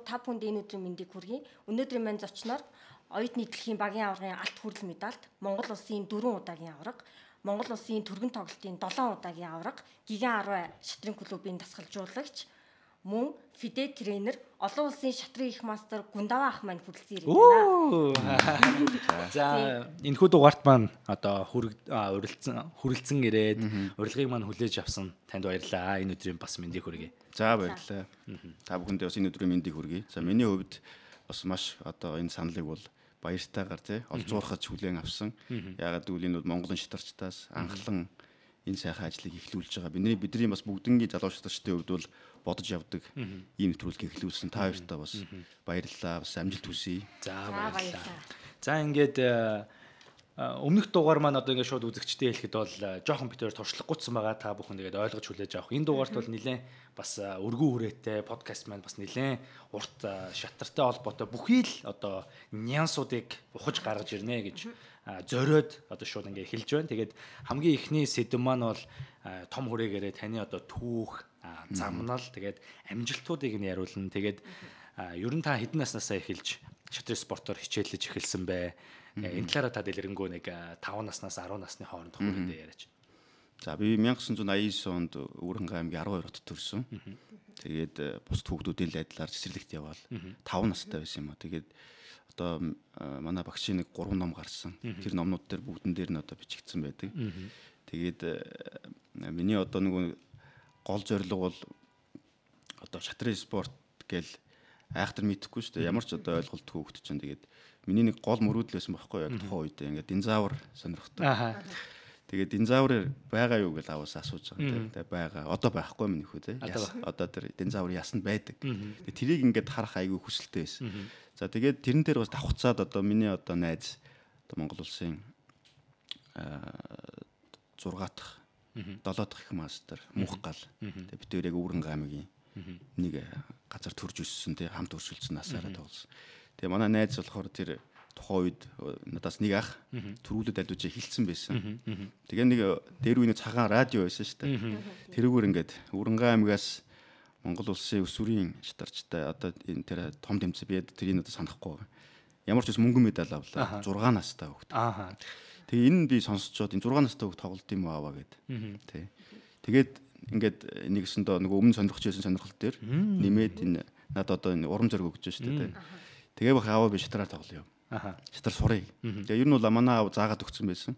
Та бүхэнд энэ өдрийн мэндийг хүргэе. Өнөөдрийн маань зочноор оюутны дэлхийн багийн аваргын алт хүрэл медальт, Монгол улсын 4 удаагийн аварга, Монгол улсын түргэн тоглолтын 7 удаагийн аварга, Гиган 10 шатрын клубын дасгалжуулагч, мөн фиде тренер, олон улсын шатрын их мастер Гундава ах маань хүрэлцэн ирээд байна. За энэхүү дугаарт маань одоо хүрэлцэн ирээд урилгыг маань хүлээж авсан танд баярлалаа. Энэ өдрийн бас мэндийг хүргэе. За баярлалаа. Та бүхэндээ бас энэ өдрийн мэндийг хүргэе. За миний хувьд бас маш одоо энэ саналыг бол баяртайгаар тий олзуурхаж хүлээн авсан. Яагаад гэвэл энэ бол Монголын шатарчтаас анхлан энэ сайхан ажлыг эхлүүлж байгаа. Бидний бас бүгднгийн залуу шатарчдын хувьд бол бодож явдаг ийм нэвтрүүлгийг эхлүүлсэн. Та хоёртаа бас баярлалаа. Бас амжилт хүсье. За баярлалаа. За ингээд өмнөх дугаар маань одоо ингээд шууд үзэгчтэй хэлэхэд бол жоохон битээр туршлагагүйцсэн байгаа. Та бүхэн тэгээд ойлгож хүлээж авах. Энэ дугаарт бол нэлээд бас өргөн хүрээтэй подкаст маань бас нэлээд урт шатартай холбоотой бүхий л одоо нюансуудыг ухаж гаргаж ирнэ гэж зориод одоо шууд ингээд эхэлж байна. Тэгээд хамгийн эхний сэдэв маань бол том хүрээгээрээ таны одоо түүх, замнал, тэгээд амжилтуудыг нь яриулна. Тэгээд ер нь та хэдэн наснасаа эхэлж шатрын спортоор хичээлж эхэлсэн бэ? Энэ талаараа та дэлгэрэнгүй нэг 5 наснаас 10 насны хооронд хүрээндээ яриач. За би 1989 онд Өвөрхангай аймгийн 12 хотод төрсөн. Тэгээд бус хүүхдүүдийн айдлаар цэцэрлэгт яваал 5 настай байсан юм а. Тэгээд одоо манай багшийн нэг 3 ном гарсан. Тэр номнууд дээр бүгдэн дээр нь одоо бичигдсэн байдаг. Тэгээд миний одоо нэг гол зорилго бол одоо шатрын спорт гэл айхтар мэдэхгүй шүү дээ. Ямар ч одоо ойлголтгүй хөвгт чинь тэгээд миний нэг гол мөрөөдөл байсан байхгүй яг тухайн үед ингээд динозавр сонирхдаг. Тэгээд динозавр байгаа юу гэж аваас асууж байгаа. Тэгээд байгаа. Одоо байхгүй минь хөө те. Одоо тэр динозавр ясанд байдаг. Тэгээд тэрийг ингээд харах айгүй хүсэлтэй байсан. За тэгээд тэрэн дээр бас давхцаад одоо миний одоо найз одоо Монгол улсын 6 дахь 7 дахь их мастер Мөнх гал. Тэгээд бид хоёр яг Өвөрхангай аймгийн нэг газар төрж өссөн те хамт өршөлдсөн насаараа тоглосон. Тэгээ манай найз болохоор тэр тухайн үед надаас нэг ах төрүүлээд альвж хилцсэн байсан. Тэгээ нэг дээр үений цагаан радио байсан шүү дээ. Тэрүүгээр ингээд Өвөрхангай аймгаас Монгол улсын өсвөрийн шатарчтай одоо энэ тэр том тэмцээн би тэрийг одоо санахгүй байгаа. Ямар ч ус мөнгөн медаль авлаа. 6 настай хөвгт. Тэгээ энэ би сонсцоод энэ 6 настай хөвгт тоглолт юм ааваа гэд. Тэ. Тэгээд ингээд нэгсэндээ нөгөө өмнө сонирхож байсан сонирхол дээр нэмээд энэ надад одоо энэ урам зориг өгч шүү дээ. Тэгээ бах ааваа би шатараар тоглоё. Шатар сурыг. Тэгээ ер нь бол манай аав заагаад өгсөн байсан.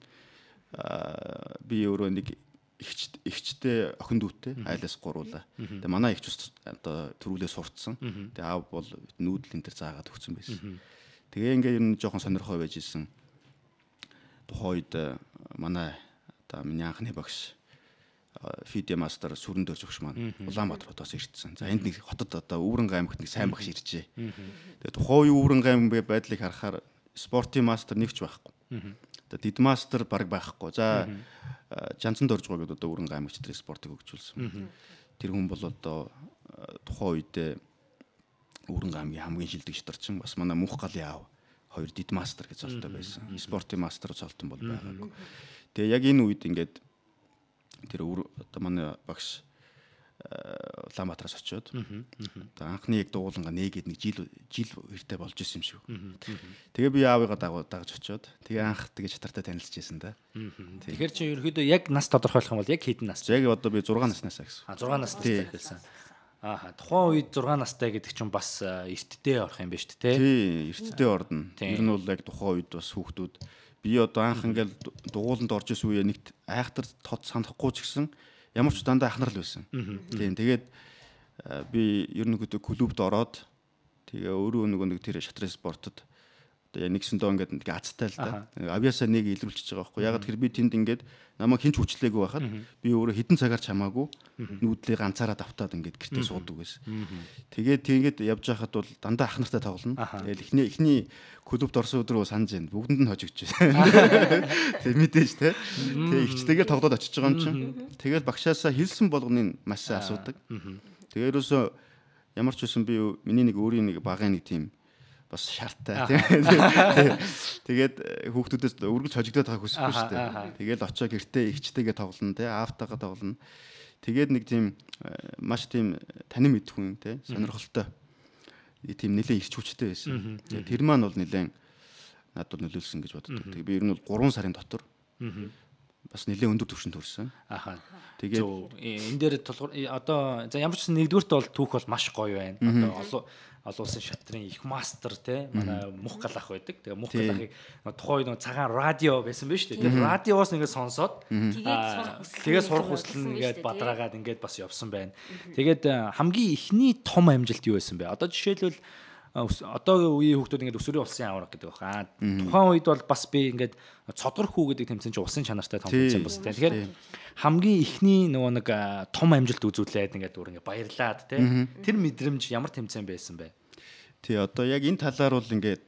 Би өөрөө нэг ихчтэй охин дүүтэй айлаас гуруулаа. Тэгээ манай ихч одоо төрүүлээ сурцсан. Тэгээ аав бол нүүдлийн дээр заагаад өгсөн байсан. Тэгээ ингээ ер нь жоохон сонирхоо байж исэн. Тухайн үед манай одоо миний анхны багш фиде мастер сүрэн дээр зөвш маань Улаанбаатаруудаас ирсэн. За энд нэг хотод одоо Өвөрхангай аймагт нэг сайн багш иржээ. Тэгээ тухайн үеийн Өвөрхангай аймгийн байдлыг харахаар спортын мастер нэгч байхгүй. Одоо дид мастер баг байхгүй. За Жанцан Доржгоо гэдэг одоо Өвөрхангай аймагч тэр спортыг хөгжүүлсэн. Тэр хүн бол одоо тухайн үедээ Өвөрхангай аймгийн хамгийн шилдэг шатарчин бас манай Мөнх галын аав хоёр дид мастер гэж золтой байсан. Спортын мастер золтон бол байгаагүй. Тэгээ яг энэ үед ингээд тэр одоо манай багш Улаанбаатараас очиод одоо анхны яг дууланга нээгээд нэг жил хэртэй болж исэн юм шиг. Тэгээ би аавыгаа дагаж очиод тэгээ анх тэгээ чатартай танилцж байсан да. Тэгэхээр чи ерөөдөө яг нас тодорхойлох юм бол яг хэдэн нас? Яг одоо би 6 наснаас гэсэн. 6 настай хэлсэн. Тухайн үед 6 настай гэдэг чинь бас эртдээ орох юм байна шүү дээ. Тий, эртдээ орно. Ер нь бол яг тухайн үед бас хүүхдүүд би одоо анх ингээл дугууланд орж исэн үе нэгт айхтар тод санахгүй ч гэсэн ямар ч дандаа ахнар л байсан. Тийм тэгээд би ер нь клубд ороод тэгээ өөрөө нэг тэр шатрын спортод одоо нэгсэндөө ингээд азтай л да. Авьяасаа нэг илрүүлчихэж байгаа байхгүй. Ягаад гэхээр би тэнд ингээд намайг хинч хүчлээгүй байхад би өөрөө хідэн цагаар чамаагүй нүүдлээ ганцаараа давтаад ингээд гэртээ суудаг байсан. Тэгээд явж байхад бол дандаа ах нартай тоглоно. Тэгэл эхний клубт орсон өдрөө санаж байна. Бүгдэнд нь хожигч байна. Тэг мэдээж те. Тэг ихчтэйгээр тоглоод очиж байгаа юм чинь. Тэгэл багшаасаа хэлсэн болгоныг маш сайн асуудаг. Тэгээ ерөөсөө ямар ч үсэн би миний нэг өөрийн нэг багын нэг тийм бас шаардтай тийм. Тэгээд хүүхдүүдээс өргөж хожигдоод байгааг хүсэхгүй шүү дээ. Тэгээд очоо гэртээ ихчтэйгээ тоглоно тийм, аавтайгаа тоглоно. Тэгээд нэг тийм маш тийм танин мэд хүн тийм, сонирхолтой. Тийм нэлээд ирч хүчтэй байсан. Тэр маань бол нэлээд надад нөлөөлсөн гэж боддог. Тэгээд би ер нь бол 3 сарын дотор бас нэлээд өндөр түвшинд хүрсэн. Тэгээд энэ дээр тулгуур одоо за ямар ч нэгдүгürt бол түүх бол маш гоё байна. Одоо олон улсын шатрын их мастер те манай мөх галах байдаг. Тэгээ мөх галахыг тухайн үед цагаан радио байсан биз дээ. Тэгээ радиоос ингээд сонсоод тэгээд сурах хүсэл нэгээд бадраагаад ингээд бас явсан байна. Тэгээд хамгийн ихний том амжилт юу байсан бэ? Одоо жишээлбэл одоогийн үеийн хүүхдүүд ингээд өсвөрийн улсын авраг гэдэг байна. Тухайн үед бол бас би ингээд цодгор хүү гэдэг тэмцээн чинь усын чанартай том тэмцээн бас тийм. Тэгэхээр хамгийн ихний нөгөө нэг том амжилт үзүүлээд ингээд өөр ингээд баярлаад тийм. Тэр мэдрэмж ямар тэмцээн байсан бэ? Тий одоо яг энэ талаар бол ингээд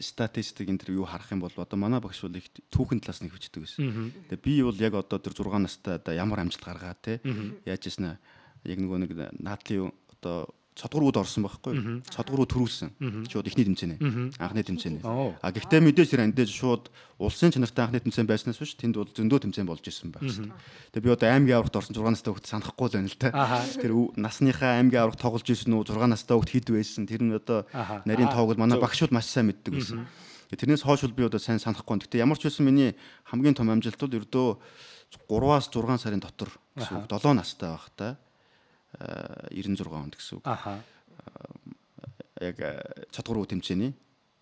статистик интервью харах юм бол одоо манай багш бол их түүхэн талаас нь хөвчдөг байсан. Тэгээ би бол яг одоо тэр 6 настай одоо ямар амжилт гаргаа те яаж ийснэ яг нөгөө нэг наадлын одоо цодгорууд орсон байхгүй. Цодгорууд төрүүлсэн. Шууд ихний тэмцээнэ. Анхны тэмцээнэ. Гэхдээ мэдээж тэр андэж шууд улсын чанартай анхны тэмцээн байснаас биш тэнд бол зөндөө тэмцээн болж исэн байх шүү дээ. Тэгээ би одоо аймгийн аврагт орсон 6 настай хүүхд санахгүй л байна л да. Тэр насныхаа аймгийн аврагт тоглож исэн үү 6 настай хүүхд хэд байсан. Тэр нь одоо нарийн тоог бол манай багшууд маш сайн мэддэг байсан. Тэрнээс хойш бол би одоо сайн санахгүй. Гэхдээ ямар ч байсан миний хамгийн том амжилт бол ердөө 3-аас 6 сарын дотор гэсэн үг 7 настай байхдаа 96 онд гэсэн үг. Яг цодгор тэмцээний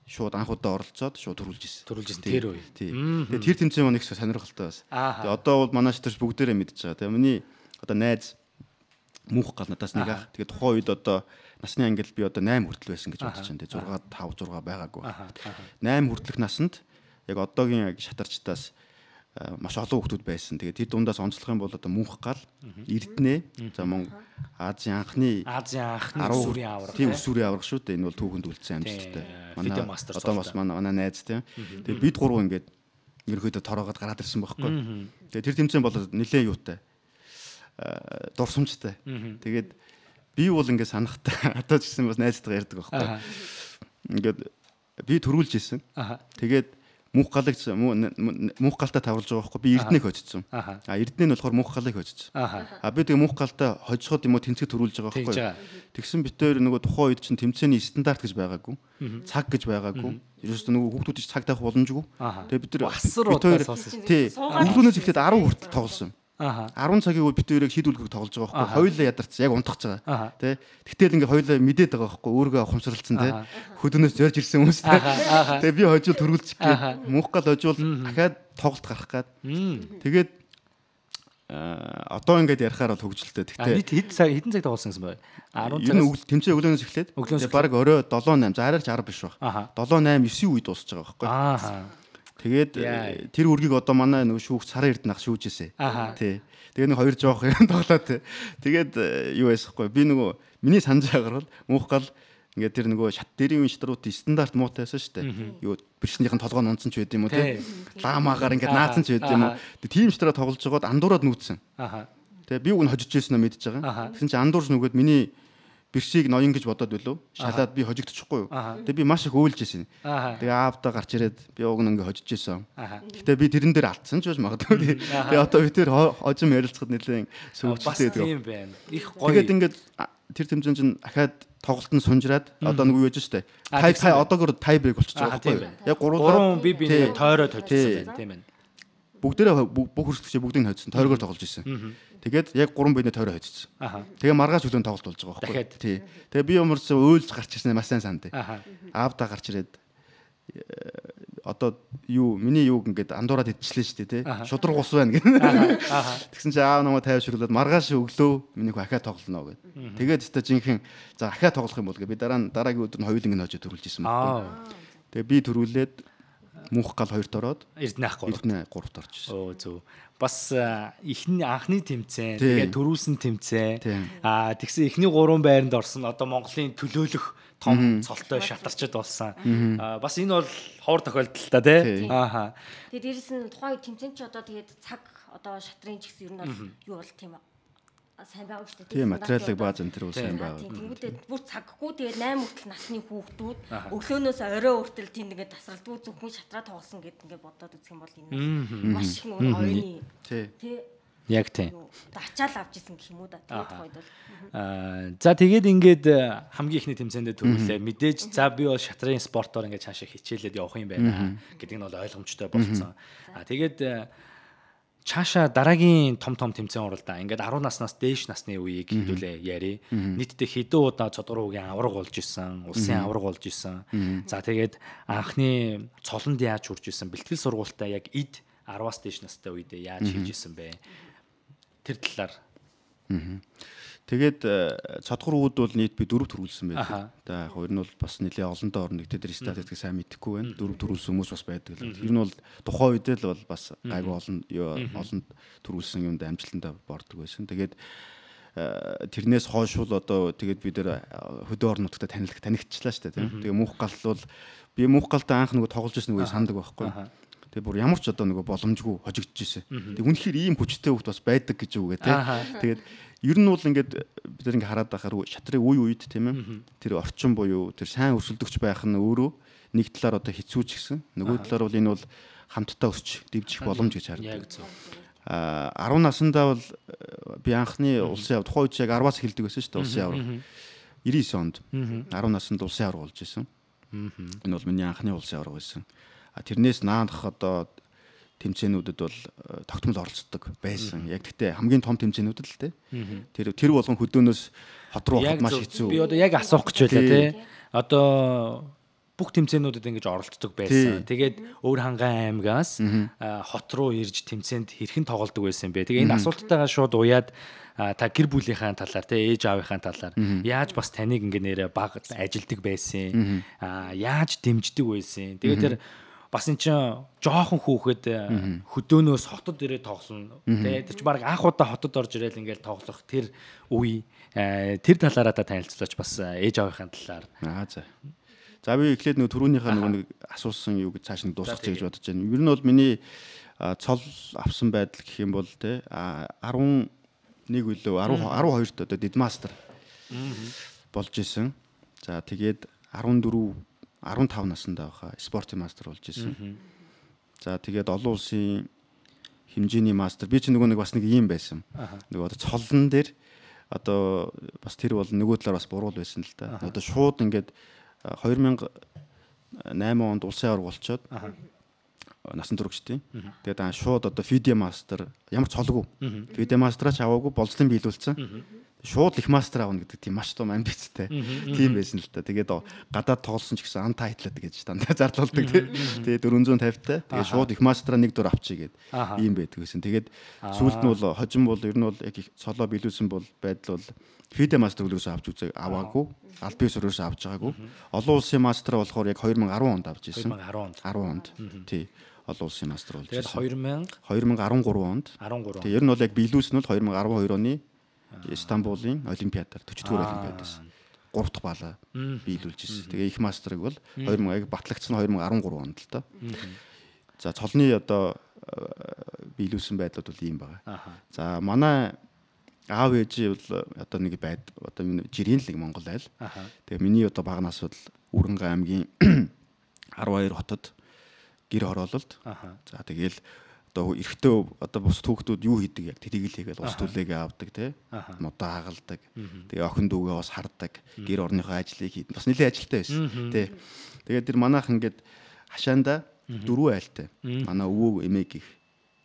шууд анх удаа оролцоод шууд төрүүлж ирсэн. Тэр үе. Тэгээд тэр тэмцээн маань их сонирхолтой байсан. Тэгээд одоо бол манай шатарч бүгдээрээ мэдж байгаа. Тэгээд миний одоо найз мөнх гал надаас нэг ах. Тэгээд тухайн үед одоо насны ангил би одоо 8 хүртэл байсан гэж бодож байна. Тэгээд 6 5 6 байгаагүй. 8 хүртэлх насанд яг одоогийн шатарчтаас маш олон хүмүүс байсан. Тэгээд тэр дундаас онцлох юм бол одоо мөнх гал, Эрдэнэ, за Монгол Азийн анхны өсвөрийн авраг. Тийм өсвөрийн авраг шүү дээ. Энэ бол түүхэнд үлдсэн амжилттай. Манай одоо бас манай найз тийм. Тэгээд бид гурав ингээд ерөөхдөө тороогод гараад ирсэн байхгүй. Тэгээд тэр тэмцээн бол нэлээд юутай. Дурсамжтай. Тэгээд би бол ингээд санахтай одоо ч гэсэн бас найзтайгаа ярьдаг байхгүй. Ингээд би төрүүлж исэн. Тэгээд мөнх галыг мөнх галтай тавруулж байгаа байхгүй би Эрдэнэг хоцсон. Эрдэнэ нь болохоор мөнх галыг хоцсон. Би тэгээ мөнх галтай хожиход юм уу тэнцэг төрүүлж байгаа байхгүй. Тэгсэн битээр нөгөө тухайн үед чинь тэмцээний стандарт гэж байгаагүй. Цаг гэж байгаагүй. Ерөөсөө нөгөө хүүхдүүд ч цаг таах боломжгүй. Тэгээ бид нар тий өглөөнөөс эхлээд 10 хүртэл тоглосон. 10 цагийг бид хоёрыг шийдвэрлэхийг тоглож байгаа байхгүй. Хоёулаа ядарч яг унтах байгаа. Тэ. Тэгтэл ингээ хоёулаа мэдээд байгаа байхгүй. Өөргөө ухамсарлцсан тэ. Хөдөөнөөс зорж ирсэн хүмүүс. Тэгээ би хожил төрүүлчих гээ. Мөнх гал хожил дахиад тоглолт гарах гээд. Тэгээд одоо ингээд ярихаар бол хөгжилтэй. Тэгтээ хэдэн цаг тоглосон гэсэн бэ? 10 цаг. Ер нь тэмцээн өглөөнөөс эхлээд. Тэгээ баг орой 7-8 за арайч 10 биш баг. 7-8 9 үед дуусч байгаа байхгүй. Тэгээд тэр үргийг одоо манай нөгөө шүүгч Сарын Эрдэнэ ах шүүжээсэ. Тий. Тэгээ нэг хоёр жоох юм тоглоо тий. Тэгээд юу байсахгүй. Би нөгөө миний санаж байгаагаар бол мөнх гал ингээд тэр нөгөө шат дэрийн шатруудын стандарт муутайсан шүү дээ. Юу бэрхшнийхэн толгой нь унтсан ч байд юм уу тий. Ламаагаар ингээд наацсан ч байд юм уу. Тийм шатраа тоглож байгаад андуураад нүүцсэн. Тэгээ би үн хожиж ирсэн нь мэдж байгаа. Тэгсэн чинь андуурч нөгөөд миний бэршийг ноён гэж бодоод билүү шалаад би хожигдчихгүй юу. Тэгээ би маш их өөлж исэн. Тэгээ аавдаа гарч ирээд би уг нь ингээ хожиж исэн. Гэхдээ би тэрэн дээр алдсан ч байж магадгүй. Тэгээ одоо би тэр хожим ярилцахад нэлээд сөвөгчтэй тийм байна. Их гоё. Тэгээд ингээд тэр тэмцээн чинь ахаад тоглолт нь сунжраад одоо нэг юу яж штэ. Тай одоогор тай брейк болчихж байгаа байхгүй. Яг 3 би нэг тойроод хоцсон байна тийм байна. Бүгдээрээ бүх хөрсөлтөчөө бүгдийг хоцсон. Тойрогоор тоглож исэн. Тэгээд яг 3 биений тойроо хоцсон. Тэгээ маргааш өглөө тоглолт болж байгаа байхгүй. Тий. Тэгээ би юмрс өөлж гарч ирсэн маш сайн санд. Аавдаа гарч ирээд одоо юу миний юуг ингээд андуураад идчихлээ шүү дээ тий. Шудраг ус байна гэн. Тэгсэн чи аав намайг тайвшруулад маргааш өглөө миний хөө ахаа тоглоно гэд. Тэгээд өстө жинхэнэ за ахаа тоглох юм бол гэ би дараагийн өдөр нь хоёуланг нь хожиж төрүүлж исэн байхгүй. Тэгээ би төрүүлээд мөнх гал 2-т ороод Эрдэнэ ах 3-т орж ирсэн. Оо зөв. Бас эхний анхны тэмцээн тэгээд төрүүлсэн тэмцээн тэгсэн эхний 3 байранд орсон одоо Монголын төлөөлөх том цолтой шатарчд болсон. Бас энэ бол ховор тохиолдол та тий. Ааха. Тэгээд дээрэс нь тухайн тэмцээн чи одоо тэгээд цаг одоо шатрын ч гэсэн ер нь бол юу бол тийм сайн байгаа шүү дээ. Тийм материалыг бааз энэ төр сайн байгаа. Тэнгүүдээ бүр цаггүй тэгээд 8 хүртэл насны хүүхдүүд өглөөнөөс орой хүртэл тийм ингээд тасралтгүй зөвхөн шатраа тоглосон гэд ингээд бодоод үзэх юм бол энэ маш их нөр оюуны тий. Яг тийм. Ачаал авч исэн гэх юм уу да. Тэгээд хойд бол. За тэгээд ингээд хамгийн ихний тэмцээндээ төрүүлээ. Мэдээж за би бол шатрын спортоор ингээд цаашаа хичээлээд явах юм байна гэдэг нь бол ойлгомжтой болсон. Тэгээд цаашаа дараагийн том тэмцээн уралдаа ингээд 10 наснаас дээш насны үеийг хэдүүлээ яри. Нийтдээ хэдэн удаа цодгоруугийн авраг болж исэн, улсын авраг болж исэн. За тэгээд анхны цолонд яаж хүрч исэн, бэлтгэл сургуультаа яг эд 10-аас дээш настай үедээ яаж хийж исэн бэ? Тэр талаар. Тэгээд цодгор үүд бол нийт би 4 төрүүлсэн байдаг. За хоёр нь бол бас нэлээ олондоо орно. Тэд статистик сайн мэдэхгүй байна. 4 төрүүлсэн хүмүүс бас байдаг л. Тэр нь бол тухайн үед л бол бас гайгүй олон төрүүлсэн юмд амжилтанд бордог байсан. Тэгээд тэрнээс хойш бол одоо тэгээд бид нэр хөдөө орнуудтай танигдчихлаа шүү дээ. Тэгээ мөнх гал бол би мөнх галтай анх нөгөө тоглож ирсэн үе сандаг байхгүй. Тэгээ бүр ямар ч одоо нөгөө боломжгүй хожигдож ирсэн. Тэг үнэхээр ийм хүчтэй хөвгт бас байдаг гэж үгээ тий. Тэгээд ер нь бол ингээд бид нар ингээ хараад байхаар шатрын үе үед тийм ээ. Тэр орчин буюу тэр сайн өрсөлдөгч байх нь өөрөө нэг талаар одоо хэцүүч гисэн. Нөгөө талаар бол энэ бол хамтдаа өсч дэвжих боломж гэж хардаг. 10 наснда бол би анхны улсын явд тухайн үед яг 10-аас эхэлдэг байсан шүү дээ улсын авраг. 99 онд 10 наснд улсын авраг болж исэн. Энэ бол миний анхны улсын авраг байсан. Тэрнээс наадах одоо тэмцээнүүдэд бол тогтмол оролцдог байсан. Яг гэхдээ хамгийн том тэмцээнүүдэд л те. Тэр болгон хөдөөнөөс хот руу явах маш хэцүү. Би одоо яг асуух гэж байлаа те. Одоо бүх тэмцээнүүдэд ингэж оролцдог байсан. Тэгээд өөр хангаан аймгаас хот руу ирж тэмцээнд хэрхэн тоглодог байсан бэ? Тэгээ энэ асуулттайгаа шууд уяад та гэр бүлийнхаа талаар те ээж аавынхаа талаар яаж бас таныг ингэ нэрэ баг ажилдаг байсан. Яаж дэмждэг байсан. Тэгээд тэр бас эн чинь жоохон хүүхэд хөдөөнөөс хотод ирээд тоглоно. Тэ тэр чинь баг анх удаа хотод орж ирээл ингээл тоглох тэр үе тэр талаараа та танилцуулаач бас ээж аавынхаа талаар. За би эхлээд нөгөө түрүүнийхээ нэг асуусан юу гэж цааш нь дуусгачих гэж бодож байна. Ер нь бол миний цол авсан байдал гэх юм бол те 11 үлээ 12-т одоо дидмастер болж исэн. За тэгээд 15 наснда байхаа спортын мастер болж исэн. За тэгээд олон улсын хэмжээний мастер би ч нөгөө нэг бас нэг юм байсан. Нөгөө одоо цолон дээр одоо бас тэр бол нөгөө талаар бас буруу байсан л да. Одоо шууд ингээд 2008 онд улсын авраг болчоод насан туршидтын. Тэгээд шууд одоо FIDE мастер ямар цолгүй. FIDE мастраач аваагүй болцлон биелүүлсэн. Шууд их мастер аавна гэдэг тийм маш том амбицтай. Тийм байсан л та. Тэгээд гадаад тоглосон ч гэсэн untitled гэж дандаа зарлуулдаг тий. Тэгээд 450-тай. Тэгээд шууд их мастраа нэг дур авчий гээд ийм байдаг гэсэн. Тэгээд сүүлд нь бол хожим бол ер нь бол яг цолоо биелүүлсэн бол байдал бол FIDE мастер үлээс авч үзээ аваагүй. Аль биесөрөөс авч байгаагүй. Олон улсын мастер болохоор яг 2010 онд авч ирсэн. 10 онд. Тий. Олон улсын мастер болж ирсэн. 2013 онд. Тэгээ ер нь бол яг биелүүлсэн нь 2012 оны Истанбулын олимпиадаар 40-р олимпиадаас 3 дахь баалаа биелүүлж ирсэн. Тэгээ их мастерыг бол 2000 батлагдсан 2013 онд л та. За цолны одоо биелүүлсэн байдлууд бол ийм байгаа. За манай аав ээж бол одоо нэг одоо жирийн л нэг Монгол айл. Тэгээ миний одоо багнаас бол Үрэнгэ аймгийн 12 хотод гэр хороололт. За тэгээл одоо эрэгтэй одоо бус түүхдүүд юу хийдэг яг тэрийг л хийгээл ус түлээгээ авдаг тий. Модоо хагалдаг. Тэгээ охин дүүгээ бас хардаг. Гэр орныхоо ажлыг хийдэг. Бас нэлээд ажилтай байсан тий. Тэгээд тэр манайх ингээд хашаанда 4 айлтай. Манай өвөө эмээ гих.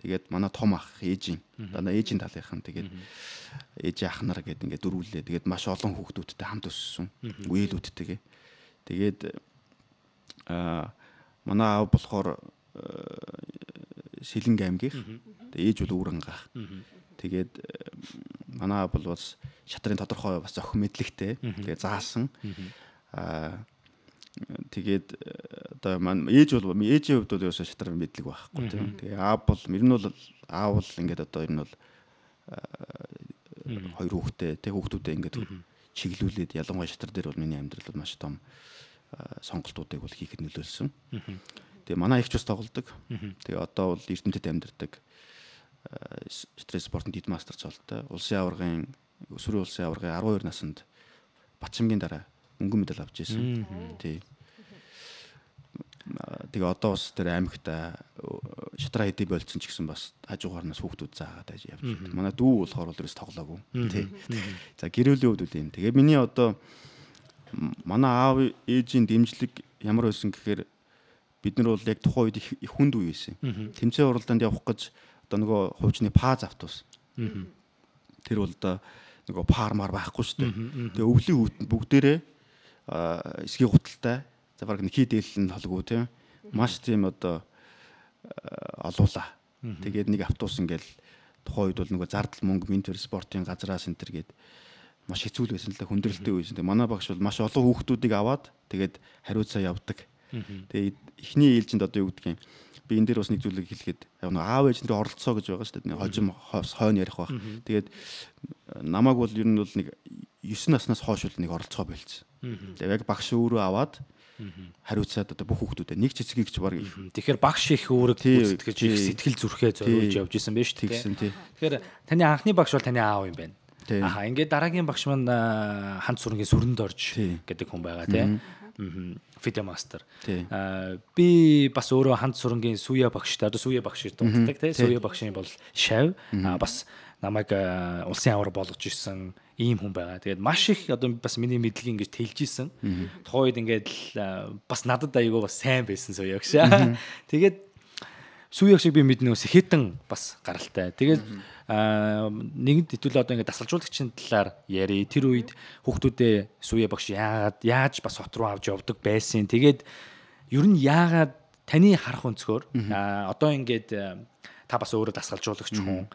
Тэгээд манай том ах ээжийн дандаа ээжийн талынхан тэгээд ээж ах нар гэдэг ингээд дөрвөлээ. Тэгээд маш олон хүүхдүүдтэй хамт өссөн. Үеэлүүдтэйгээ. Тэгээд манай аав болохоор Сэлэнг аймгийн. Тэгээд ээж бол Үрэнгаах. Тэгээд манай аав бол бас шатрын тодорхой бас зохин мэдлэгтэй. Тэгээд заасан. Тэгээд одоо маань ээжийн хувьд бол ерөөсөө шатрын мэдлэг байхгүй тийм. Тэгээ аав бол ер нь бол аав бол ингээд одоо ер нь бол хоёр хүүхдээ тэг хүүхдүүдээ ингээд чиглүүлээд ялангуяа шатар дээр бол миний амьдрал бол маш том сонголтуудыг бол хийхэд нөлөөлсөн. Тэгээ манай ихч бас тоглодог. Тэгээ одоо бол Эрдэнэтэд амьдардаг. Стресс спортын дид мастер цолтой. Өсвөрийн улсын аваргын 12 наснд Батчимгийн дараа өнгөн медаль авч ирсэн. Тэгээ одоо бас тэр аймагта шатраа хэдий болцсон ч гэсэн бас хажуугаарнаас хүүхдүүд заагаад байж явж байна. Манай дүү болохоор бол ерөөс тоглоогүй. Тий. За гэрээлийн хувьд үл юм. Тэгээ миний одоо манай аав ээжийн дэмжлэг ямар байсан гэхээр бид нар бол яг тухайн үед их хүнд үе байсан. Тэмцээн уралдаанд явах гэж одоо нөгөө хуучны паз автобус. Тэр бол одоо нөгөө пармаар байхгүй шүү дээ. Тэгээ өвлийн хүүтэнд бүгдээрээ эсгийн гуталтай за баг нэг хийдэл нь холгүй тийм маш тийм одоо олуула. Тэгээд нэг автобус ингээл тухайн үед бол нөгөө зардал мөнгө Минтер спортын газраас энэ төр гээд маш хэцүү л байсан л да хүндрэлтэй байсан. Тэгээ манай багш бол маш олон хүүхдүүдийг аваад тэгээд хариуцаа явдаг. Тэгээд эхний ээлжинд одоо юу гэдгийг би энэ дээр бас нэг зүйлийг хэлэхэд аав ээж нарын оролцоо гэж байгаа шүү дээ. Хожим хойно ярих баг. Тэгээд намайг бол ер нь бол нэг 9 наснаас хойш бол нэг оролцоо болцсон. Тэгээд яг багш өөрөө аваад хариуцаад одоо бүх хүүхдүүдэд нэг цэцгийг ч баг. Тэгэхээр багш их үүрэг гүйцэтгэж их сэтгэл зүрхээ зориулж явж исэн байж тээ. Тэгэхээр таны анхны багш бол таны аав юм байна. Аха ингээд дараагийн багш маань Ханц сүрэнгийн сүрэнд орж гэдэг хүн байгаа тий. Фиде мастер. Би бас өөрөө Ханц сүрэнгийн Сүя багштай одоо Сүя багш дууддаг тий. Сүя багшийн бол Шав бас намайг улсын аваар болгож ирсэн ийм хүн байгаа. Тэгээд маш их одоо бас миний мэдлэг ингэж тэлж исэн. Тухайн үед ингээд бас надад аягүй бас сайн байсан Сүя багш. Тэгээд Сүя шиг би мэднэ ус хитэн бас гаралтай. Тэгээд нэгд хэдүүлээ одоо ингээд дасгалжуулагчийн талаар яри. Тэр үед хүүхдүүдээ Сүя багш яаж бас хот руу авч явдаг байсан. Тэгээд ер нь яагаад таны харах өнцгөр одоо ингээд та бас өөрөө дасгалжуулагч хүн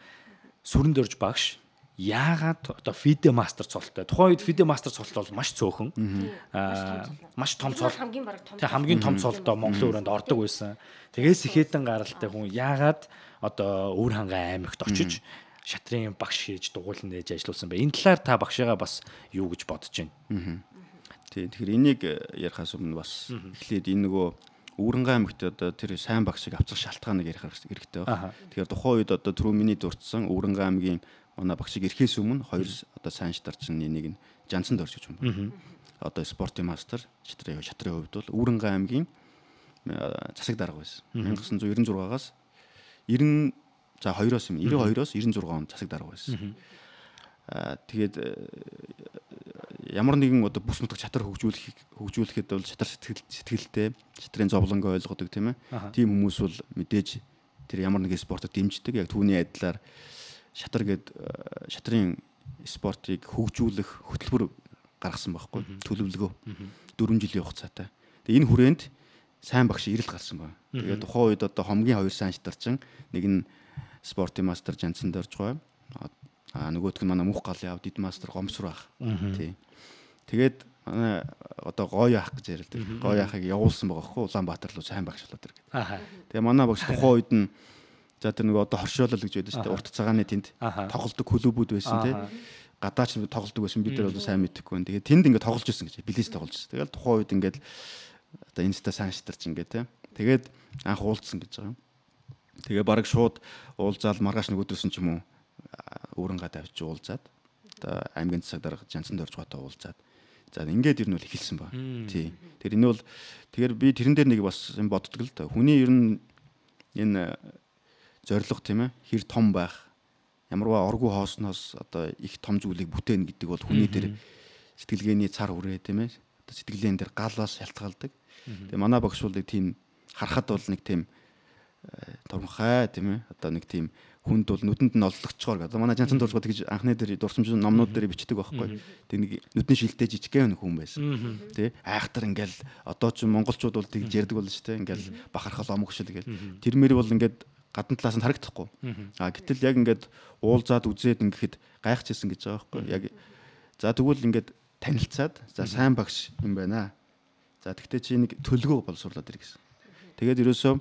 сүрэнд орж багш яагаад одоо фиде мастер цолтой. Тухайн үед фиде мастер цолт бол маш цөөхөн. Маш том цол. Хамгийн том цолдоо Монголын өрөөнд ордог байсан. Тэгээс ихэдэн гаралтай хүн яагаад одоо Өвөр хангай аймагт очиж шатрын багш хийж дугуйлан нээж ажилласан бэ? Энэ талаар та багшаагаа бас юу гэж бодож байна? Тэгэхээр энийг ярихаас өмнө бас эхлээд энэ нөгөө Өвөр хангай аймагт одоо тэр сайн багшийг авцах шалтгааныг ярих хэрэгтэй байна. Тэгэхээр тухайн үед одоо түрүү миний дурдсан Өвөр хангай аймгийн манай багшийг ирэхээс өмнө хоёр одоо сайн шатарчин нэг нь Жансанд орж гэж байна. Одоо спортын мастер шатрын хувьд бол Өвөр хангай аймгийн засаг дарга байсан. 1996-аас 92-оос 96 он засаг дарга байсан. Тэгээд ямар нэгэн одоо бүс нутаг шатар хөгжүүлэхэд бол шатар сэтгэлтэй, шатрын зовлонг ойлгодог тийм ээ. Тийм хүмүүс бол мэдээж тэр ямар нэгэн спортод дэмждэг. Яг түүний адилаар шатрын спортыг хөгжүүлэх хөтөлбөр гаргасан байхгүй төлөвлөгөө 4 жилийн хугацаатай. Тэгээ энэ хүрээнд сайн багш ирэл гарсан байна. Тэгээд тухайн үед одоо хомгийн хоёр сайн шатарчин нэг нь спортын мастер Жансанд орж байгаа. Нөгөөх нь манай Мөнх галын аав дид мастер Гомсруу ах. Тий. Тэгээд манай одоо гоё ах гэж ярилдаг. Гоё ахыг явуулсан байгаа хөө Улаанбаатар руу сайн багш болоод иргээд. Тэгээ манай багш тухайн үед нь за тэр нөгөө одоо хоршоолол гэж байдаг шүү дээ. Урт цагааны тэнд тоглолдог клубүүд байсан тий. Гадаач тоглолдог байсан бид нар бол сайн мэдэхгүй. Тэгээд тэнд ингээд тоглож ирсэн гэж. Билис тоглож ирсэн. Тэгээд тухайн үед ингээд одоо инста сайн шатарч ингээд тий. Тэгээд анх уулзсан гэж байгаа юм. Тэгээ бараг шууд уулзаал маргааш нөгөөдөөсөн ч юм уу өөрөнгөө тавьж уулзаад одоо аймгийн засаг дарга Жансанд орж байгаатай уулзаад за ингээд ер нь бол эхэлсэн ба. Тий. Тэр энэ бол тэгэхээр би тэрэн дээр нэг бас юм боддог л да. Хүний ер нь энэ зориг тийм ээ хэр том байх ямарваа оргуу хоосноос одоо их том зүйлийг бүтээн гэдэг бол хүний дээр сэтгэлгээний цар хүрээ тийм ээ одоо сэтгэлгээн дээр галаас шалтгаалдаг. Тэгээ манай багш бол тийм харахад бол нэг тийм томхай тийм ээ одоо нэг тийм хүнд бол нүдэнд нь олдлогчгоор гэдэг. Манай Жансанд дурсгод гэж анхны дээр дурсамж номнууд дээр бичдэг байхгүй. Тэг нэг нүдний шилтэй жижигхэн хүн байсан. Тэ айхтар ингээл одоо ч монголчууд бол тэгж ярьдаг болно шүү дээ. Ингээл бахархал омгшил гэл. Тэрмэр бол ингээд гадна талаас нь харагдахгүй. Гэтэл яг ингээд уулзаад үзээд ингээд гайхчихсан гэж байгаа байхгүй. Яг за тэгвэл ингээд танилцаад за сайн багш юм байна. За тэгтээ чи нэг төлгөө боловсруулад ир гэсэн. Тэгээд ерөөсөө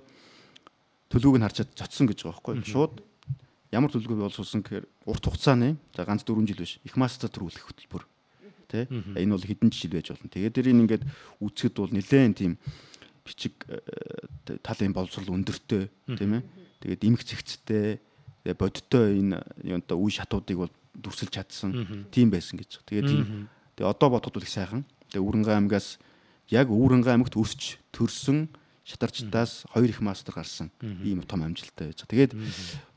төлгөөг нь харчаад цоцсон гэж байгаа байхгүй юу? Шууд ямар төлгөө боловсруулсан гэхээр урт хугацааны за ганц 4 жил биш их мастер төрүүлэх хөтөлбөр. Тэ? Энэ бол хэдэн жил байж болно. Тэгээд тэрийг ингээд үүсгэхэд бол нэлээд тийм бичиг талын боловсрол өндөртэй тийм ээ. Тэгээд эмх цэгцтэй бодиттой энэ одоо үе шатуудыг бол дүрсэлж чадсан тийм байсан гэж. Тэгээд одоо бодоход бол их сайхан. Тэгээд Өвөрнгай аймгаас яг Өвөрнгай аймагт өсч төрсөн шатарчдаас 2 их мастер гарсан ийм том амжилттай байж байгаа. Тэгээд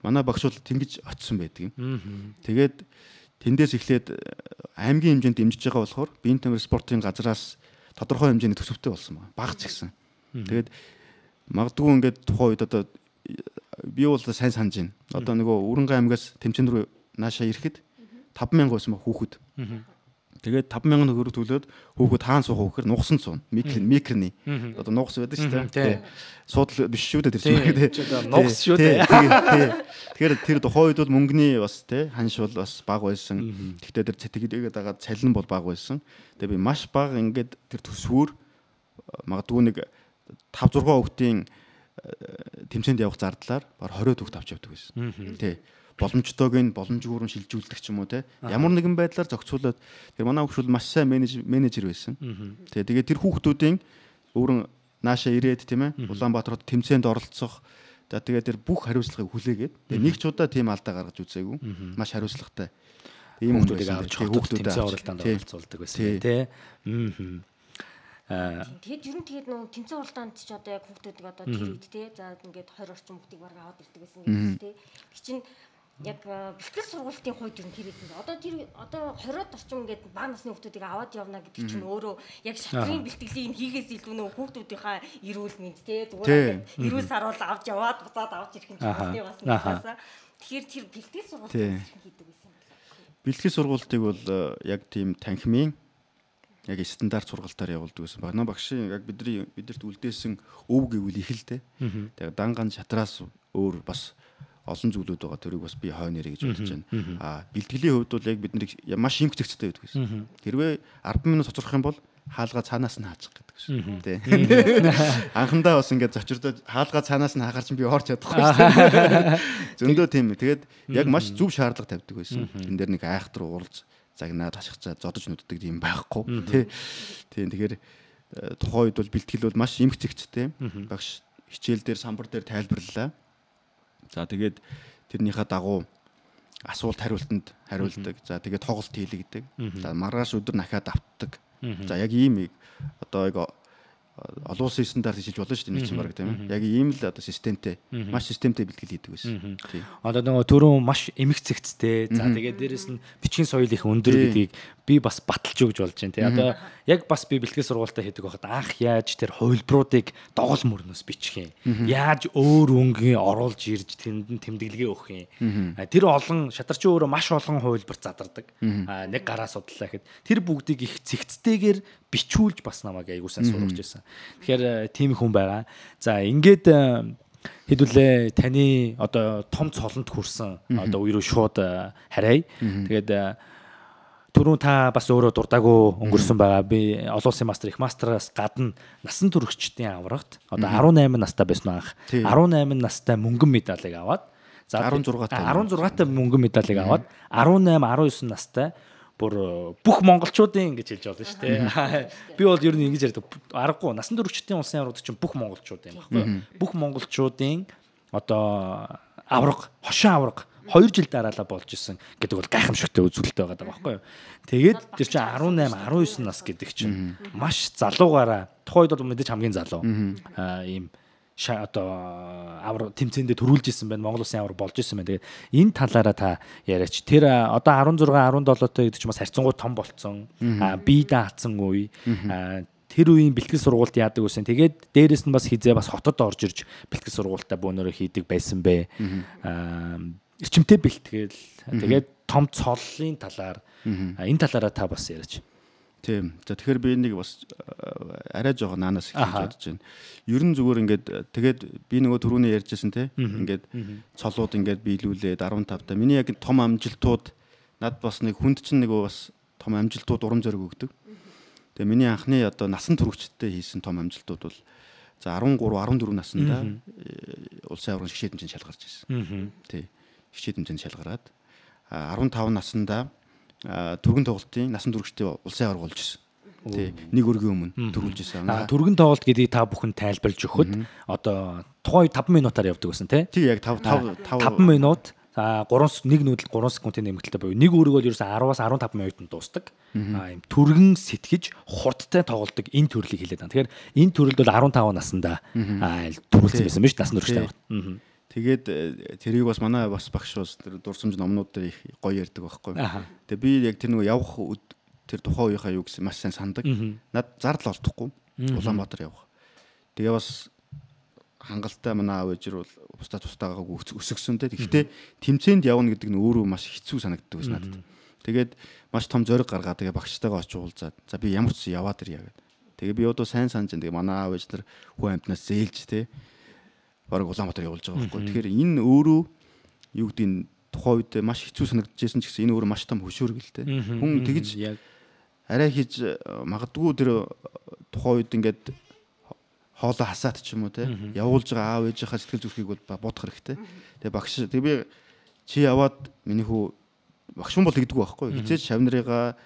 манай багш бол тэнгиж очсон байдаг юм. Тэгээд тэндээс эхлээд аймгийн хэмжээнд дэмжиж байгаа болохоор биеийн тамир спортын газраас тодорхой хэмжээний төсөвтэй болсон байна. Багц гисэн. Тэгээд магадгүй ингээд тухайн үед одоо би бол сайн санаж байна. Одоо нөгөө Өвөрнгай аймгаас тэмцээн рүү наашаа ирэхэд 50000 байсан ба хүүхэд. Тэгээд 50000 төгрөг төлөөд хүүхэд хаан суух гэхээр нугсан цуун микроны одоо нугас байдаг шүү дээ. Суудл биш шүү дээ тэр чинь. Нугас шүү дээ. Тэгэхээр тэр тухайн үед бол мөнгөний бас тий ханш бол бас бага байсан. Гэхдээ тэр цэтгэлээгээд байгаа цалин бол бага байсан. Тэгээд би маш бага ингээд тэр төсвөр магадгүй нэг 5 6 хүүхдийн тэмцээнд явах зардлаар баг 20 хүүхд авч явдаг байсан. Тий. Боломжтойг нь боломжгүйрэн шилжүүлдэг ч юм уу те ямар нэгэн байдлаар зохицуулаад тэр манай хүүхд бол маш сайн менежер байсан. Тэгээд тэр хүүхдүүдийн өөрөн наашаа ирээд тийм ээ Улаанбаатарт тэмцээнд оролцох тэгээд тэр бүх хариуцлагыг хүлээгээд нэг ч удаа тийм алдаа гаргаж үзээгүй маш хариуцлагатай ийм хүүхдүүдийг авч хүүхдүүдэд тэмцээн оролдоонд оролцуулдаг байсан тий. Тэгээд ер нь тэгээд нөө тэмцээн уралдаанд ч одоо яг хүүхдүүдийг одоо тэр үед те за ингээд 20 орчим хүүхдийг бараг аваад ирдэг гэсэн гэж те. Тэг чинь яг бэлтгэл сургалтын хувьд ер нь тэр хэсэг. Одоо тэр одоо 20-од орчим ингээд бага насны хүүхдүүдийг аваад явна гэдэг чинь өөрөө яг шатрын бэлтгэлийг хийгээс илүү нөө хүүхдүүдийнхаа эрүүл мэнд те зүгээр эрүүл саруул авч яваад буцаад авч ирэх юм чинь бас нэгсаа. Тэгэхээр тэр бэлтгэл сургалтыг хийдэг гэсэн юм байна. Бэлтгэл сургалтыг бол яг тийм танхимын яг стандарт сургалтаар явуулдаг гэсэн. Манай багшийн яг бидэрт үлдээсэн өв гэвэл их л дээ. Тэгээд данган шатраас өөр бас олон зүйлүүд байгаа. Тэрийг бас би хой нэрэ гэж бодож байна. Бэлтгэлийн хувьд бол яг бид нарыг маш им хэцэгцтэй байдаг гэсэн. Хэрвээ 10 минут цоцрох юм бол хаалгаа цаанаас нь хаачих гэдэг шүү. Тэ. Анхандаа бас ингээд зочирдод хаалгаа цаанаас нь хаагаар чинь би орч чадахгүй шүү. Зөндөө тийм. Тэгээд яг маш зөв шаардлага тавьдаг байсан. Энд дээр нэг айхтар уулз загнаад хашгичаа зодож нүддэг юм байхгүй. Тийм. Тэгэхээр тухайн үед бол бэлтгэл бол маш им хэцэгцтэй. Багш хичээл дээр самбар дээр тайлбарлалаа. За тэгээд тэрнийхээ дагуу асуулт хариултанд хариулдаг. За тэгээд тоглолт хийлэгдэг. За маргааш өдөр нахаад автдаг. За яг ийм одоо яг олон улсын стандарт хийж болно шүү дээ нэг чинь баг тийм ээ. Яг ийм л одоо системтэй маш системтэй бэлтгэл хийдэг байсан. Тийм. Одоо нөгөө түрүүн маш эмх цэгцтэй. За тэгээд дээрэс нь бичгийн соёл их өндөр гэдгийг би бас баталж өгж болж байна тий. Одоо яг бас би бэлтгэл сургалтаа хийдэг байхад анх яаж тэр хувилбаруудыг догол мөрнөөс бичих юм. Яаж өөр өнгө оруулж ирж тэнд тэмдэглэгээ өгөх юм. Тэр олон шатарчин өөрөө маш олон хувилбар задардаг. Нэг гараа судлаа гэхэд тэр бүгдийг их цэгцтэйгээр бичүүлж бас намайг аягуулсан сургаж ирсэн. Тэгэхээр тийм хүн байгаа. За ингээд хэдүүлээ таны одоо том цолонд хүрсэн одоо үерөө шууд харьяа. Тэгээд түрүүн та бас өөрөө дурдаагүй өнгөрсөн байгаа. Би олон улсын мастер их мастераас гадна насан туршидчдын аврагт одоо 18 настай байсан анх. 18 настай мөнгөн медалийг аваад за 16 та мөнгөн медалийг аваад 18 19 настай бүр бүх монголчуудын ингэж хэлж болно шүү дээ. Би бол ер нь ингэж ярьдаг. Аргагүй насан туршидчдын улсын аврагт чинь бүх монголчууд юм баггүй. Бүх монголчуудын одоо авраг, хошин авраг 2 жил дараалал болж исэн гэдэг бол гайхамшигтай үзүүлэлт байгаа байхгүй юу. Тэгээд тэр чинь 18, 19 нас гэдэг чинь маш залуугаараа тухайн үед бол мэдээж хамгийн залуу ийм одоо авраг тэмцээндээ төрүүлж исэн байна. Монгол улсын авраг болж исэн байна. Тэгээд энэ талаараа та яриач. Тэр одоо 16, 17 той гэдэг чинь бас харьцангуй том болцсон. Бие даацсан үе. Тэр үеийн бэлтгэл сургалт яадаг байсан. Тэгээд дээрэс нь бас хизээ бас хотод орж ирж бэлтгэл сургалтаа бөөнөрөө хийдэг байсан бэ. Эрчимтэй бэлтгэл. Тэгээд том цоллын талаар энэ талаараа та бас яриач. Тийм. За тэгэхээр би энийг бас арай жоохон наанаас хэлж бодож байна. Ер нь зүгээр ингээд тэгээд би нөгөө түрүүний ярьжсэн те ингээд цолууд ингээд биелүүлээд 15 та. Миний яг том амжилтууд над бас нэг хүнд чинь нөгөө бас том амжилтууд урам зориг өгдөг. Тэгээ миний анхны одоо насан туршидтэй хийсэн том амжилтууд бол за 13 14 наснда улсын аваргын шгшээд хэмжээнд шалгарч ирсэн. Тий. Шгшээд хэмжээнд шалгараад 15 наснда түргэн тоглолтын насан туршидтэй улсын аварга болж ирсэн. Тий. Нэг өргөн өмнө төрүүлж ирсэн. Түргэн тоглолт гэдгийг та бүхэн тайлбарлаж өгөхөд одоо тухайн үед 5 минутаар явдаг гэсэн тий. Тий яг 5 минут 1 нүүдэл 3 секундын нэмэгдэлтэй буюу нэг өрөг бол ерөөсө 10-аас 15 минутанд дуустдаг. Ийм түргэн сэтгэж хурдтай тоглодог энэ төрлийг хэлээд байна. Тэгэхээр энэ төрөлд бол 15 наснда төрүүлсэн байсан биз насан туршидтай. Тэгээд тэрийг бас манай бас багш бас тэр дурсамж номнууд дээр их гоё ярьдаг байхгүй. Тэгээд би яг тэр нөгөө явах тэр тухайн үеийнхаа юу гэсэн маш сайн сандаг. Над зардал олдохгүй Улаанбаатар явах. Тэгээ бас хангалттай манай аав ээжэр бол тустаагаа өсгсөн те. Гэхдээ тэмцээнд явна гэдэг нь өөрөө маш хэцүү санагддаг байсан надад. Тэгээд маш том зориг гаргаад тэгээ багштайгаа очиж уулзаад за би ямар ч яваад ирье гэдэг. Тэгээ би одоо сайн санаж байгаа. Тэгээ манай аав ээж нар хүн амтнаас зээлж те. Бараг Улаанбаатар явуулж байгаа байхгүй. Тэгэхээр энэ өөрөө юу гэдэг нь тухайн үед маш хэцүү санагдажсэн ч гэсэн энэ өөрөө маш том хөшөөргөл те. Хүн тэгж арай хийж магадгүй тэр тухайн үед ингээд хоолоо хасаад ч юм уу те явуулж байгаа аав ээжийнхаа сэтгэл зүрхийг бол бодох хэрэгтэй. Тэгээ багш тэг би чи яваад миний хүү багш хүн бол тэгдэггүй байхгүй. Хизээч шавнарыгаа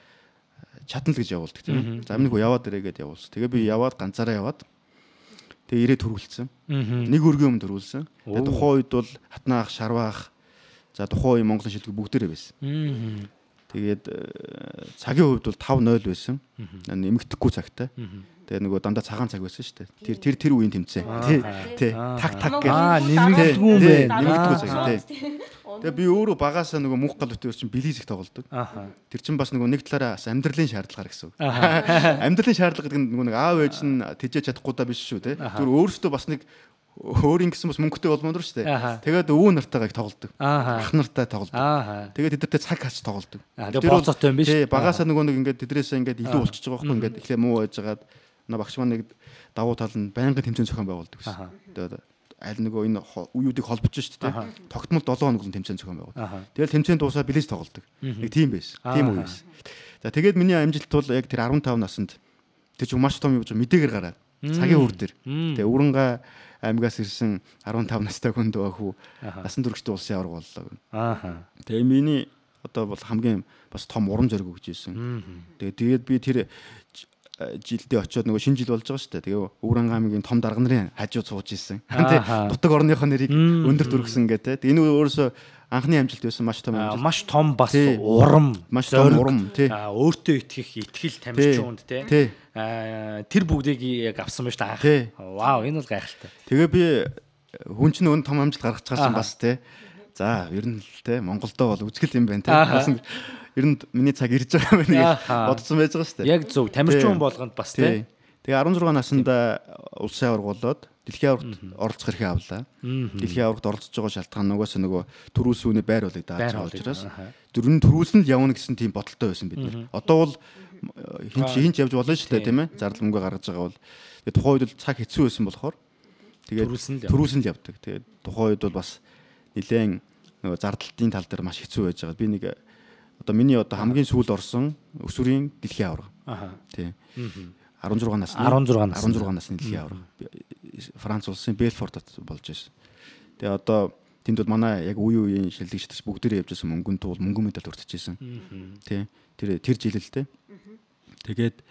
чадна л гэж явуулдаг тийм. За миний хүү яваад ирээ гэдээ явуулсан. Тэгээ би яваад ганцаараа яваад тэгээ ирээ төрүүлсэн. Нэг өргөн өмнө төрүүлсэн. Тэгээ тухайн үед бол хатнаах, шарваах за тухайн үеийн Монголын шилдэг бүгдээрээ байсан. Тэгээд цагийн хувьд бол 5-0 байсан. Нэмэгдэхгүй цагтай. Тэгээ нөгөө дандаа цагаан цаг байсан шүү дээ. Тэр үеийн тэмцээн. Тий. Так гэх. Нэмэгдэхгүй юм байна. Нэмэгдэхгүй цаг тий. Тэгээ би өөрөө багаасаа нөгөө мөнх гал бүтээр чинь билиз их тоглодог. Тэр чинь бас нөгөө нэг талаараа амьдралын шаардлагаар гэсэн үг. Амьдралын шаардлага гэдэг нь нөгөө нэг аав ээж нь тэжээж чадахгүй даа биш шүү тий. Тэр өөрөөсөө бас нэг өөр ингэсэн бас мөнгөтэй болмоор шүү дээ. Тэгээд өвөө нартайгаа их тоглодог. Ах нартай тоглодог. Тэгээд тэдэртэй цаг хач тоглодог. Тэгээд бооцоотой юм биш. Тий, багаасаа нөгөө нэг ингээд тэдрээсээ ингээд илүү болчихж байгаа байхгүй ингээд эхлээ муу байжгаад на багш маань нэг давуу тал нь байнгын тэмцээн зохион байгуулдаг гэсэн. Тэгээд аль нөгөө энэ үеүүдийг холбож шүү дээ. Тогтмол 7 хоног тэмцээн зохион байгуулдаг. Тэгэл тэмцээн дуусаа билеж тоглодог. Нэг тийм байсан. Тийм үе байсан. За тэгээд миний амжилт бол яг тэр 15 наснд тэр чинь маш том юм гэж мэдээгээр гараад цагийн үр дээр. Тэгээ Үрэнга аймгаас ирсэн 15 настай хүн дөө хүү насан туршид улсын аварга боллоо. Тэгээ миний одоо бол хамгийн бас том урам зориг өгч ирсэн. Тэгээд би тэр жилдээ очиод нөгөө шинэ жил болж байгаа шүү дээ. Тэгээ Өвөрангай аймгийн том дарга нарын хажууд сууж ирсэн. Тэ дутаг орныхоо нэрийг өндөр төргсөн гэдэг. Энэ өөрөөсөө анхны амжилт байсан маш том амжилт. Маш том бас урам, маш том урам тий. Өөртөө итгэх тамирчин хүнд тий. Тэр бүгдийг яг авсан байж та анх. Вау, энэ бол гайхалтай. Тэгээ би хүн чинь өн том амжилт гаргаж байгаа чинь бас тий. За, ер нь л тий Монголдоо бол үзгэл юм байна тий. Ер нь миний цаг ирж байгаа юм байна гэж бодсон байж байгаа шүү дээ. Яг зөв. Тамирчин хүн болгонд бас тий. Тэгээ 16 наснда улсын аварга болоод дэлхийн аваргад оролцох хэрэг авлаа. Дэлхийн аваргад оролцож байгаа шалтгаан нугаас нөгөө төрүүлсүүний байр болыг дааж байгаа учраас дөрвөн төрүүлсэн л явна гэсэн тийм бодолтой байсан бид нар. Одоо бол хинч явж болно шүү дээ тийм ээ. Зардал мөнгө гаргаж байгаа бол тэгээ тухайн үед бол цаг хэцүү байсан болохоор тэгээ төрүүлсэн л явдаг. Тэгээ тухайн үед бол бас нэлээд нөгөө зардалтын тал дээр маш хэцүү байж байгаа. Би нэг одоо миний одоо хамгийн сүүл орсон өсвөрийн дэлхийн аварга. Тийм. 16 насны дэлхийн аварга. Франц улсын Белфортод болж байсан. Тэгээ одоо тэнд бол манай яг үеийн шилдэгчдээс бүгдээрээ явж байсан мөнгөн туул мөнгөн медаль өртөжсэн. Тий. Тэр жилэлтэй. Тэгээд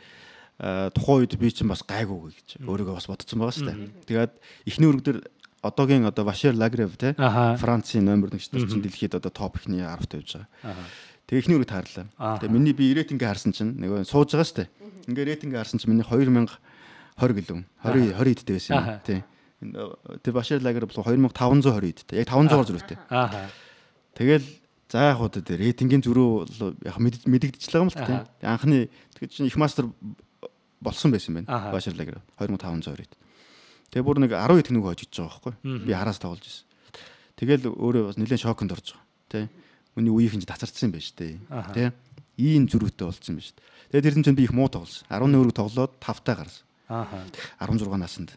тухайн үед би чинь бас гайгүй гэж өөрийгөө бас бодсон байгаа шүү дээ. Тэгээд эхний өрг дээр одоогийн одоо Вашер Лагрев тий Францын номер 1 чинь дэлхийд одоо топ ихний 10-т явж байгаа. Тэгээ эхний өргөд хаарлаа. Тэгээ миний би рейтингээ харсан чинь нөгөө сууж байгаа шүү дээ. Ингээ рейтингээ харсан чинь миний 2020 гэлэн 20 эдтэй байсан юм тий. Тэр Башир Лагер бол 2520 эдтэй. Яг 500-аар зүрхтэй. Тэгэл за яг хуу тэр рейтингийн зөрүү яг мэдэгдчихлээ юм л тий. Анхны тэгээд чинь их мастер болсон байсан байна. Башир Лагер 2520 эд. Тэгээ бүр нэг 10 эд нэг хожиж байгаа байхгүй. Би хараас тоглож ирсэн. Тэгэл өөрөө бас нэлээд шоконд орж байгаа тий. Миний үеийнхэн ч тацарсан юм байна шүү дээ. Тэ? Ийм зөрүүтэй болсон юм байна шүү дээ. Тэгээд тэр чинь би их муу тоглосон. 11 өрөг тоглоод 5-таа гарсан. 16 наснд.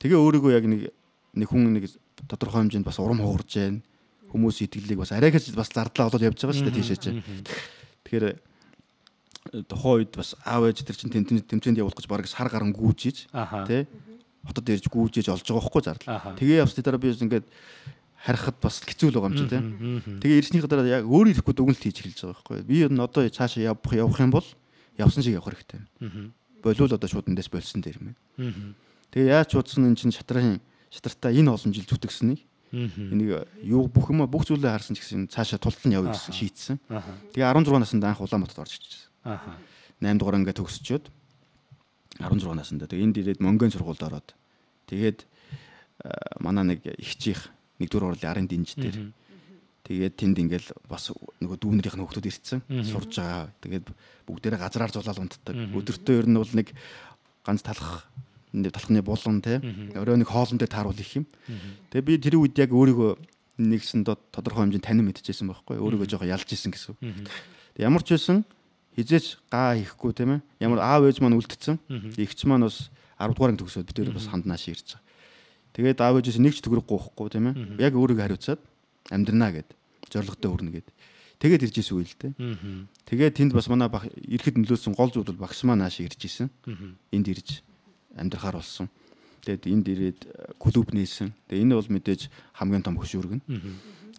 Тэгээ өөрийгөө яг нэг хүн нэг тодорхой хэмжээнд бас урам хугарж байна. Хүмүүс итгэлийг бас арайгаж бас зардлаа олоод явж байгаа шүү дээ тийшээ чинь. Тэгэхээр тухайн үед бас аав ээж тэр чинь тэмцээнд явуулах гэж бараг сар гарan гүйжиж тий хотод ирж гүйжиж олж байгаа байхгүй зардал. Тэгээ явсны дараа би ингээд харахад бас хэцүү л байгаа юм чи тий. Тэгээ ирснийхээ дараа яг өөр ирэхгүй дүгнэлт хийж эхэлж байгаа байхгүй. Би одоо цаашаа явах юм бол явсан шиг явах хэрэгтэй. Болиул одоо шууд эндээс болсон дээр юм. Тэгээ яаж чуудсан энэ чинь шатартаа энэ олон жил зүтгэснийг энийг юу бүх зүйлээ харсан ч гэсэн цаашаа тултал нь явъя гэсэн шийдсэн. Тэгээ 16 наснд анх Улаанбаатарт орж ирчихсэн. 8 дугаар ингээд төгсчөөд 16 наснда тэгээ энд ирээд Монголын сургуульд ороод тэгээд манай нэг ихчийнх 1-р орлын арын динж дээр тэгээд тэнд ингээл бас нөгөө дүүнэрийнх нь хүүхдүүд ирсэн сурж байгаа. Тэгээд бүгдээрээ газраар зулаал унтдаг. Өдөртөө ер нь бол нэг ганц талхны булан те өрөө нэг хоолн дээр тааруул их юм. Тэгээ би тэр үед яг өөрийгөө нэгсэн тодорхой хэмжээнд танин мэдчихсэн байхгүй. Өөрийгөө жоохон ялж исэн гэсэн. Тэг ямар ч байсан хизээч гаа хийхгүй тийм ээ. Ямар аав ээж маань үлдсэн. Игч маань бас 10 дугаар анги төгсөөд бид өөр бас ханднааш ирж байгаа. Тэгээд аав ээжээс нэг ч төгрөг гоохгүй тийм ээ. Яг өөрийгөө хариуцаад амьдрнаа гэд зорилготой хүрнэ гэд. Тэгээд ирж исэн үе л дээ. Тэгээд тэнд бас манай ирэхэд нөлөөсөн гол зүйл бол багш маань нааш ирж исэн. Энд ирж амьдрахаар болсон. Тэгээд энд ирээд клуб нээсэн. Тэгээд энэ бол мэдээж хамгийн том хөшүүргэн.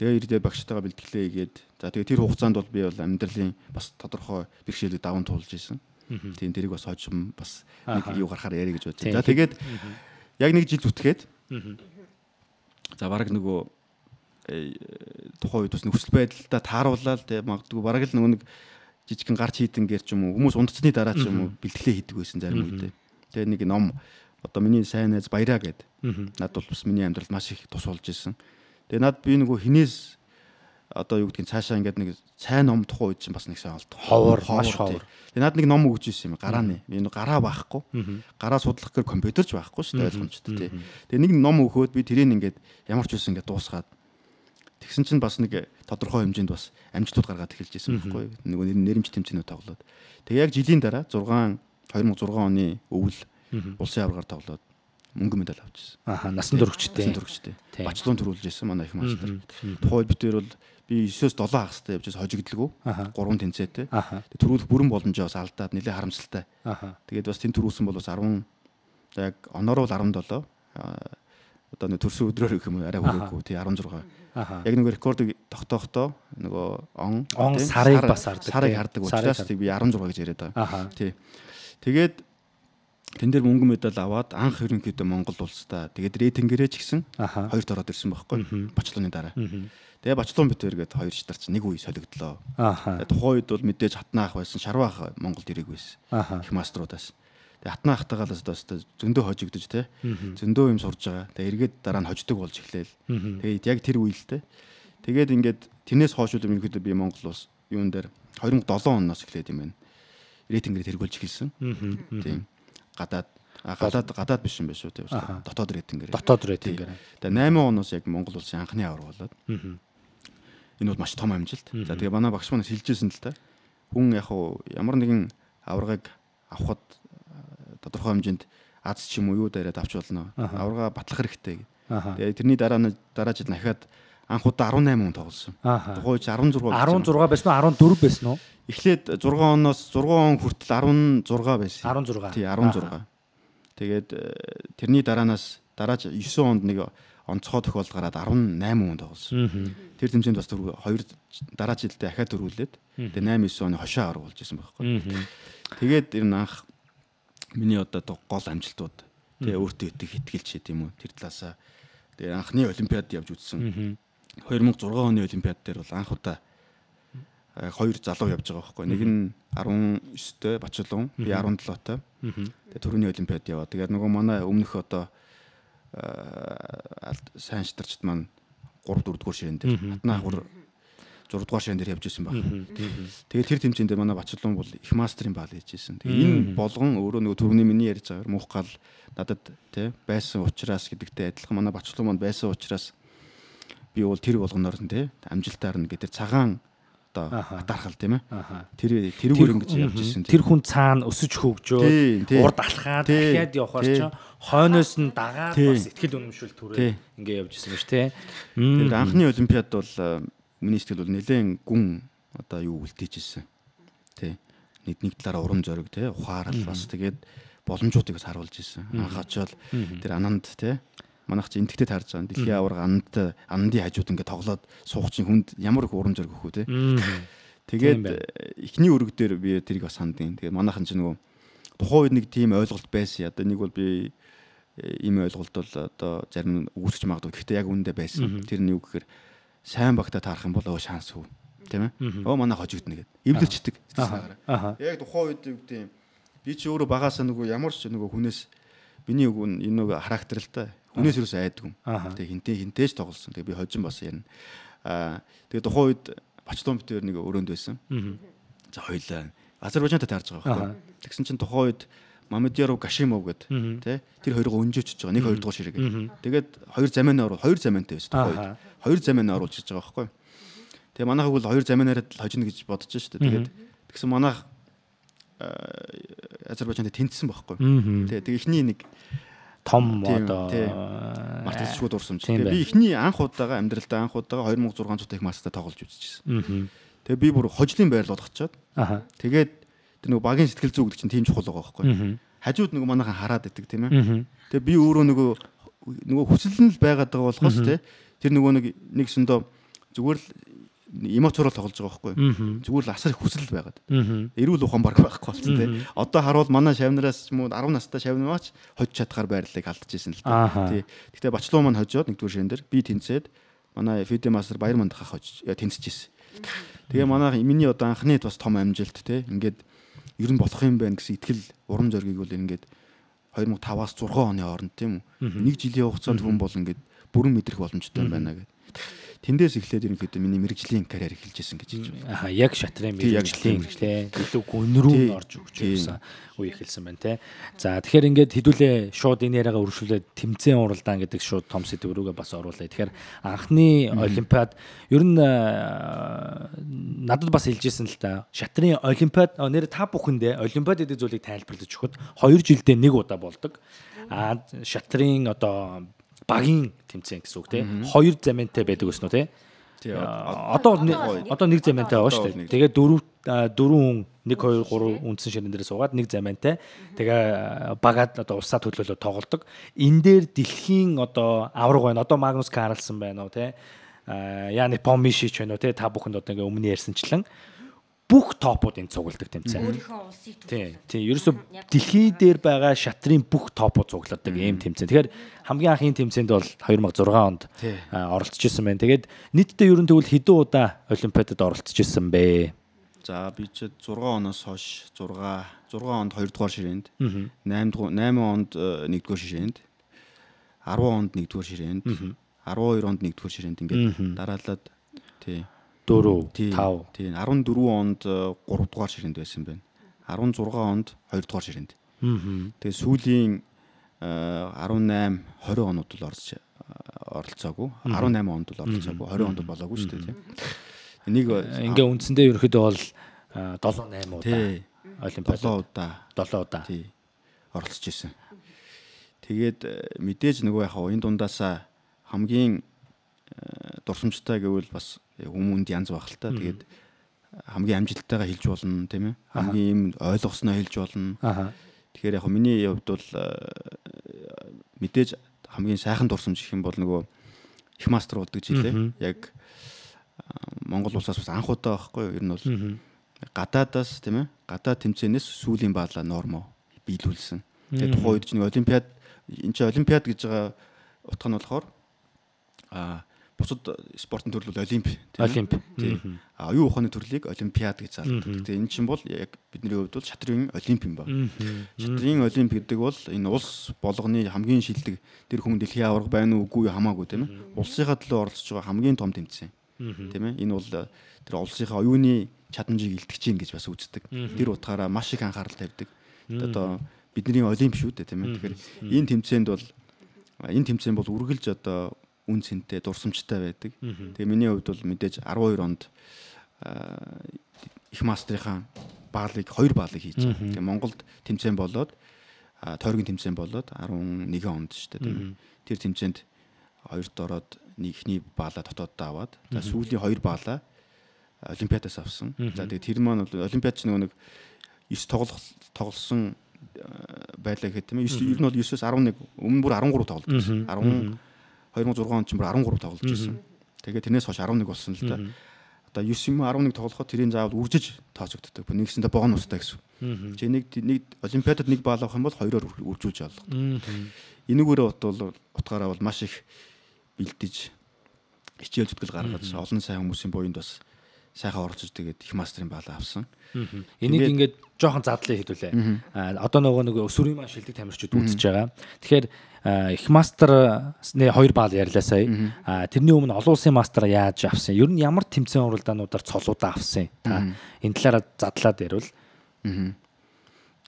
Тэгээд ирдээ багштайгаа бэлтгэлээ хийгээд за тэгээд тэр хугацаанд бол би бол амьдралын бас тодорхой бэрхшээлүүд даван туулж исэн. Тийм тэрийг бас хожим бас нэг юу гарахаар яри гэж бодсон. За тэгээд яг нэг жил зүтгээд за бараг нөгөө тухайн үед бас нөхцөл байдалтай тааруулаад тэгээд магадгүй бараг л нөгөө нэг жижигхэн гарч хийдэн гэр ч юм уу хүмүүс унтцны дараа ч юм уу бэлтгэлээ хийдэг байсан зарим үедээ. Тэгээд нэг ном одоо миний сайн найз Баяраа гэдэг. Над бол бас миний амьдралд маш их тус болж исэн. Тэгээ над би нөгөө хинээс одоо юу гэдгийг цаашаа ингээд нэг цай ном тухайн үед чинь бас нэг сайн олд. Ховор маш ховор. Тэгээ над нэг ном өгч ирсэн юм гарааны. Би нөгөө гараа байхгүй. Гараа судлах гэр компьютер ч байхгүй шүү дээ ойлгомжтой тий. Тэгээ нэг ном өгөхөд би тэрийг ингээд ямар ч үсэн ингээд дуусгаад тэгсэн чинь бас нэг тодорхой хэмжээнд бас амжилтууд гаргаад эхэлж ирсэн байхгүй. Нөгөө нэрмж тэмцээнүүд тоглоод. Тэгээ яг жилийн дараа 2006 оны өвөл улсын аваргаар тоглоод мөнгө медаль авчихсан. Насан туршидтэй. Бачлуун төрүүлж ирсэн манай их мастер. Тухайд битээр бол би 9-7 хагастай явж хожигдлгүй. 3 тэнцээтэй. Төрүүлэх бүрэн боломжоо бас алдаад нэлээ харамсалтай. Тэгээд бас тэн төрүүлсэн бол бас 10 яг оноор бол 17. Одоо нэг төрсөн өдрөөр гэх юм арай хүрээгүй. Тий 16. Яг нэг рекордыг тогтоохдоо нөгөө он сарыг бас хардаг. Сарыг хардаг учраас би 16 гэж яриад байгаа. Тий. Тэгээд тэн дээр мөнгө медаль аваад анх ерөнхийдөө Монгол улстай тэгээд рейтингээрээ ч гэсэн хоёрт ороод ирсэн байхгүй Бачлууны дараа. Тэгээ Бачлуун битээр гээд хоёр шатарч нэг үе солигдлоо. Тухайн үед бол мэдээж Хатнаа ах байсан, Шарваа ах Монголд ирэх байсан. Их маструудаас. Тэгээ Хатнаа ахтайгаа л зөндөө хожигдож те. Зөндөө юм сурж байгаа. Тэгээ эргээд дараа нь хождог болж эхлээл. Тэгээд яг тэр үе л те. Тэгээд ингээд тэрнээс хойш л ерөнхийдөө би Монгол улс юун дээр 2007 оноос эхлээд юм байна. Рейтингээр тэргүүлж эхэлсэн. Тийм. Гадаад биш юм байна шүү дээ. Дотоод рейтингээр. Тэгээ 8 оноос яг Монгол улсын анхны авраг болоод. Энэ бол маш том амжилт. За тэгээ манай багш маань хэлжсэн л та. Хүн яг ямар нэгэн аврагыг авахд тодорхой хэмжээнд аз ч юм уу юу дээрээ авч болно. Аврагаа батлах хэрэгтэй. Тэгээ тэрний дараа жил дахиад анх удаа 18 хүн тоглосон. Тухайн 16 байсан уу 14 байсан уу? Эхлээд 6 оноос 6 он хүртэл 16 байсан. 16. Тий 16. Тэгээд тэрний дараанаас дарааж 9 онд нэг онцгой тохиолдол гараад 18 хүн тоглосон. Тэр тэмцээнд бас хоёр дараа жилдээ дахиад төрүүлээд тэгээд 8 9 оны хошоо авраг болж исэн байхгүй. Тэгээд ер нь анх миний одоо гол амжилтууд тэгээ өөртөө итгэлж тийм үү тэр талаасаа тэгээ анхны олимпиад явж үзсэн. 2006 оны олимпиад дээр бол анх удаа хоёр залуу явж байгаа байхгүй. Нэг нь 19-тэй Бачлуун, би 17-тай. Тэгээ түрүүний олимпиад яваа. Тэгээд нөгөө манай өмнөх одоо сайн шатарчд маань 3 4 дугаар ширээн дээр Хатнаа ахур 6 дугаар ширээн дээр явж исэн баг. Тэгээд тэр тэмцээнд манай Бачлуун бол их мастрын баал хийж исэн. Тэгээ энэ болгон өөрөө нөгөө түрүүний миний ярьж байгаагаар мух гал надад тий байсан учраас гэдэгтэй адилхан манай Бачлуун маань байсан учраас би бол тэр болгоноор тий амжилтаар нь гэдэг цагаан одоо атаархал тийм ээ. Тэрүүгээр ингэж явж исэн. Тэр хүн цаана өсөж хөгжөөд урд алхаад дахиад явхаар ч хойноос нь дагаад бас ихтгэл үнэмшил түрээ ингэ явж исэн биш тий. Тэр анхны олимпиад бол миний сэтгэл бол нэлээд гүн одоо юу үлдээж исэн. Тий. нэг талаараа урам зориг те ухаарал бас тэгээд боломжуудыг бас харуулж ирсэн. Анх очоод тэр ананд те манайх чи энтгтэй таарж байгаа. Дэлхийн аварга анандын хажууд ингээд тоглоод суух чинь хүнд ямар их урам зориг өгөх үү те. Тэгээд эхний өрөг дээр би тэрийг бас хандیں۔ Тэгээд манайхан ч нөгөө тухайн үед нэг тийм ойлголт байсан. Одоо нэг бол би ийм ойлголт бол одоо зарим үүсч магадгүй. Гэхдээ яг үүндээ байсан. Тэр нь юу гэхээр сайн багтаа таарах юм бол шанс хөө. Тийм ээ. Манай хожигдно гэдэг. Эвлэрчдэг. Яг тухайн үед юу гэдэг юм. Би чи өөрөө багасаа нөгөө ямар ч нөгөө хүнээс биний энэ нөгөө характер л та. Хүнээс юус айдгүй. Тэгээ хинтээж тоглосон. Тэгээ би хожин бас ярина. Тэгээ тухайн үед Бачлон битээр нэг өрөөнд байсан. За хоёлаа Азербайджантай таарж байгаа байхгүй. Тэгсэн чинь тухайн үед Мамедяров Гашимов гэдэг тий тэр хоёроо өнжөөчж байгаа. Нэг хоёр дахь ширэг. Тэгээд хоёр замиантай байсан тухайн үед. Хоёр замианаа оруулж байгаа байхгүй. Тэгээ манайхаг бол хоёр замианаараа л хожино гэж бодож шүү дээ. Тэгээд тэгсэн манайх Азербайджантай тэнцсэн байхгүй. Тэгээ эхний нэг том одоо мартагчгүй дурсамж. Тэгээ би эхний анх удаага амьдралдаа 2600 их масстай тоглож үзчихсэн. Тэгээ би бүр хожлын байрал болгочоод тэгээд тэр нөгөө багийн сэтгэл зүй гэдэг чинь тийм чухал байгаа байхгүй. Хажууд нөгөө манайхан хараад идэг тийм ээ. Тэгээ би өөрөө нөгөө хүсэл нь л байгаад байгаа болохоос тэр нөгөө нэг сөндөө зүгээр л эмоцорол тоглож байгаа байхгүй. Зүгээр л асар их хүсэл байгаад. Эрүүл ухаан баг байхгүй болсон тий. Одоо харуул манай шавнараас ч юм уу 10 настай шавнаач хожиж чадхаар байрлалыг алдчихсан л та. Тий. Гэхдээ Бачлуу маань хожоод нэгдүгээр ширэн дээр би тэнцээд манай Фиде мастер Баяр мандахаа хожиж тэнцэжсэн. Тэгээ манай миний одоо анхны бас том амжилт тий. Ингээд ер нь болох юм байна гэсэн итгэл урам зориг бол ингээд 2005-аас 6 оны хооронд тийм үү. Нэг жилийн хугацаанд хүн бол ингээд бүрэн мэдрэх боломжтой юм байна гэдэг. Тэндээс эхлээд ерөнхийдөө миний мэрэгжлийн карьер эхэлжсэн гэж хэлж байна. Яг шатрын мэрэгжлийн тий илүү гүн рүү орж өгч явсан үе эхэлсэн байна тий. За тэгэхээр ингээд хэдүүлээ шууд энэ яриагаа өргөжлүүлээд тэмцээн уралдаан гэдэг шууд том сэдв рүүгээ бас оруулъя. Тэгэхээр анхны олимпиад ер нь надад бас хэлжсэн л та шатрын олимпиад нэр та бүхэндээ олимпиад гэдэг зүйлийг тайлбарлаж өгөхөд 2 жилдээ нэг удаа болдог. Шатрын одоо багийн тэмцээн гэсэн үг тийм 2 замиантай байдаг гэсэн үү тийм одоо нэг замиантай байгаа шүү дээ. Тэгээ 4 хүн 1 2 3 үндсэн ширэн дээр суугаад нэг замиантай тэгээ багаад одоо усаа төлөөлөө тоглодог. Энэ дээр дэлхийн одоо авраг байна. Одоо Магнус Карлсон байна уу тийм Яник Помишич байна уу тийм та бүхэнд одоо ингээ өмнө ярьсанчлан бүх топуудын цугладаг тэмцээн. Тийм. Ерөөсө дэлхий дээр байгаа шатрын бүх топууд цугладаг ийм тэмцээн. Тэгэхээр хамгийн анхны тэмцээнд бол 2006 онд оролцож исэн байна. Тэгээд нийтдээ ерөн тэгвэл хэдэн удаа олимпиадад оролцож исэн бэ? За би ч 6 оноос хойш 6 онд 2 дугаар ширээнд, 8 онд 1 дугаар ширээнд, 10 онд 1 дугаар ширээнд, 12 онд 1 дугаар ширээнд ингээд дараалаад тий 4 5 тийм 14 онд 3 дугаар ширээнд байсан байна. 16 онд 2 дугаар ширээнд. Тэгээ сүүлийн 18 20 онууд бол оролцоогүй. 18 онд бол оролцоогүй. 20 онд болоогүй шүү дээ тийм. Энийг ингээ үндсэндээ ерөөхдөө бол 7 8 удаа олимпиад 7 удаа тий оролцож ирсэн. Тэгээд мэдээж нөгөө яхаа энэ дундаасаа хамгийн дурсамжтай гэвэл бас хүмүүнд янз байх л та. Тэгээд хамгийн амжилттайгаа хэлж болно тийм ээ. Хамгийн юм ойлгосноо хэлж болно. Тэгэхээр яг миний хувьд бол мэдээж хамгийн сайхан дурсамж гэх юм бол нөгөө их мастер болдог жилээ. Яг Монгол улсаас бас анх удаа байхгүй юу? Ер нь бол гадаадаас тийм ээ. Гадаад тэмцээнээс сүүлийн баалаа нормо биелүүлсэн. Тэгээд тухайн үед чинь олимпиад энэ чинь олимпиад гэж байгаа утга нь болохоор бусад спортын төрөл бол олимп тийм. Оюун ухааны төрлийг олимпиад гэж залдаг. Тэгээ энэ чинь бол яг бидний хувьд бол шатрын олимп юм байна. Шатрын олимп гэдэг бол энэ улс болгоны хамгийн шилдэг тэр хүн дэлхийн аварга байна уу үгүй хамаагүй тийм ээ. Улсынхаа төлөө оролцож байгаа хамгийн том тэмцээн. Тийм ээ. Энэ бол тэр улсынхаа оюуны чадамжийг илтгэж гин гэж бас үздэг. Тэр утгаараа маш их анхаарал тавьдаг. Одоо бидний олимп шүү дээ тийм ээ. Тэгэхээр энэ тэмцээн бол үргэлж одоо үн цэнтэй дурсамжтай байдаг. Тэгээ миний хувьд бол мэдээж 12 онд их мастрынхаа хоёр баалыг хийж байгаа. Тэгээ Монголд тэмцээн болоод тойргийн тэмцээн болоод 11 онд шүү дээ тийм. Тэр тэмцээнд хоёрт ороод эхний баалаа дотооддоо аваад сүүлийн хоёр баалаа олимпиадаас авсан. За тэгээ тэр маань бол олимпиад ч нэг тоглосон байлаа гэх тийм ээ. Ер нь бол 9-өөс 11 өмнө бүр 13 тоглож байсан. 2006 он ч бүр 13 тоглож байсан. Тэгээд тэрнээс хойш 11 болсон л да. Одоо 9 юм 11 тоглоход тэрийн заавал үржиж тооцогддог. Нэгсэндээ бонустай гэсэн. Чи нэг олимпиадад нэг баал авах юм бол 2-оор үржүүлж авах. Энэгээрээ бол утгаараа бол маш их бэлдэж хичээл зүтгэл гаргаж олон сайн хүмүүсийн буйнд бас сайхан оролцож тэгээд их мастрын баалаа авсан. Энийг ингээд жоохон задлаа хэдүүлээ. Одоо нөгөө өсвөрийн маань шилдэг тамирчид үзэж байгаа. Тэгэхээр их мастерны 2 баал ярьлаа сая. Тэрний өмнө олон улсын мастер яаж авсан? Ер нь ямар тэмцээн уралдаануудаар цолуудаа авсан? Та энэ талаараа задлаад ярил.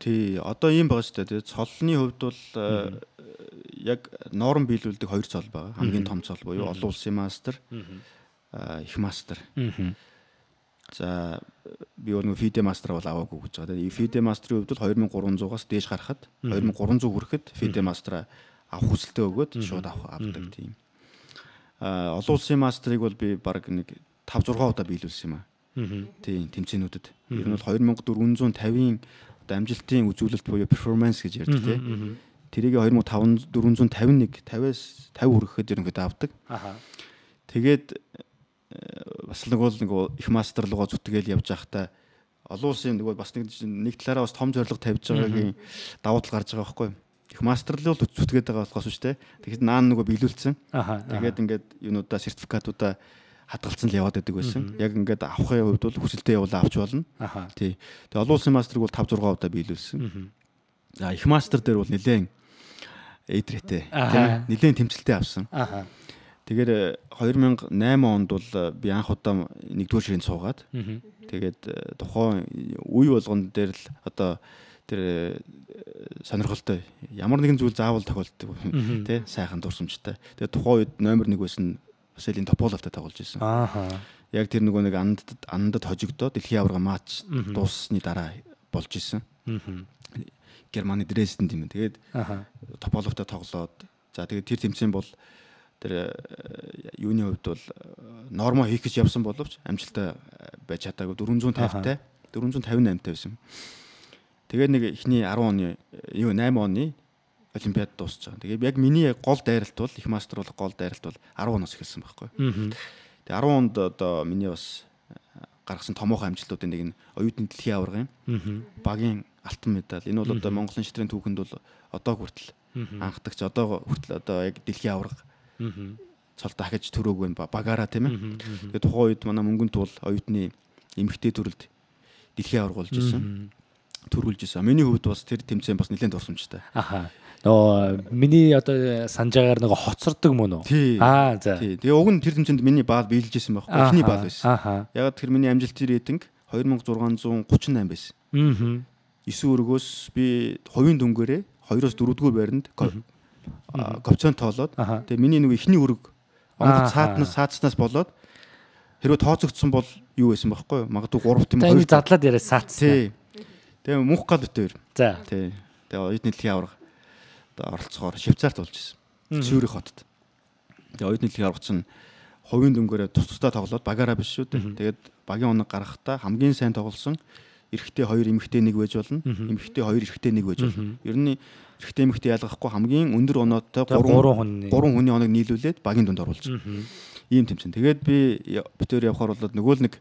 Тий, одоо ийм байгаа шүү дээ. Цолны хувьд бол яг норм биелүүлдэг 2 цол байгаа. Хамгийн том цол буюу олон улсын мастер, их мастер. За би нөгөө FIDE мастер бол аваагүй гэж байгаа. Тэгээ FIDE мастерын хувьд бол 2300-аас дээш гарахад 2300 хүрэхэд FIDE мастер авах хүсэлтээ өгөөд шууд авдаг тийм. Олон улсын мастерыг бол би баг нэг 5 6 удаа биелүүлсэн юм аа. Тийм тэмцээнүүдэд. Ер нь бол 2450-ийн одоо амжилтын үзүүлэлт буюу перформанс гэж ярьдаг тийм. Тэрийг 2451 50-аас 50 хүрэхэд ерөнхийдөө авдаг. Тэгээд бас нэг их мастер руугаа зүтгээл явж байхдаа олон улсын нөгөө бас нэг талаараа бас том зорилго тавьж байгаагийн давуу тал гарч байгаа байхгүй. Их мастер руу зүтгээд байгаа болохоос шүү дээ. Тэгэхээр наан нөгөө биелүүлсэн. Тэгээд ингээд юунуудаа сертификатуудаа хадгалсан л яваад байдаг байсан. Яг ингээд авахын хувьд бол хүсэлтэд явуулаа авч болно. Тий. Тэгээд олон улсын мастерыг бол 5 6 удаа биелүүлсэн. За их мастер дээр бол нэлээд эйдрэтэй тийм нэлээд тэмцэлтэй авсан. Тэгэхээр 2008 онд бол би анх удаа 1-р ширээнд суугаад тэгээд тухайн үе болгон дээр л одоо тэр сонирхолтой ямар нэгэн зүйл заавал тохиолддог тий сайхан дурсамжтай. Тэгээд тухайн үед номер 1 байсан Василий Тополовтой тоглож байсан. Яг тэр нөгөө нэг андад хожигдоод дэлхийн аварга матч дууссаны дараа болж исэн. Германы Дрезден тийм. Тэгээд Тополовтой тоглоод за тэгээд тэр тэмцээн бол тэр юуны хувьд бол нормо хийх гэж явсан боловч амжилттай байж чадаагүй 450-тай 458-тай байсан. Тэгээд нэг ихний 10 оны 8 оны олимпиад дуусч байгаа. Тэгээд яг миний гол дайралт бол их мастер бол гол дайралт бол 10 оноос эхэлсэн байхгүй. Тэгээд 10 онд одоо миний бас гаргасан томоохон амжилтуудын нэг нь оюутны дэлхийн аваргын багийн алтан медаль. Энэ бол одоо Монголын шитрийн түүхэнд бол одоо хүртэл анхдагч одоо хүртэл одоо яг дэлхийн аварга цол дахиж төрөөгүй багаараа тийм ээ. Тэгээд тухайн үед манай мөнгөнд бол оюутны эмэгтэй төрөлд дэлхийн аварга болж исэн. Төрүүлж исэн. Миний хувьд бас тэр тэмцээн бас нэлээд дурсамжтай. Нөгөө миний одоо санджаагаар нөгөө хоцордог мөн үү? За. Тэгээ уг нь тэр тэмцээнд миний баал биелж исэн байхгүй. Эхний баал байсан. Яг тэр миний амжилтын рейтинг 2638 байсан. 9 өргөөс би хувийн дүнгээрээ 2-оос 4-р байранд говцон тоолоод тэгээ миний нэг ихний өрг онгоц саацнаас болоод хэрвээ тооцогдсон бол юу байсан байхгүй юу? Магадгүй 3 тийм 2 задлаад яриа саацсан. Тэгээ мөнх гал битээр. За. Тэгээ оюутны дэлхийн аварга одоо оролцохоор Швейцарт болж исэн. Цюрих хотод. Тэгээ оюутны дэлхийн аварга чинь хувийн дүнгээрээ тусдаа тоглоод багаараа биш шүү дээ. Тэгээд багийн оног гаргахтаа хамгийн сайн тоглосон эрэгтэй 2 эмэгтэй 1 байж болно. Эмэгтэй 2 эрэгтэй 1 байж болно. Ер нь эрэгтэй эмэгтэй ялгахгүй хамгийн өндөр оноотой 3 хүний оног нийлүүлээд багийн дунд оруулж. Ийм тэмцээн. Тэгээд би битээр явхаар болоод нөгөө л нэг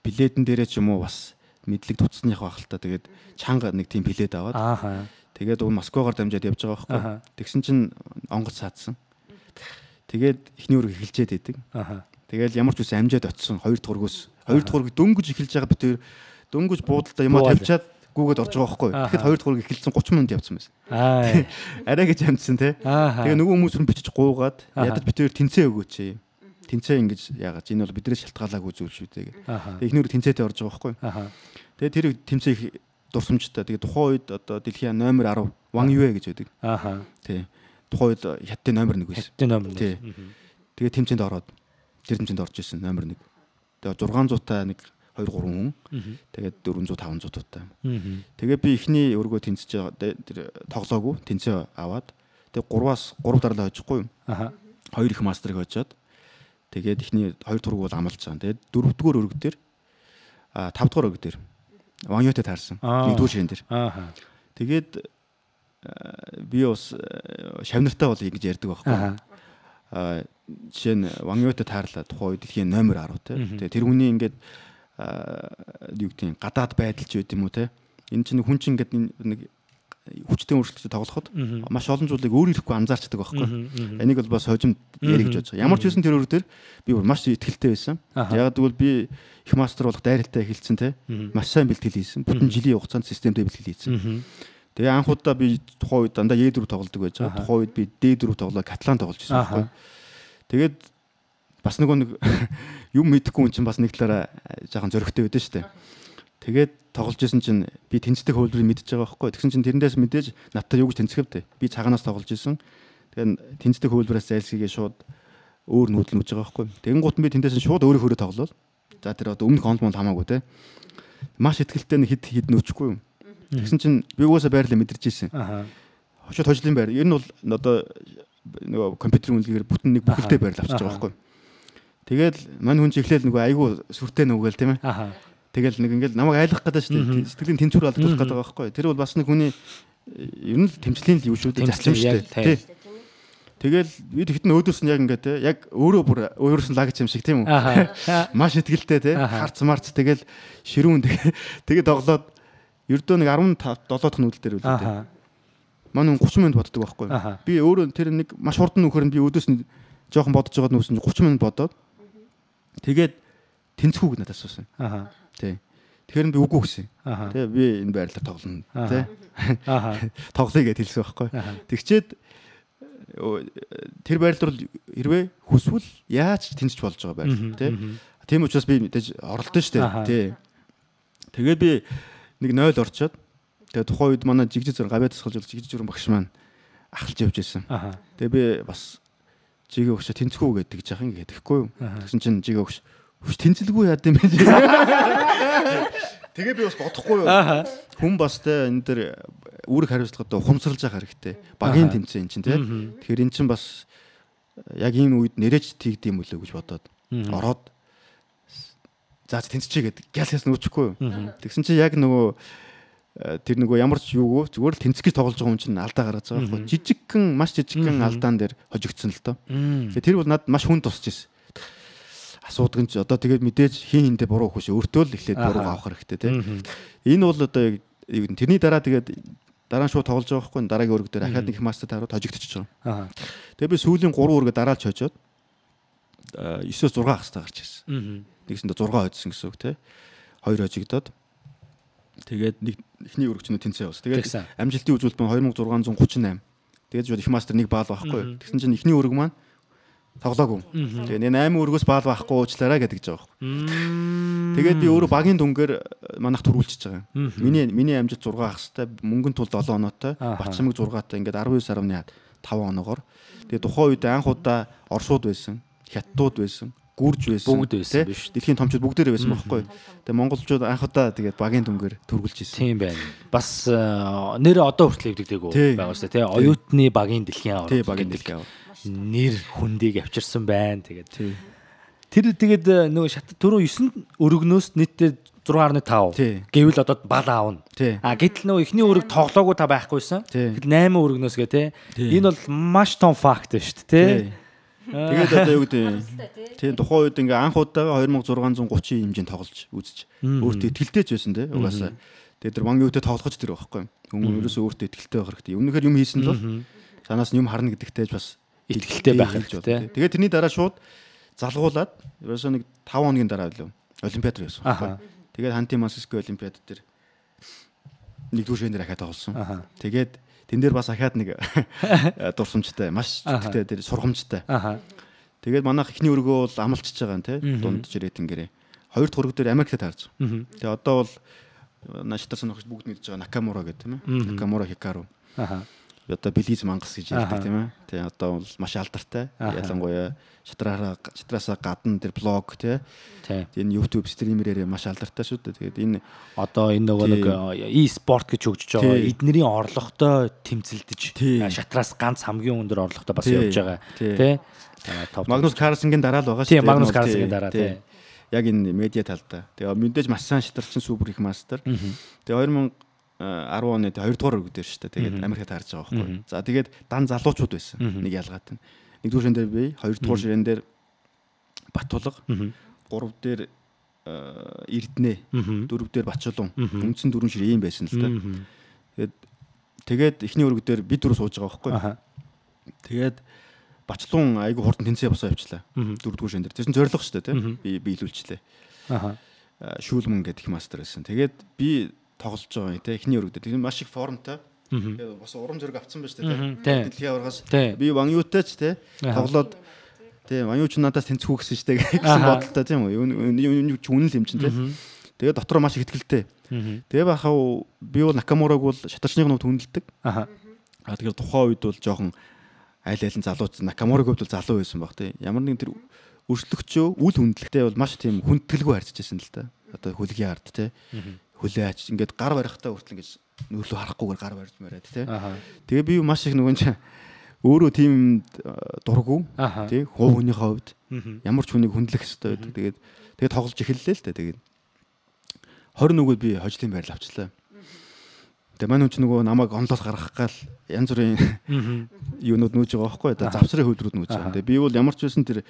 билетэн дээрээ ч юм уу бас мэдлэг туцсных байх л та. Тэгээд чанга нэг тийм билет аваад. Тэгээд Москвагаар дамжаад явж байгаа байхгүй. Тэгсэн чинь онгоц саадсан. Тэгээд эхний өрг эхэлчээд идэг. Тэгээд ямар ч үс амжаад очсон 2 дахь өргөөс 2 дахь өрг дөнгөж эхэлж байгаа битээр дөнгөж буудалдаа юмаа тавьчаад гүгээд орж байгаа байхгүй. Тэгэхэд 2 дахь өрг эхэлсэн 30 минут явцсан байсан. Арай гэж амжсан те. Тэгээ нөгөө хүмүүс рүү бичиж гуугаад ядаж битээр тэнцээ өгөөч. Тэнцээ ингэж яагаад энэ бол биднээс шалтгаалаагүй зүйл шүү дээ. Тэгээ эхнэр тэнцээтэй орж байгаа байхгүй. Тэгээ тэр тэнцээ их дурсамжтай. Тэгээ тухайн үед одоо дэлхийн номер 10 Ван Юэ гэж байдаг. Тий. Тухайн үед хятадын номер 1 байсан. Хятадын номер 1. Тий. Тэгээ тэмцээнд ороод тэр тэмцээнд орж исэн номер 1. Тэгээ 600-тай нэг 2 3 хүн. Тэгээд 400 500 туутай. Тэгээ би эхний өргөө тэнцэж байгаа тэр тоглоогүй тэнцээ аваад тэгээ 3-аас 3 дараалал хожихгүй. 2 их мастерыг хожоод тэгээд эхний 2 тург бол амлаж байгаа. Тэгээд 4-р өрг дээр 5-р өрг дээр Ван Ютэй таарсан. Нэгдүгээр ширэн дээр. Тэгээд би бас шавнартай бол ингэж ярьдаг байхгүй. Жишээ нь Ван Ютэй таарлаа тухайн үед дэлхийн номер 10 те. Тэгээд тэр хүний ингээд юу гэдэг нь гадаад байдал ч байд юм уу те. Энэ чинь хүн чинь ингээд нэг хүчтэй өөрчлөлтөд тоглоход маш олон зүйлийг өөр ирэхгүй анзаарчдаг байхгүй. Энийг бол бас хожимд ярих гэж бодож байгаа. Ямар ч байсан тэр өөр дээр би маш ихтгэлтэй байсан. Яг тэгвэл би их мастер болох дайралтай эхэлсэн те. Маш сайн бэлтгэл хийсэн. Бүтэн жилийн хугацаанд системтэй бэлтгэл хийсэн. Тэгээ анхудаа би тухайн үед дандаа E4 тоглодог байж байгаа. Тухайн үед би D4 тоглоо Каталан тоглож байсан байхгүй. Тэгээд бас нэг юм мэдэхгүй хүн чинь бас нэг талаараа жоохон зөрөгтэй байдсан шүү дээ. Тэгээд тоглож исэн чинь би тэнцдэг хөлбөрийг мэдчихэж байгаа байхгүй. Тэгсэн чинь тэрэндээс мэдээж надтай юу гэж тэнцэхвдээ. Би цагаанаас тоглож исэн. Тэгээд тэнцдэг хөлбөрөөс зайлсхийгээ шууд өөр нүүдэл нүж байгаа байхгүй. Тэгэн гут би тэндээс шууд өөрөө тоглол. За тэр одоо өмнөх онл хамаагүй те. Маш ихтгэлтэй хэд нөөчихгүй юм. Тэгсэн чинь би угаасаа байрлал мэдэрч ирсэн. Хошууд хожлын байр. Ер нь бол одоо нөгөө компьютерийн үнэлгээр бүтэн нэг бүхэлдээ байрлал авчиж байгаа байхгүй. Тэгээд мань хүн чи эхлээл нөгөө айгүй сүртэй нүгэл тийм ээ. Тэгэл нэг ингээл намайг айлгах гэдэг шүү дээ. Сэтгэлийн тэнцвэр алдуулах гэдэг байгаа байхгүй. Тэр бол бас нэг хүний ер нь тэмцлийн л юу шүү дээ. Зарчим шүү дээ. Тэгэл бид хитэн өөдөөс нь яг ингээд те яг өөрөө бүр өөрөөс нь лагч юм шиг тийм үү. Маш ихтгэлтэй те харц марц тэгэл ширүүн тэгээд тоглоод ердөө нэг 15 7 дахь нүүдэл дээр үлдээ. Манай 30 минут боддог байхгүй. Би өөрөө тэр нэг маш хурдан нөхөр нь би өөдөөс нь жоохон бодож байгаад нүүсэн 30 минут бодоод тэгээд тэнцэхүүг надад асуусан. Тий. Тэгэхээр би үгүй гэсэн. Тий би энэ байрлалаар тоглоно. Тий. Тоглоё гэж хэлсэн байхгүй. Тэгчээд тэр байрлал бол хэрвээ хүсвэл яаж тэнцэж болж байгаа байрлал тий. Тийм учраас би мэдээж оролдсон шүү дээ. Тий. Тэгээд би нэг 0 орчоод тэгээд тухайн үед манай жигжиг зэрэг гавьяа тасгалж жигжиг жүрэн багш маань ахалж явж байсан. Тэгээд би бас жигээ өгч тэнцэхүү гэдэг жах ингэ тэгэхгүй юу. Тэгсэн чинь жигээ өгч тэнцэлгүй яад юм бэ. Тэгээ би бас бодохгүй юу. Хүн бас те энэ дэр үүрэг хариуцлагад ухамсарлаж байгаа хэрэгтэй. Багийн тэмцээн чинь те. Тэгэхээр эн чинь бас яг энэ үед нэрэж тийгд юм үлээ гэж бодоод ороод за тэнцчихээ гэдэг гялхаас нүүчихгүй юу. Тэгсэн чинь яг нөгөө тэр нөгөө ямар ч юугүй зүгээр л тэнцэх гэж тоглож байгаа хүн чинь алдаа гаргаж байгаа байхгүй. Жижигхэн маш жижигхэн алдаан дээр хожигдсон л доо. Тэгээ тэр бол надад маш хүн тусч ирсэн. Асуудаг нь ч одоо тэгээд мэдээж хин хинтээ буруу хөш өөртөө л эхлээд буруу авах хэрэгтэй тийм. Энэ бол одоо тэрний дараа тэгээд дараа нь шууд тоглож байгаа байхгүй. Дараагийн өрг дээр ахаад нэг их мастер таарууд хожигдчихж байгаа. Тэгээд би сүүлийн 3 өргө дараалж хожоод 9-6 хастай гарч ирсэн. Нэгсэндээ 6 хожсон гэсэн үг тийм. 2 хожигдоод тэгээд нэг эхний өргөч нь тэнцээ явсан. Тэгээд амжилтын үзүүлэлт маань 2638. Тэгээд шууд их мастер нэг баал байхгүй. Тэгсэн чинь эхний өрг маань тоглоогүй. Тэгээ 8 өргөөс баал байхгүй уучлаарай гэдэг жаа байхгүй. Тэгээд би өөрөө багийн дүнгээр манайх төрүүлчихэж байгаа. Миний амжилт 6 хастай, мөнгөнд тул 7 оноотой, Батчамаг 6-тай ингээд 19.5 оноогоор. Тэгээд тухайн үед анх удаа Оросууд байсан, Хятадууд байсан, Гүрж байсан. Бүгд байсан биш. Дэлхийн томчууд бүгдээрээ байсан байхгүй. Тэгээд монголчууд анх удаа тэгээд багийн дүнгээр төрүүлж ирсэн. Тийм байна. Бас нэр одоо хүртэл хэвдэгдээгүй байгаа шүү дээ тий. Оюутны багийн дэлхийн аврал. Тий багийн дэлхийн аврал. Нэр хүндийг авчирсан байна. Тэгээд тэр тэгээд нөгөө шат түрүү 9 өргөнөөс нийтдээ 6.5 гэвэл одоо бал аавна. Гэтэл нөгөө эхний өрг тоглоогүй та байхгүйсэн. Тэгэл 8 өргөнөөс гэ тий. Энэ бол маш том факт шүү дээ тий. Тэгээд одоо юу гэдэг тийм тухайн үед ингээ анх удаага 2630 хэмжээнд тоглож үзэж өөртөө итгэлтэй ч байсан тий. Угаасаа тэгээд тэр Ван Ютэй тоглохч тэр байхгүй. Хүн ерөөсөө өөртөө итгэлтэй байх хэрэгтэй. Өмнөхөр юм хийсэн л санаас нь юм харна гэдэгтэй ч бас итгэлтэй байх хэрэгтэй. Тэгээд тэрний дараа шууд залгуулад ерөөсөө нэг 5 хоногийн дараа билүү олимпиад руу явсан. Тэгээд Ханти Мансиско олимпиад дээр нэгдүгээр ширхэнээр ахаад тоглосон. Тэгээд тэн дээр бас ахаад нэг дурсамжтай, маш ихтэй тэр сургамжтай. Тэгээд манайх ихний өргөө бол амлчихж байгаа юм те дунд жирэтингэрээ. Хоёр дахь өргө дээр Америкт таарч. Тэгээд одоо бол нааштай сонирхож бүгд мэдж байгаа Накамура гэдэг тийм ээ. Накамура Хикару. Одоо Белиз мангас гэж ярьдаг тийм ээ. Тэгээ одоо бол маш алдартай. Ялангуяа шатраасаа гадна тэр блог тийм. Энэ YouTube стримерээр маш алдартай шүү дээ. Тэгээд энэ одоо энэ нөгөө нэг e-sport гэж хөгжиж байгаа эднэрийн орлоготой тэмцэлдэж шатраас ганц хамгийн өндөр орлоготой бас явж байгаа тийм. Магнус Карлсенгийн дараа л байгаа шүү дээ. Тийм Магнус Карлсенгийн дараа тийм. Яг энэ медиа талдаа. Тэгээ мэдээж маш сайн шидарчин супер их мастер. Тэгээ 2010 оны 2 дугаар өргөд дээр шүү дээ. Тэгээд Америкт харж байгаа байхгүй. За тэгээд дан залуучууд байсан. Нэг ялгаатай. 1-р ширэн дээр би, 2-р ширэн дээр Батулга, 3 дээр Эрдэнэ, 4 дээр Бачулан. Үндсэн 4 ширээ юм байсан л да. Тэгээд эхний өргөд дээр бид дөрөв сууж байгаа байхгүй. Тэгээд Бачулан айгу хурдан тэнцээ босоо явчлаа. 4-р ширэн дээр. Тэсэн зориг шүү дээ, тийм. Би илүүлчлээ. Шүүлмэн гэдэг их мастер байсан. Тэгээд би тоглож байгаа юм те эхний өргөд. Тэгээд маш их формтой. Тэгээд бас урам зориг авцсан байж тээ. Дэлхийн аваргаас би Ванюутай ч те тоглоод те Ванюуч надаас тэнцэх гэсэн штэ гэсэн бодолтой тийм үү. Юу ч үнэн л юм чинь те. Тэгээд дотроо маш их ихтгэлтэй. Тэгээ бахаа би бол Накамураг бол шатарчныг нь хүндэлдэг. Тэгээд тухайн үед бол жоохон айл айлын залууч Накамураг хувьд бол залуу байсан баг те. Ямар нэгэн тэр өршлөгчөө үл хүндлэгтэй бол маш тийм хүндэтгэлгүй харьцаж байсан л да. Одоо хөлгийн ард те. Хөлөө ач ингээд гар барихтаа хүртэл ингэж нөлөө харахгүйгээр гар барьж мараад тий. Тэгээ би маш их нөгөө чинь өөрөө тийм дурггүй тий хувийнхээ хувьд ямар ч хүнийг хүндлэх хэрэгтэй байдаг. Тэгээд тоглож эхэллээ л дээ. Тэгээд 20 нөгөөд би хожлын байрал авчлаа. Тэгээ манай хүн чинь нөгөө намайг онлоос гаргах гал янз бүрийн юунууд нүүж байгаа байхгүй. Завсрын хөвдрүүд нүүж байгаа. Тэгээ би бол ямар ч байсан тэр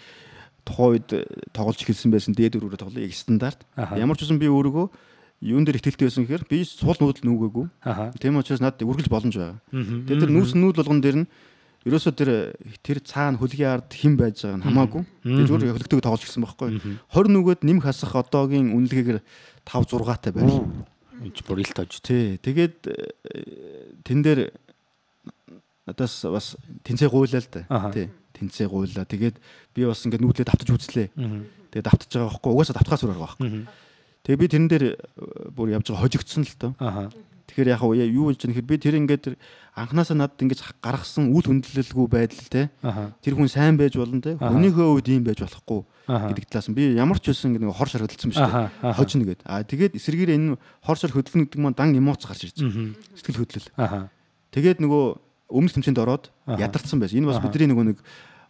тухайн үед тоглож эхэлсэн байсан дээд өрөөрөө тоглоё яг стандарт. Ямар ч байсан би өөрийгөө юун дээр ихтэлтэй байсан гэхээр би суул нүүдэл нүгээгүй. Тийм учраас надад үргэлж боломж байгаа. Тэгээд тэр нүүс нүүд болгон дээр нь ерөөсөө тэр цаана хөлгийн ард хэн байж байгаа нь хамаагүй. Тэгээд зүгээр хөлөгтэйг тоглож гисэн байхгүй. 20 нүгэд нэмэх хасах одоогийн үнэлгээгээр 5 6-аатай байр. Энд бүр ил тож. Тий. Тэгээд тэн дээр надаас бас тэнцээ гуйлаа л да. Тий. Тэнцээ гуйлаа. Тэгээд би бас ингээд нүүдлээ давтаж үзлээ. Тэгээд давтаж байгаа байхгүй. Угаасаа давтахаас өөр байгаа байхгүй. Тэгээ би тэрэн дээр бүр явж байгаа хожигдсон л доо. Тэгэхээр яг юу болж байгаа нөхөр би тэр ингээд анханасаа надад ингэж гаргасан үл хүндлэлгүй байдал те. Тэр хүн сайн байж болно те. Хүнийхээ үед ийм байж болохгүй гэдэг талаас нь би ямар ч үсэн нэг хор шар хөдөлсөн ба шүү дээ. Хожно гэд. Тэгээд эсрэгээр энэ хор шар хөдөлнө гэдэг маань дан эмоц гарч ирж байгаа. Сэтгэл хөдлөл. Тэгээд нөгөө өмнөх тэмцээнд ороод ядарсан байсан. Энэ бас бидний нөгөө нэг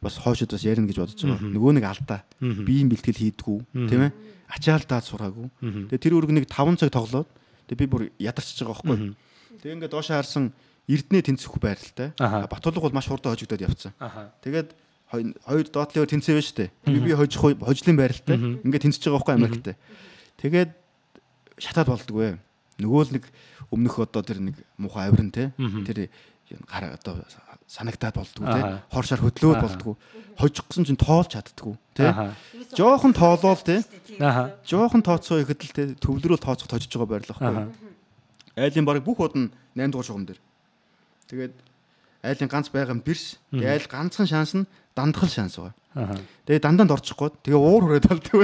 бас хоошид бас ярина гэж бодож байгаа. Нөгөө нэг алдаа. Биеийн бэлтгэл хийдгүү тийм ээ. Ачаалтаад сураагүй. Тэгээ тэр өрг нэг 5 цаг тоглоод тэгээ би бүр ядарч байгаа байхгүй. Тэгээ ингээд доошоо харсан Эрдэнэ тэнцэх байралтай. Батулга бол маш хурдан хожигдоод явцсан. Тэгээд хоёр доотлын тэнцээ байж штэ. Би хожлын байралтай. Ингээд тэнцэж байгаа байхгүй Америктэй. Тэгээд шатаад болдгоо. Нөгөө л нэг өмнөх одоо тэр нэг муухай авирн те. Тэр гар одоо санагтаад болдгоо те. Хор шар хөдлөөд болдгоо. Хожигсон чинь тоолж чаддггүй те. Жохон тоолол те. Жохон тооцоо ихэд л те төвлөрөөл тооцох тожиж байгаа байрлал байхгүй. Айлын баг бүх уд нь 8 дугаар шугам дээр. Тэгээд айлын ганц байгаа нь бирс. Тэгээд айл ганцхан шанс нь дандхал шанс байгаа. Тэгээд дандаанд орчихгүй. Тэгээ уур хүрээд болдгоо.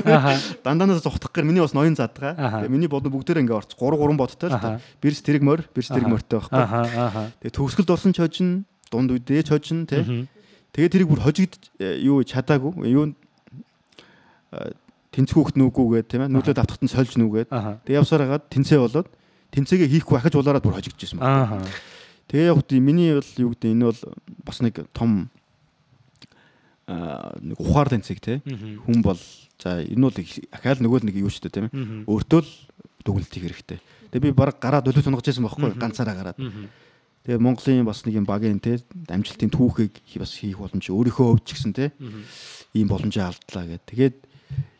Дандаанаас зугтах гэр миний бас ноён задгаа. Тэгээд миний бодно бүгдээр ингээ орч 3 бодтой л. Бирс тэрэг морьтой байхгүй. Тэгээд төгсгөлд орсон ч хожин, дунд үедээ ч хожин те. Тэгээд тэрийг бүр хожигд юу чадаагүй. Юу тэнцвүүхт нүгүүгээд тийм ээ. Нүдлээд автахт нь сольж нүгээд. Тэгээд явсаар хагаад тэнцээ болоод тэнцээгээ хийхгүй ахиж улаараад бүр хожигдчихсэн байна. Тэгээ яг тийм миний бол юу гэдэг энэ бол бас нэг том нэг ухаар тэнцэг те хүн бол за энэ бол ахаал нөгөө л нэг юу шүү дээ тийм ээ өөртөө л дүгнэлт хийх хэрэгтэй. Тэгээ би баг гараад өлөө тунгаж байсан байхгүй ганцаараа гараад. Тэгээ Монголын бас нэг юм багийн те амжилтын түүхийг бас хийх боломж өөрийнхөө өвч гисэн те ийм боломжоо алдлаа гэдэг. Тэгээд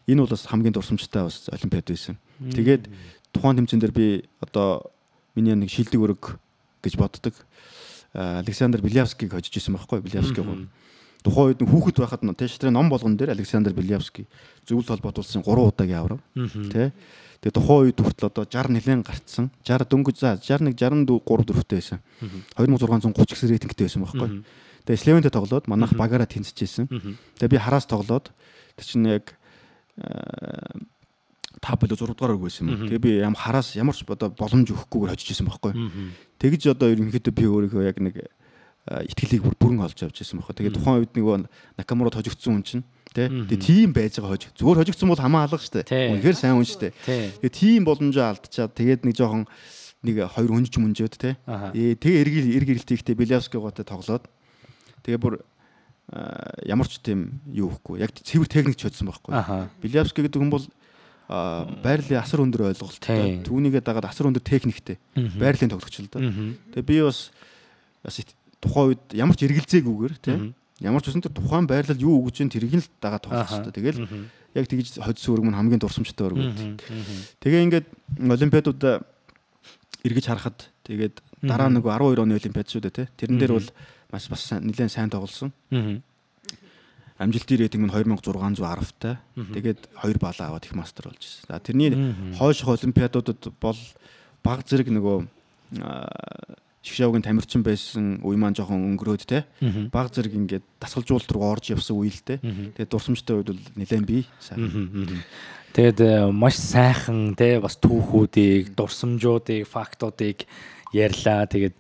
энэ бол бас хамгийн дурсамжтай бас олимпиад байсан. Тэгээд тухайн тэмцээн дээр би одоо миний нэг шилдэг өрөг гэж боддог. Александр Белявскийг хожиж исэн байхгүй Белявский гоо. Тухайн үед хүүхэд байхад тэштрийн ном болгон дээр Александр Белявский зөвлөлт холбоотуулсан 3 удаагийн аврав. Тэ. Тэгээ тухайн үед хүртэл одоо 60 нэлээд гарцсан. 60 дөнгөж за 61 63 дөрөвтэй байсан. 2630 гэсэн рейтингтэй байсан байхгүй. Тэгээ Слевентэй тоглоод манайх багаараа тэнцэжсэн. Тэгээ би хараас тоглоод тэр чинь яг 5 болоо 6 дугаар өрг байсан юм. Тэгээ би хараас ямар ч одоо боломж өгөхгүйгээр хожиж исэн байхгүй. Тэгж одоо ерөнхийдөө би өөрийнхөө яг нэг итгэлийг бүрэн олж авч ирсэн байхгүй. Тэгээ тухайн үед нөгөө Накамурад хожигдсон хүн чинь тэгээ тийм байж байгаа хожиг. Зүгээр хожигдсон бол хамаа алга штэ. Үнэхээр сайн хүн штэ. Тэгээ тийм боломжоо алдчихад тэгээд нэг жоохон нэг хоёр өнж мөнжөөд те. Тэгээ эрг ирэлтийхтэй Белявский готой тоглоод тэгээ бүр ямар ч тийм юу ихгүй. Яг цэвэр техник ч hodсон байхгүй. Белявский гэдэг хүн бол байрлалын асар өндөр ойлголттой. Түүнийгээ дагаад асар өндөр техниктэй байрлалын тоглогч л да. Тэгээ би бас тухайн үед ямар ч эргэлзээгүйгээр тийм ямар ч үсэн тэр тухайн байрлал юу өгж ин тэрийг л дагаад тоглох хэрэгтэй. Тэгэл яг тэгж хоцсон өрг мань хамгийн дурсамжтай өрг үү. Тэгээ ингээд олимпиадууд эргэж харахад тэгээд дараа нэг 12 оны олимпиад шүү дээ тий. Тэрэн дээр бол бас нэлээд сайн тоглосон. Амжилтын рейтинг нь 2610-тай. Тэгээд 2 балаа аваад их мастер болж ирсэн. За тэрний хойших олимпиадуудад бол баг зэрэг нөгөө Шгшавгийн тамирчин байсан үе маань жоохон өнгөрөөд те баг зэрэг ингээд дасгалжуулалт руу орж явсан үе л те. Тэгээд дурсамжтай үед бол нэлээд бий сайхан. Тэгээд маш сайхан те бас түүхүүдийг, дурсамжуудыг, фактуудыг ярьлаа. Тэгээд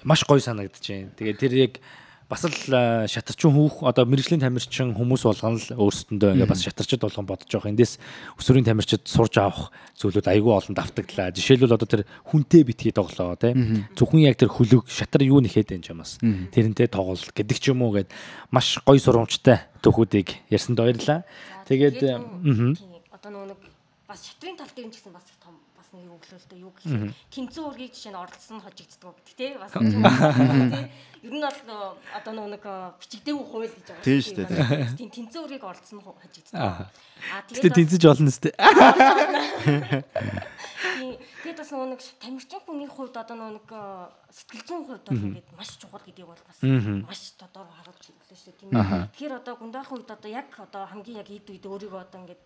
маш гоё санагдчихээн. Тэгээд тэр яг бас л шатарчин хүүх одоо мэрэгжлийн тамирчин хүмүүс болгоно л өөрсдөндөө ингээ бас шатарчд болгон бодож байгаа. Эндээс өсвөрийн тамирчид сурж авах зүйлүүд айгүй олон давтагдлаа. Жишээлбэл одоо тэр хүнтэй битгий тоглоо тий. Зөвхөн яг тэр хөлөг шатар юу нэхэд энэ юм бас. Тэрнтэй тоглолт гэдэг ч юм уу гэд маш гоё сурамжтай төхүүдийг ярьсанд баярлалаа. Тэгээд одоо нэг бас шатрын тал дээр нь ч гэсэн бас том бас нэг өглөөлтөө юу гэхээр тэнцэн ургийг жишээ нь оролцсон хожигддаг тий. Бас ер нь бол одоо нэг бичигдээгүй хууль гэж байгаа. Тийм шүү дээ. Тийм тэнцэн үрийг оролцсон хожигдсан. Тэгээд тэнцэж болно сте. Тэгээд бас нэг тамирчин хүний хувьд одоо нэг сэтгэл зүйн хувьд бол ингээд маш чухал гэдгийг бол бас маш тодор харуулж өглөө шүү дээ тийм ээ. Тэгэхээр одоо гундаахан үед одоо яг одоо хамгийн яг эд үед өөрийгөө одоо ингээд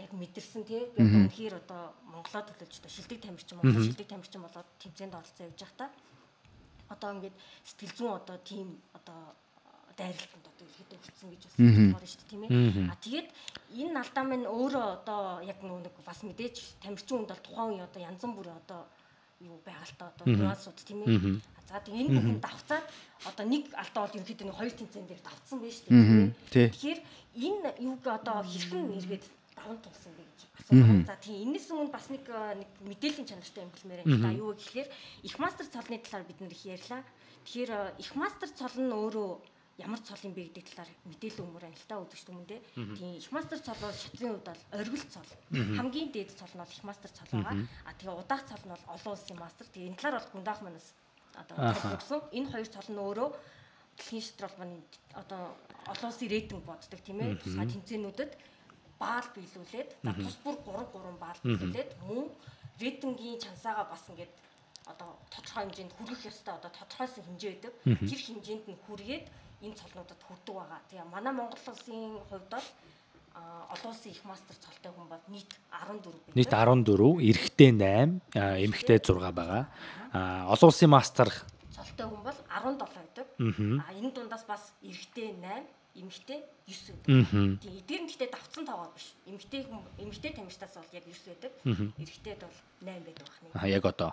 яг мэдэрсэн тий. Би одоо үнэхээр одоо Монголоо төлөвлөж одоо шилдэг тамирчин Монгол шилдэг тамирчин болоод тэмцээнд оролцсон явж байхдаа одоо ингээд сэтгэл зүйн одоо тийм одоо дайралтанд одоо ихэд өгсөн гэж бас бодож шүү дээ тийм ээ. Тэгээд энэ алдаа минь өөрөө одоо яг нэг бас мэдээж тамирчин хүнд бол тухайн үе одоо янз бүрийн одоо юу байгальтай одоо нюансууд тийм ээ. За тэгээд энэ бүхэн давцаад одоо нэг алдаа бол ерөнхийдөө нэг хоёр тэмцээн дээр давцсан байж шүү дээ. Тэгэхээр энэ юуг одоо хэрхэн эргээд даван тулсан бэ гэж асуусан. За тийм энэс өмнө бас нэг мэдээллийн чанартай юм хэлмээр байна. За юу гэхээр их мастер цолны талаар бид нэр их ярьлаа. Тэгэхээр их мастер цол нь өөрөө ямар цол юм бэ гэдэг талаар мэдээлэл өгмөр байна л та үзэгч хүмүүндээ. Тийм их мастер цол бол шатрын хувьд бол оргил цол. Хамгийн дээд цол нь бол их мастер цол байгаа. Тэгээ удаах цол нь бол олон улсын мастер. Тэгээ энэ талаар бол гундаах манаас одоо өгсөн. Энэ хоёр цол нь өөрөө дэлхийн шатрал маань одоо олон улсын рейтинг боддог тийм ээ. Тусгай тэмцээнүүдэд баал биелүүлээд тус бүр 3 баал биелүүлээд мөн рейтингийн чансаагаа бас ингээд одоо тодорхой хэмжээнд хүргэх ёстой одоо тодорхойсон хэмжээ байдаг. Тэр хэмжээнд нь хүргээд энэ цолнуудад хүрдэг байгаа. Тэгээ манай Монгол улсын хувьд бол олон улсын их мастер цолтой хүн бол нийт 14 байна. Нийт 14, эрэгтэй 8, эмэгтэй 6 байгаа. Олон улсын мастер цолтой хүн бол 17 байдаг. Энэ дундаас бас эрэгтэй 8 эмэгтэй 9 байдаг. Тийм эдгээр нь гэхдээ давцсан тоогоо биш. Эмэгтэй тамирчдаас бол яг 9 байдаг. Эрэгтэйд бол 8 байдаг бахна. Яг одоо.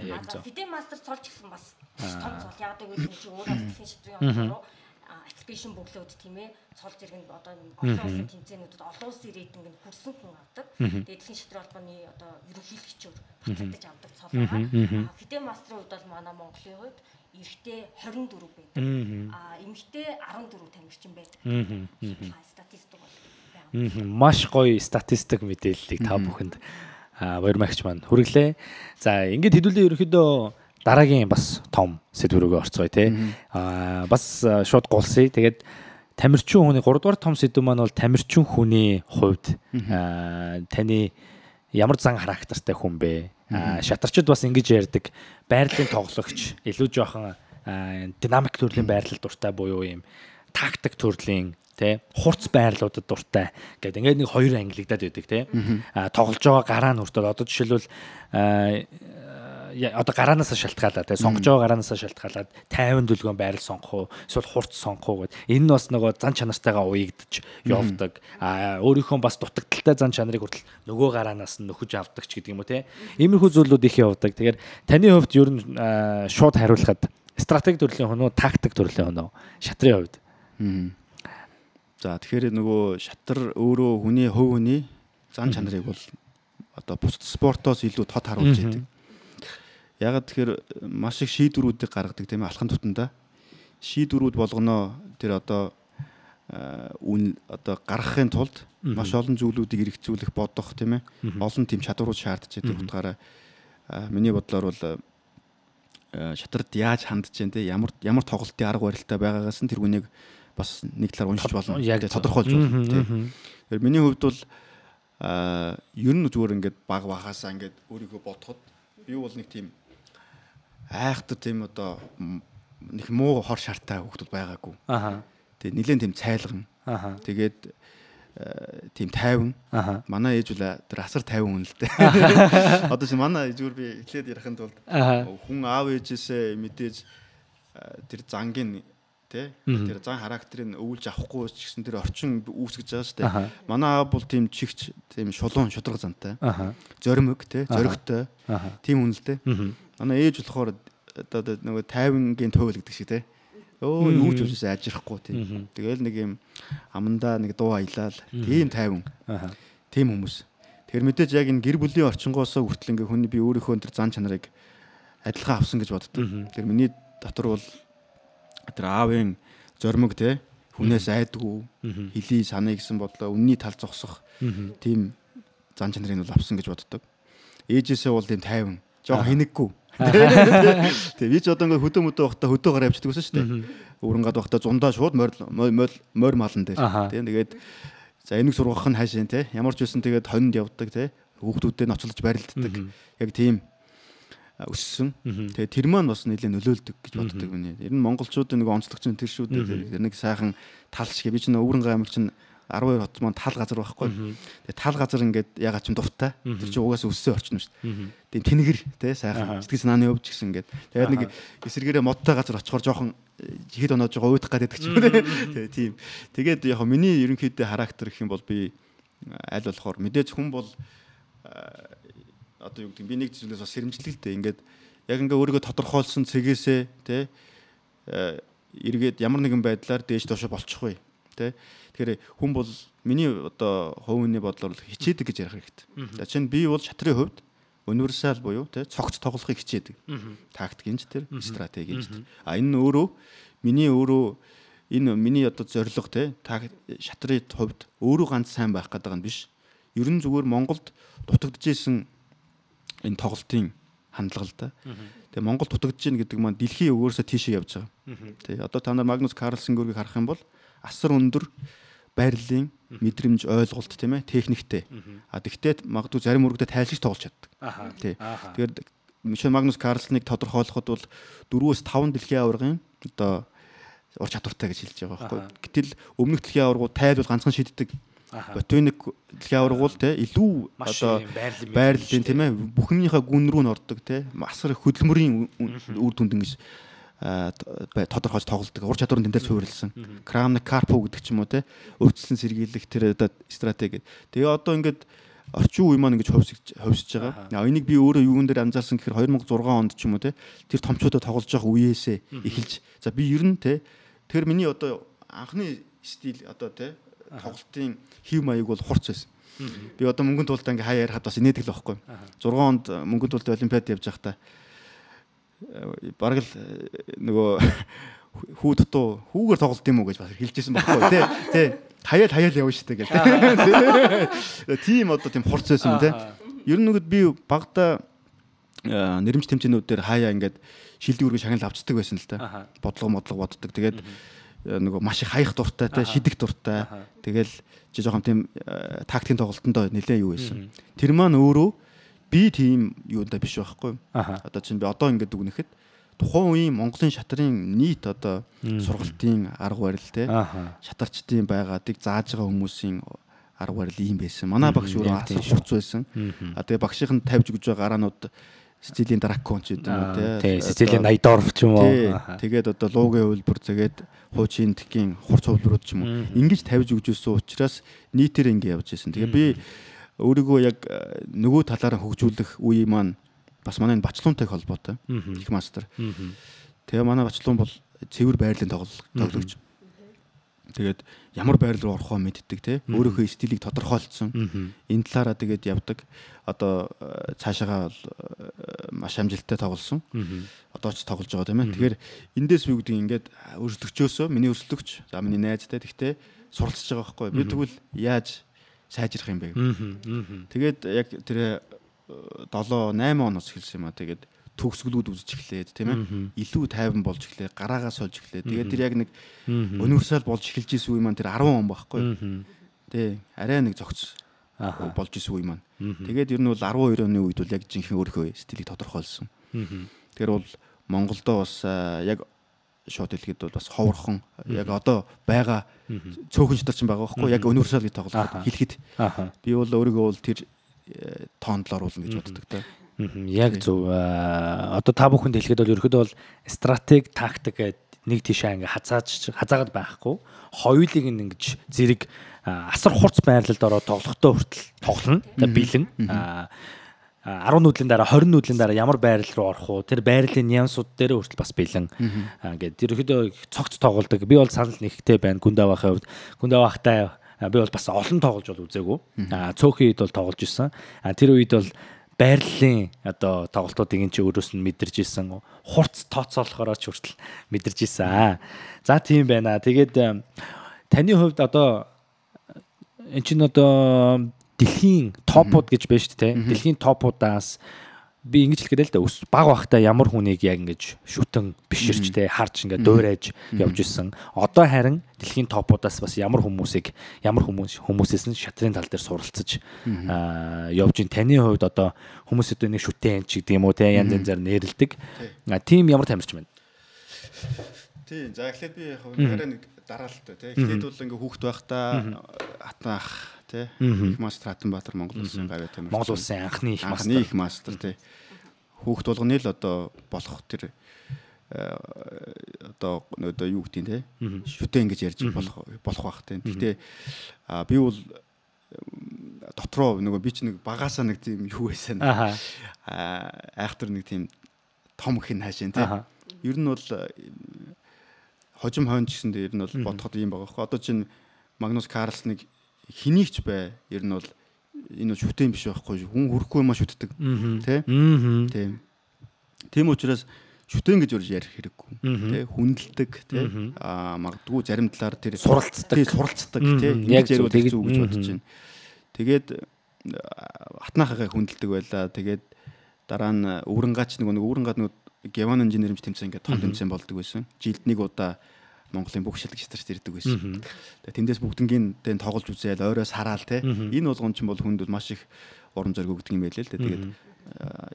Яг зөв. Фидэ мастер цолч гэсэн бас том цол. Яг одоо үйл чинь өөрөө дэлхийн шатрын руу аппликейшн бөглөөд тийм ээ. Цол зэрэг одоо олон улсын тэмцээнүүдэд олон улсын рейтинг нь хүрсэн хүн авдаг. Тэгээд дэлхийн шатрын холбооны одоо ерөнхийлөгчөөр батлагдаж авдаг цол байгаа. Фидэ мастерын хувьд бол манай Монголын хувьд эрэгтэй 24 байдаг. Эмэгтэй 14 тамирчин байдаг. Статистик бол байгаа. Маш гоё статистик мэдээллийг та бүхэнд баярмагч маань хүргэлээ. За ингээд хэдүүлээ ерөнхийдөө дараагийн бас том сэдв рүүгээ орцгоё те. Бас шууд гулсъя. Тэгээд тамирчин хүний 3 дугаар том сэдв маань бол тамирчин хүний хувьд таны ямар зан характертай хүн бэ? Шатарчд бас ингэж ярьдаг байрлалын тоглогч илүү жоохон динамик төрлийн байрлал дуртай буюу юм тактик төрлийн тий хурц байрлуудад дуртай гэдэг ингээд нэг хоёр ангилагдаад байдаг тий тоглож байгаа гараа нь хүртэл одоо жишээлбэл одоо гараанаас шалтгаалаад тий сонгож байгаа гараанаас шалтгаалаад 50 дүлгөөн байрал сонгох уу эсвэл хурц сонгох уу гэдэг энэ нь бас нөгөө зан чанартайгаа уягдж явдаг өөрийнхөө бас дутагдaltaй зан чанарыг хүртэл нөгөө гараанаас нь нөхөж авдаг ч гэдэг юм уу тий иймэрхүү зүйлүүд их явдаг. Тэгэхээр таны хувьд ер нь шууд хариулахад стратеги төрлийн хүн үү тактик төрлийн хүн үү шатрын хувьд за тэгэхээр нөгөө шатар өөрөө хүний хувь хүний зан чанарыг бол одоо бусад спортоос илүү тод харуулж идэг. Ягаад тэгэхээр маш их шийдвэрүүдийг гаргадаг тийм ээ алхан тутанда шийдвэрүүд болгоно тэр одоо үн одоо гаргахын тулд маш олон зүйлүүдийг хэрэгцүүлэх бодох тийм ээ олон тийм чадварууд шаардж байдаг утгаараа миний бодлоор бол шатарт яаж хандж जैन те ямар тоглолтын арга барилтай байгаагаас нь тэр үнийг бас нэг талаар уншиж болно тодорхойлж болно тийм. Тэгэхээр миний хувьд бол ер нь зүгээр ингээд баг багасаа ингээд өөрийгөө бодоход би бол нэг тийм айхтар тийм одоо нэг муу хор шартай хүмүүс байгаагүй. Тэгээ нэлээд тийм цайлган. Тэгээд тийм тайван. Манай ээж үл тэр асар тайван хүн л дээ. Одоо чи манай зүгээр би эхлээд ярихын тулд хүн аав ээжээсээ мэдээж тэр зангийн тий тэр зан характерыг өвлж авахгүй ч гэсэн тэр орчин үүсгэж байгаа шүү дээ. Манай аав бол тийм чигч тийм шулуун шудраг зантай. Зоримог тий зоригтой. Тийм хүн л дээ. Манай ээж болохоор одоо нөгөө тайвангийн туйл гэдэг шиг тий. Өө нүүж өвсөс ажирахгүй тийм. Тэгэл нэг юм амандаа нэг дуу аялал тийм тайван. Тийм хүмүүс. Тэгэхээр мэдээж яг энэ гэр бүлийн орчингоосоо хүртэл ингээ хүний би өөрийнхөө тэр зан чанарыг адилхан авсан гэж боддог. Тэгэхээр миний дотор бол тэр аавын зоримог те хүнээс айдгүй хэлий санаа гэсэн бодлоо үнний тал зогсох тийм зан чанарыг бол авсан гэж боддог. Ээжээсээ бол тийм тайван, жоо хинэггүй. Тэгээ би ч одоо ингээ хөдөө байхдаа хөдөө гараа явчихдаг байсан шүү дээ. Өрөнгөд байхдаа зундаа шууд морь малан дээр. Тийм тэгээд за энийг сургах нь хаашаа те ямар ч байсан тэгээд хонинд явдаг те хүүхдүүдэд ноцолж барилддаг. Яг тийм өссөн. Тэгээ тэр маань бас нэлээд нөлөөлдөг гэж боддог миний. Ер нь монголчуудын нэг онцлогч тэр шүү дээ. Нэг сайхан тал шиг би чинь Өвөрнгөө аймаг чинь 12 хот маань тал газар байхгүй. Тэгээ тал газар ингээд ягаад ч юм дуртай. Тэр чинь угаасаа өссөн орчин шүү дээ. Тэгээ тэнэгэр те сайхан сэтгэл санааны өвч гэсэн ингээд. Тэгээд нэг эсэргээрээ модтой газар очихоор жоохон хэд оноод жоо уйдах гэдэг ч юм те. Тэгээ тийм. Тэгээд яг миний ерөнхийдөө характер гэх юм бол би аль болохоор мэдээж хүн бол одоо юу гэдэг би нэг зүйлээс бас сэрэмжлэлтэй ингээд яг ингээ өөрийгөө тодорхойлсон цэгээсээ те эргээд ямар нэгэн байдлаар дээж доошо болчихгүй те. Тэгэхээр хүн бол миний одоо хувийн бодлоор хичээдэг гэж ярих хэрэгтэй. За чинь би бол шатрын хувьд универсал буюу те цогц тоглохыг хичээдэг. Тактикинч тэр стратегинч тэр. Энэ өөрөө миний одоо зорилго те шатрын хувьд өөрөө ганц сайн байх гэдэг нь биш. Ер нь зүгээр Монголд дутагдж исэн энэ тоглолтын хандлага л да. Тэгээ Монгол дутагдж ийн гэдэг маань дэлхийн өөрөөсөө тийшээ явж байгаа. Тэгээ одоо та нар Магнус Карлсен гүргийг харах юм бол асар өндөр байрлалын мэдрэмж ойлголт тийм ээ техниктэй. Тэгтээ магадгүй зарим үргдээ тайлшиж тоглож чаддаг. Тий. Тэгэхээр Мишель Магнус Карлсеныг тодорхойлоход бол 4-5 дэлхийн аваргын одоо ур чадвартай гэж хэлж байгаа байхгүй. Гэтэл өмнөх дэлхийн аваргууд тайлбал ганцхан шийддэг. Ботоник дэлхийн аваргууд те илүү одоо байрлалын тийм ээ бүхнийхээ гүн рүү н ордог те асар их хөдөлмөрийн үр дүнд ингэж тодорхойлж тоглолдог. Ур чадварын тэмдэл суурилсан. Крамник Карпо гэдэг ч юм уу те өргөжлөн сэргийлэх тэр одоо стратеги. Тэгээ одоо ингээд орчин үе маань ингэж ховсож байгаа. Энийг би өөрөө юун дээр анзаарсан гэхээр 2006 онд ч юм уу те тэр томчуудад тоглож байгаа үеэсээ эхэлж. За би ер нь те тэр миний одоо анхны стил одоо те тоглолтын хэв маяг бол хурц байсан. Би одоо мөнгөнд тулдаа ингээ хаяа ярихад бас инээдэг л байхгүй. 6 онд мөнгөнд тулдаа олимпиад явж байхдаа бараг л нөгөө хүү дутуу хүүгээр тоглолт юм уу гэж бас хэлжсэн байхгүй тий. Хаяал явна штэ гэл тий. Тийм одоо тийм хурц байсан тий. Ер нь нөгөө би багада нэрмж тэмцээнүүд дээр хаяа ингээд шилдэг үргээ шагнал авчдаг байсан л да. Бодлого боддог. Тэгээд нөгөө маш их хаях дуртай те шидэх дуртай. Тэгэл чи жоохон тийм тактикийн тоглолтонд нэлээд юу байсан. Тэр маань өөрөө би тийм юундаа биш байхгүй. Одоо чинь би одоо ингээд дүгнэхэд тухайн үеийн Монголын шатрын нийт одоо сургалтын арга барил те шатарчдын байгаадыг зааж байгаа хүмүүсийн арга барил ийм байсан. Манай багш өөрөө асар хурц байсан. Тэгээ багшийн тавьж өгж байгаа гараанууд Сицилийн дракон ч гэдэг юм уу те. Сицилийн Найдорф ч юм уу. Тэгээд одоо луугийн хувилбар тэгээд хуучин тгийн хурц хувилбарууд ч юм уу. Ингэж тавьж өгч өссөн учраас нийтээр ингэ явж байсан. Тэгээ би өөрийгөө яг нөгөө талаараа хөгжүүлэх үе маань бас манай бачлуунтай холбоотой. Их мастер. Тэгээ манай бачлуун бол цэвэр байрлалын тоглогч. Тэгээд ямар байрлал руу орохоо мэддэг те өөрийнхөө стилийг тодорхойлцсон. Энэ талаараа тэгээд явдаг. Одоо цаашаага маш амжилттай тоглосон. Одоо ч тоглож байгаа тийм ээ. Тэгэхээр эндээс юу гэдэг ингээд өрсөлдөгчөөсөө миний өрсөлдөгч за миний найзтай тэгтээ суралцж байгаа байхгүй. Би тэгвэл яаж сайжрах юм бэ. Тэгээд яг тэр 7-8 оноос эхэлсэн юм а. Тэгээд төгсгөлүүд үзэж эхлээд тийм ээ. Илүү тайван болж эхлэе, гараагаа сольж эхлэе. Тэгээд тэр яг нэг универсал болж эхэлж исэн үе маань тэр 10 он байхгүй. Тэ арай нэг зогц болж исэн үе маань. Тэгээд ер нь бол 12 оны үед бол яг жинхэнэ өөрийнхөө стилийг тодорхойлсон. Тэгэхээр бол Монголдо бас яг шууд хэлгээд бол бас ховорхон яг одоо байгаа цөөхөн шатар чинь байгаа байхгүй яг универсал гэж тоглоход хэлэхэд би бол өөрийгөө бол тэр тоонд л оруулна гэж боддог та. Яг зөв. Одоо та бүхэнд хэлэхэд бол ерөөхдөө бол стратеги, тактик гэдэг нэг тийшээ ингээ хазаагаад байхгүй. Хоёулыг ингэж зэрэг асар хурц байрлалд ороод тоглохдоо хүртэл тоглоно. Бэлэн 10 нүүдлийн дараа 20 нүүдлийн дараа ямар байрал руу орох уу тэр байрлалын нюансууд дээр хүртэл бас бэлэн ингээд ерөөхдөө цогц тоглодог. Би бол санал нэгтэй байна Гүндавахын хувьд. Гүндавахтай би бол бас олон тоглож бол үзээгүй. Цөөхөн үед бол тоглож исэн. Тэр үед бол байрлалын одоо тоглолтуудыг энэ ч өөрөөс нь мэдэрч исэн. Хурц тооцоолохороо ч хүртэл мэдэрч исэн. За тийм байна. Тэгээд таны хувьд одоо эн чинь одоо дэлхийн топууд гэж байна шүү дээ. Дэлхийн топуудаас би ингэж хэлгээд л да баг багтаа ямар хүнийг яг ингэж шүтэн биширч те харж ингээд дуурайж явж исэн. Одоо харин дэлхийн топуудаас бас ямар хүмүүсээс нь шатрын тал дээр суралцаж явж ин таны хувьд одоо хүмүүс одоо нэг шүтэн ч гэдэг юм уу те янз янзаар нэрэлдэг. Тим ямар тамирч байна? Тийм за эхлээд би яг нэг дараалалтай те. Эхлээд бол ингээ хүүхэд байхдаа хатнаах те их мастер Хатанбаатар Монгол улсын гавьяа тамирч. Монгол улсын анхны их мастер те. Хүүхэд болгоны л одоо болох тэр одоо юу гэдэг те шүтэн гэж ярьж болох байх те. Гэхдээ би бол дотроо нөгөө би ч нэг багаасаа нэг тийм юу байсан. Айхтар нэг тийм том хин хаашин те. Ер нь бол хожим хойно гэсэн дээр нь бол бодоход юм байгаа хөө. Одоо чинь Магнус Карлсныг хинийгч бай. Ер нь бол энэ шүтэн биш байхгүй. Хүн хүрэхгүй юм шүтдэг. Тэ? Тийм. Тийм учраас шүтэн гэж үрж ярих хэрэггүй. Тэ? Хүндэлдэг, тэ? Магадгүй зарим талаар тэр суралцдаг, тэ? Яг зөв гэж бодож байна. Тэгээд хатнаахаа хүндэлдэг байлаа. Тэгээд дараа нь өврөнгаач нэг өврөнгаад нэг Геван инженерэмж тэмцээн ингээд том тэмцээн болдог байсан. Жилд нэг удаа Монголын бүх шилдэг старт ирдэг байсан. Тэгээд тэндээс бүгднгийн дэн тоглож үзээл ойроос хараал те. Энэ болгон ч бол хүнд маш их урам зориг өгдөг юм байлээ л дээ. Тэгээд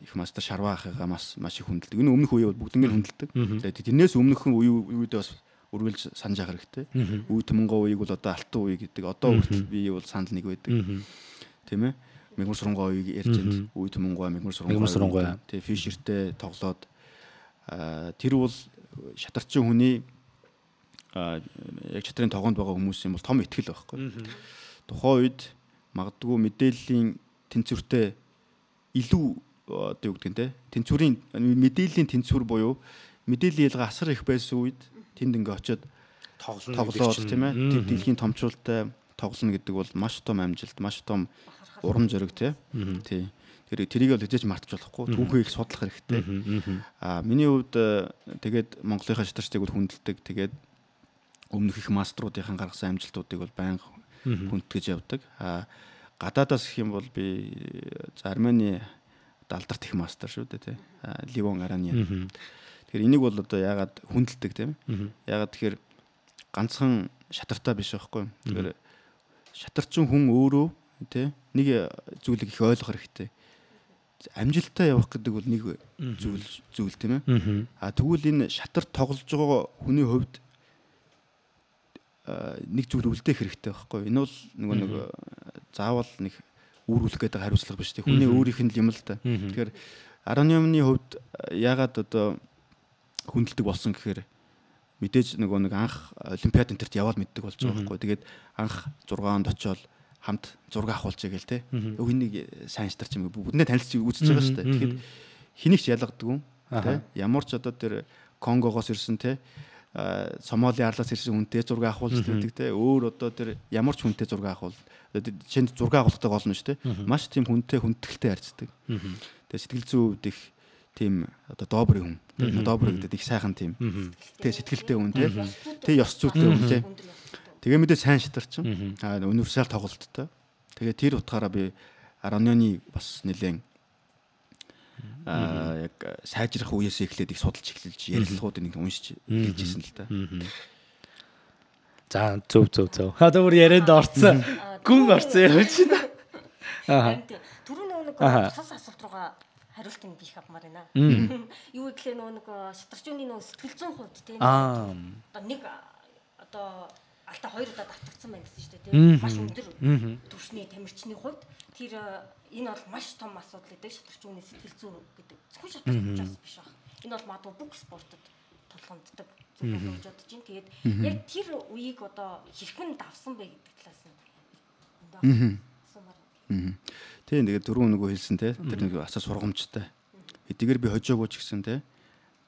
их мастер Шарваахыгаа маш их хүндэлдэг. Энэ өмнөх үе бол бүгднгийн хүндэлдэг. Тэгээд тэрнээс өмнөхөн үедээ бас үргэлж санаж явах хэрэгтэй. Үе Түмэнгой үеийг бол одоо алтан үе гэдэг. Одоо хүртэл би бол санал нэг байдаг. Тийм ээ. Мегмар Суронгой үеийг ярьж байна. Үе Түмэнгой, Мегмар Суронгой. Тэгээд Фишертэй тоглоод тэр бол шатарчин хүний яг чатрын тогоонд байгаа хүмүүсийн бол том ихтгэл байхгүй. Тухайн үед магадгүй мэдээллийн тэнцвэртэй илүү одоо юу гэдэг нь те тэнцвэрийн мэдээллийн тэнцвэр буюу мэдээллийн ялгаа асар их байсан үед тэнд ингээ очиод тоглоод тийм ээ дэлхийн томчуултай тоглоно гэдэг бол маш том амжилт, маш том урам зориг те. Тий. Тэрийг бол хэзээ ч мартаж болохгүй. Түүхээ их судлах хэрэгтэй. Миний хувьд тэгээд Монголынхаа шатарчдыг бол хүндэлдэг. Тэгээд өмнөх их маструудын гаргасан амжилтуудыг бол байнга хүндэтгэж явдаг. Гадаадаас гэх юм бол би Армени далдарт их мастер шүү дээ тий. Ливон Араньян. Тэгэхээр энийг бол одоо яагаад хүндэлдэг тийм ээ? Яагаад тэгэхээр ганцхан шатартаа биш байхгүй. Тэгэхээр шатарчин хүн өөрөө тий нэг зүйлийг их ойлгох хэрэгтэй. Амжилтаа явах гэдэг бол нэг зүйл тийм ээ. Тэгвэл энэ шатар тоглож байгаа хүний хувьд нэг зүйл үлдээх хэрэгтэй байхгүй. Энэ бол нэг заавал нэг үүрүүлэх гэдэг хариуцлага биш тийм. Хүний өөрийнх нь юм л да. Тэгэхээр Араньяны хувьд яагаад одоо хүндэлдэг болсон гэхээр мэдээж нэг анх олимпиад энтерт яваад мэддэг болж байгаа байхгүй. Тэгээд анх 6 онд очиод хамт зураг авахулж гээл те. Өглөөний сайн шатарч юм бүгднээ танилцж үзэж байгаа шүү дээ. Тэгэхэд хэнийг ч ялгадаг те. Ямар ч одоо тэр Конгогоос ирсэн те. Сомали арлаас ирсэн хүнтэй зураг авахулж байдаг те. Өөр одоо тэр ямар ч хүнтэй зураг авахул. Жишээнд зураг авахтай болно шүү дээ. Маш тийм хүнтэй хүндэтгэлтэй харьцдаг. Тэгээ сэтгэл зүйн хувьд их тийм одоо добрый хүн. Добрый гэдэг их сайхан тийм. Тэгээ сэтгэлтэй хүн те. Тэгээ ёс зүйтэй хүн те. Тэгээ мэдээ сайн шатарч. Универсал тоглолттой. Тэгээ тэр утгаараа би Ароныны бас нэлээд яг сайжрах үеэс эхлээд их судалж эхэлж ярилцлагуудыг нэг уншиж эхэлж ирсэн л та. За зөв. Хадаа бүр ярианд орцсон. Гүн орцсон явж байна. Түрүүний нэг тус асуулт руугаа хариултыг биих авмаар байна. Юу гэхлээр нэг шатарчууны нэг сэтгэл зүйн хувьд тийм. Одоо нэг одоо Алта 2 удаа давтагдсан байна гэсэн шүү дээ тийм. Маш өндөр түвшний тамирчны хувьд тэр энэ бол маш том асуудал гэдэг шатарчууны сэтгэл зүй гэдэг. Зөвхөн шатарчаас биш баг. Энэ бол магадгүй бүх спортод тулгамддаг зүйл болж бодож байна. Тэгээд яг тэр үеийг одоо хэрхэн давсан бэ гэдэг талаас нь. Тийм тэгээд дөрөв нөгөө хэлсэн те тэр нэг асаа сургамжтай. Эдгээр би хожоогүй ч гэсэн те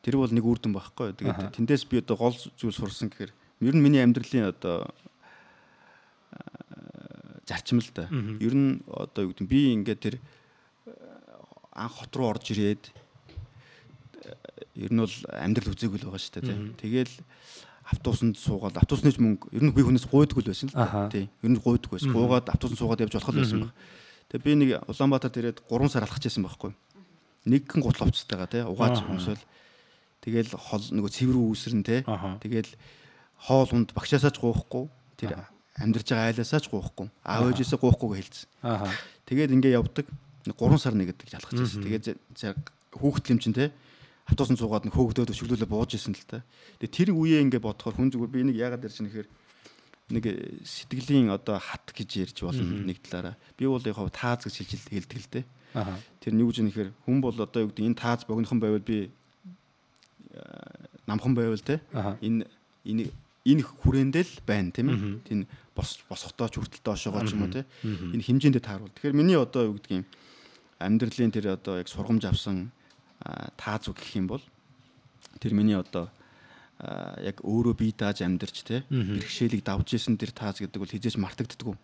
тэр бол нэг үр дүн байхгүй. Тэгээд тэндээс би одоо гол зүйл сурсан гэхээр ер нь миний амьдралын одоо зарчим л да. Ер нь одоо юу гэдэг би ингээд тэр анх хот руу орж ирээд ер нь бол амьдрал үзээгүй л байгаа шүү дээ. Тэгэл автобусанд суугаад автобусны мөнгө ер нь би хүнээс гуйдгүй л байсан л тий. Ер нь гуйдгүй байсан. Гуугаад автобусанд суугаад явж болох л байсан баг. Тэгээ би нэг Улаанбаатар ирээд 3 сар алхаж байсан байхгүй. Нэгэн гутлавцтайгаа тий угааж өмсөөл. Тэгэл хол нөгөө цэвэр үүсрэн тий. Тэгэл хоол унд багшаасаач гуухгүй. Тэр амьдарч байгаа айлаасаач гуухгүй. Аав ээжээсээ гуухгүйг хэлсэн. Тэгээд ингээ явдаг. 3 сар нэгдэг алхаж байсан. Тэгээд хүүхэд лимчин тий автобусанд суугаад нэг хөөгдөөд өшөглөлөө бууж исэн л та. Тэгээ тэр үеэ ингээ бодохоор хүн зүгээр би нэг яагаад ярьж нэхэр нэг сэтгэлийн одоо хат гэж ярьж болно нэг талаараа. Би бол яг тааз гэж хэлдэг л дээ. Тэр нь юу гэж нэхэр хүн бол одоо юу гэдэг энэ тааз богинохон байвал би намхан байвал те энэ хүрээндээ л байна тийм ээ. Тийм босготооч хүртэл доошоогоо ч юм уу те. Энэ хэмжээндээ тааруул. Тэгэхээр миний одоо юу гэдэг юм амьдралын тэр одоо яг сургамж авсан тааз гэх юм бол тэр миний одоо яг өөрөө бие дааж амьдарч те бэрхшээлийг давж исэн тэр тааз гэдэг бол хизээж мартагддаггүй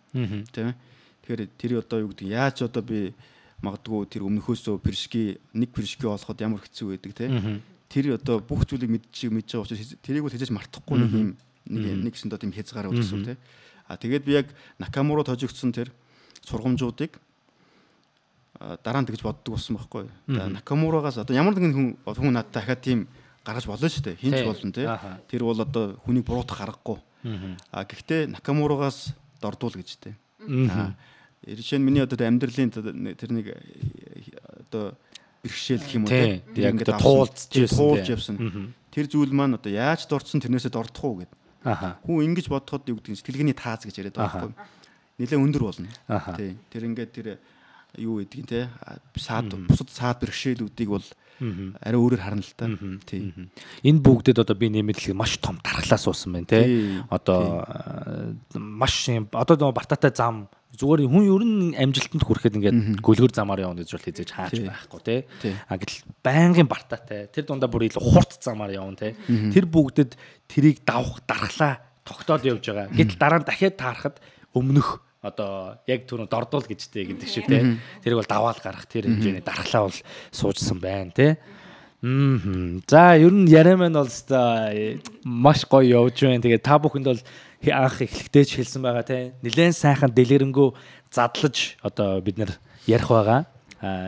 тийм ээ. Тэгэхээр тэр одоо юу гэдэг яаж одоо би магадгүй тэр өмнөхөөсөө нэг пиршки олоход ямар хэцүү байдаг те тэр одоо бүх зүйлийг мэдж байгаа учраас тэрийг бол хизээж мартахгүй нэг юм нэгсэн доо тийм хязгаар үүсгэв те. Тэгээд би яг Накамура тожигдсон тэр сургамжуудыг дараа нь тэгж боддог болсон байхгүй. Накамурагаас одоо ямар нэгэн хүн надад дахиад тийм гаргаж болно шүү дээ. Хинч болно те. Тэр бол одоо хүнийг буруутгах аргагүй. Гэхдээ Накамурагаас дордуул гэж те. Жишээ нь миний одоо амьдралын тэр нэг одоо бэрхшээл гэх юм уу те. Яг туулж явсан. Тэр зүйл маань одоо яаж дорцсон тэрнээсээ дордох уу гэд. Хүн ингэж бодоход юу гэдэг сэтгэлгээний тааз гэж яриад байгаа байхгүй. Нэлээ өндөр болно. Тий. Тэр ингээд тэр юу гэдгийг те бусад саад бэрхшээлүүдийг бол арай өөрөөр харна л та. Тий. Энэ бүгдэд одоо би нэмэлт маш том дархлаа суусан байна те. Одоо маш одоо нөгөө бартаатай зам зүгээр хүн ер нь амжилтанд хүрэхэд ингээд гөлгөр замаар явна гэж бол хийж хааж байхгүй те. Гэтэл байнгын бартаатай тэр дундаа бүр илүү хурц замаар явна те. Тэр бүгдэд тэрийг давах дархлаа тогтоол явж байгаа. Гэтэл дараа нь дахиад таарахад өмнөх одоо яг түрүү дордуул гэжтэй гэдэг шиг те. Тэрийг бол даваал гарах тэр хэмжээний дархлаа бол суужсан байна те. За ер нь яриа маань бол маш гоё явж байна. Тэгээд та бүхэнд бол анх эхлэхдээ ч хэлсэн байгаа те. Нилээн сайхан дэлгэрэнгүй задлаж одоо бид нэр ярих байгаа.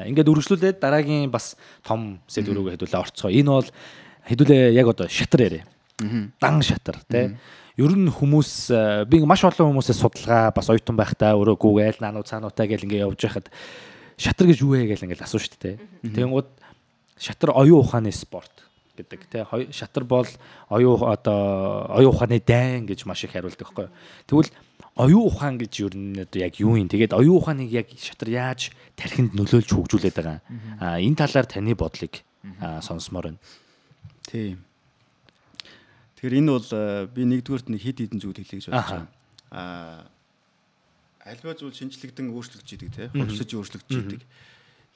Ингээд үргэлжлүүлээд дараагийн бас том сэдв рүүгээ хэдүүлээ орцгоо. Энэ бол хэдүүлээ яг одоо шатар яриа. Дан шатар те. Ер нь хүмүүс би маш олон хүмүүсээс судалгаа бас оюутан байхдаа өөрөө Google наануу цаануутай гэл ингээд явж байхад шатар гэж юу вэ гэл ингээд асууж штэ те. Тэгэнгүүт шатар оюун ухааны спорт гэдэг те. Шатар бол оюун ухааны дайн гэж маш их хариулдаг байхгүй юу. Тэгвэл оюун ухаан гэж ер нь одоо яг юу юм. Тэгээд оюун ухааныг яг шатар яаж тархинд нөлөөлж хөгжүүлээд байгаа. Энэ талаар таны бодлыг сонсомоор байна. Тийм. Тэгэхээр энэ бол би нэгдүгээрт нэг хэд хэдэн зүйл хэлье гэж бодож байна. Альва зүйл шинжлэгдэн өөрчлөгдөж идэг те. Хувьсаж өөрчлөгдөж идэг.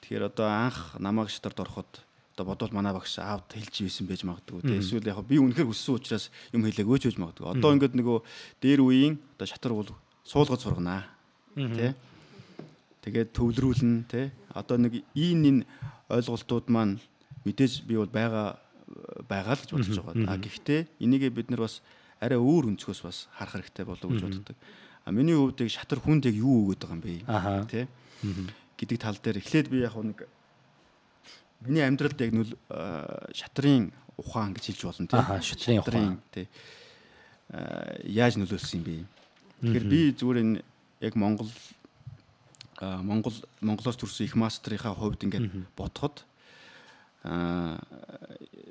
Тэгэхээр одоо анх намайг шатарт ороход одоо бодвол манай багш аавд хэлж ийсэн байж магадгүй те. Эсвэл яг би үнэхээр хүссэн учраас юм хэлээгөө ч байж магадгүй. Одоо ингээд нөгөө дээр үеийн одоо шатар бол суулгаж сурганаа. Тэ. Тэгээд төвлөрүүлнэ те. Одоо нэг энэ ойлголтууд маань мэдээж би бол байгаа л гэж бодож байгаа. Гэхдээ энийгээ бид нар бас арай өөр өнцгөөс бас харах хэрэгтэй болов уу гэж боддог. Миний хувьд яг шатар хүнд яг юу өгöd байгаа юм бэ? Тэ? Гэдэг тал дээр эхлээд би яг нэг миний амьдралд яг шатрын ухаан гэж хэлж болно тийм. Шатрын ухаан тий. Яаж нөлөөлсөн юм бэ? Тэгэхээр би зүгээр энэ яг Монголоос төрсэн их мастрынхаа хувьд ингээд бодоход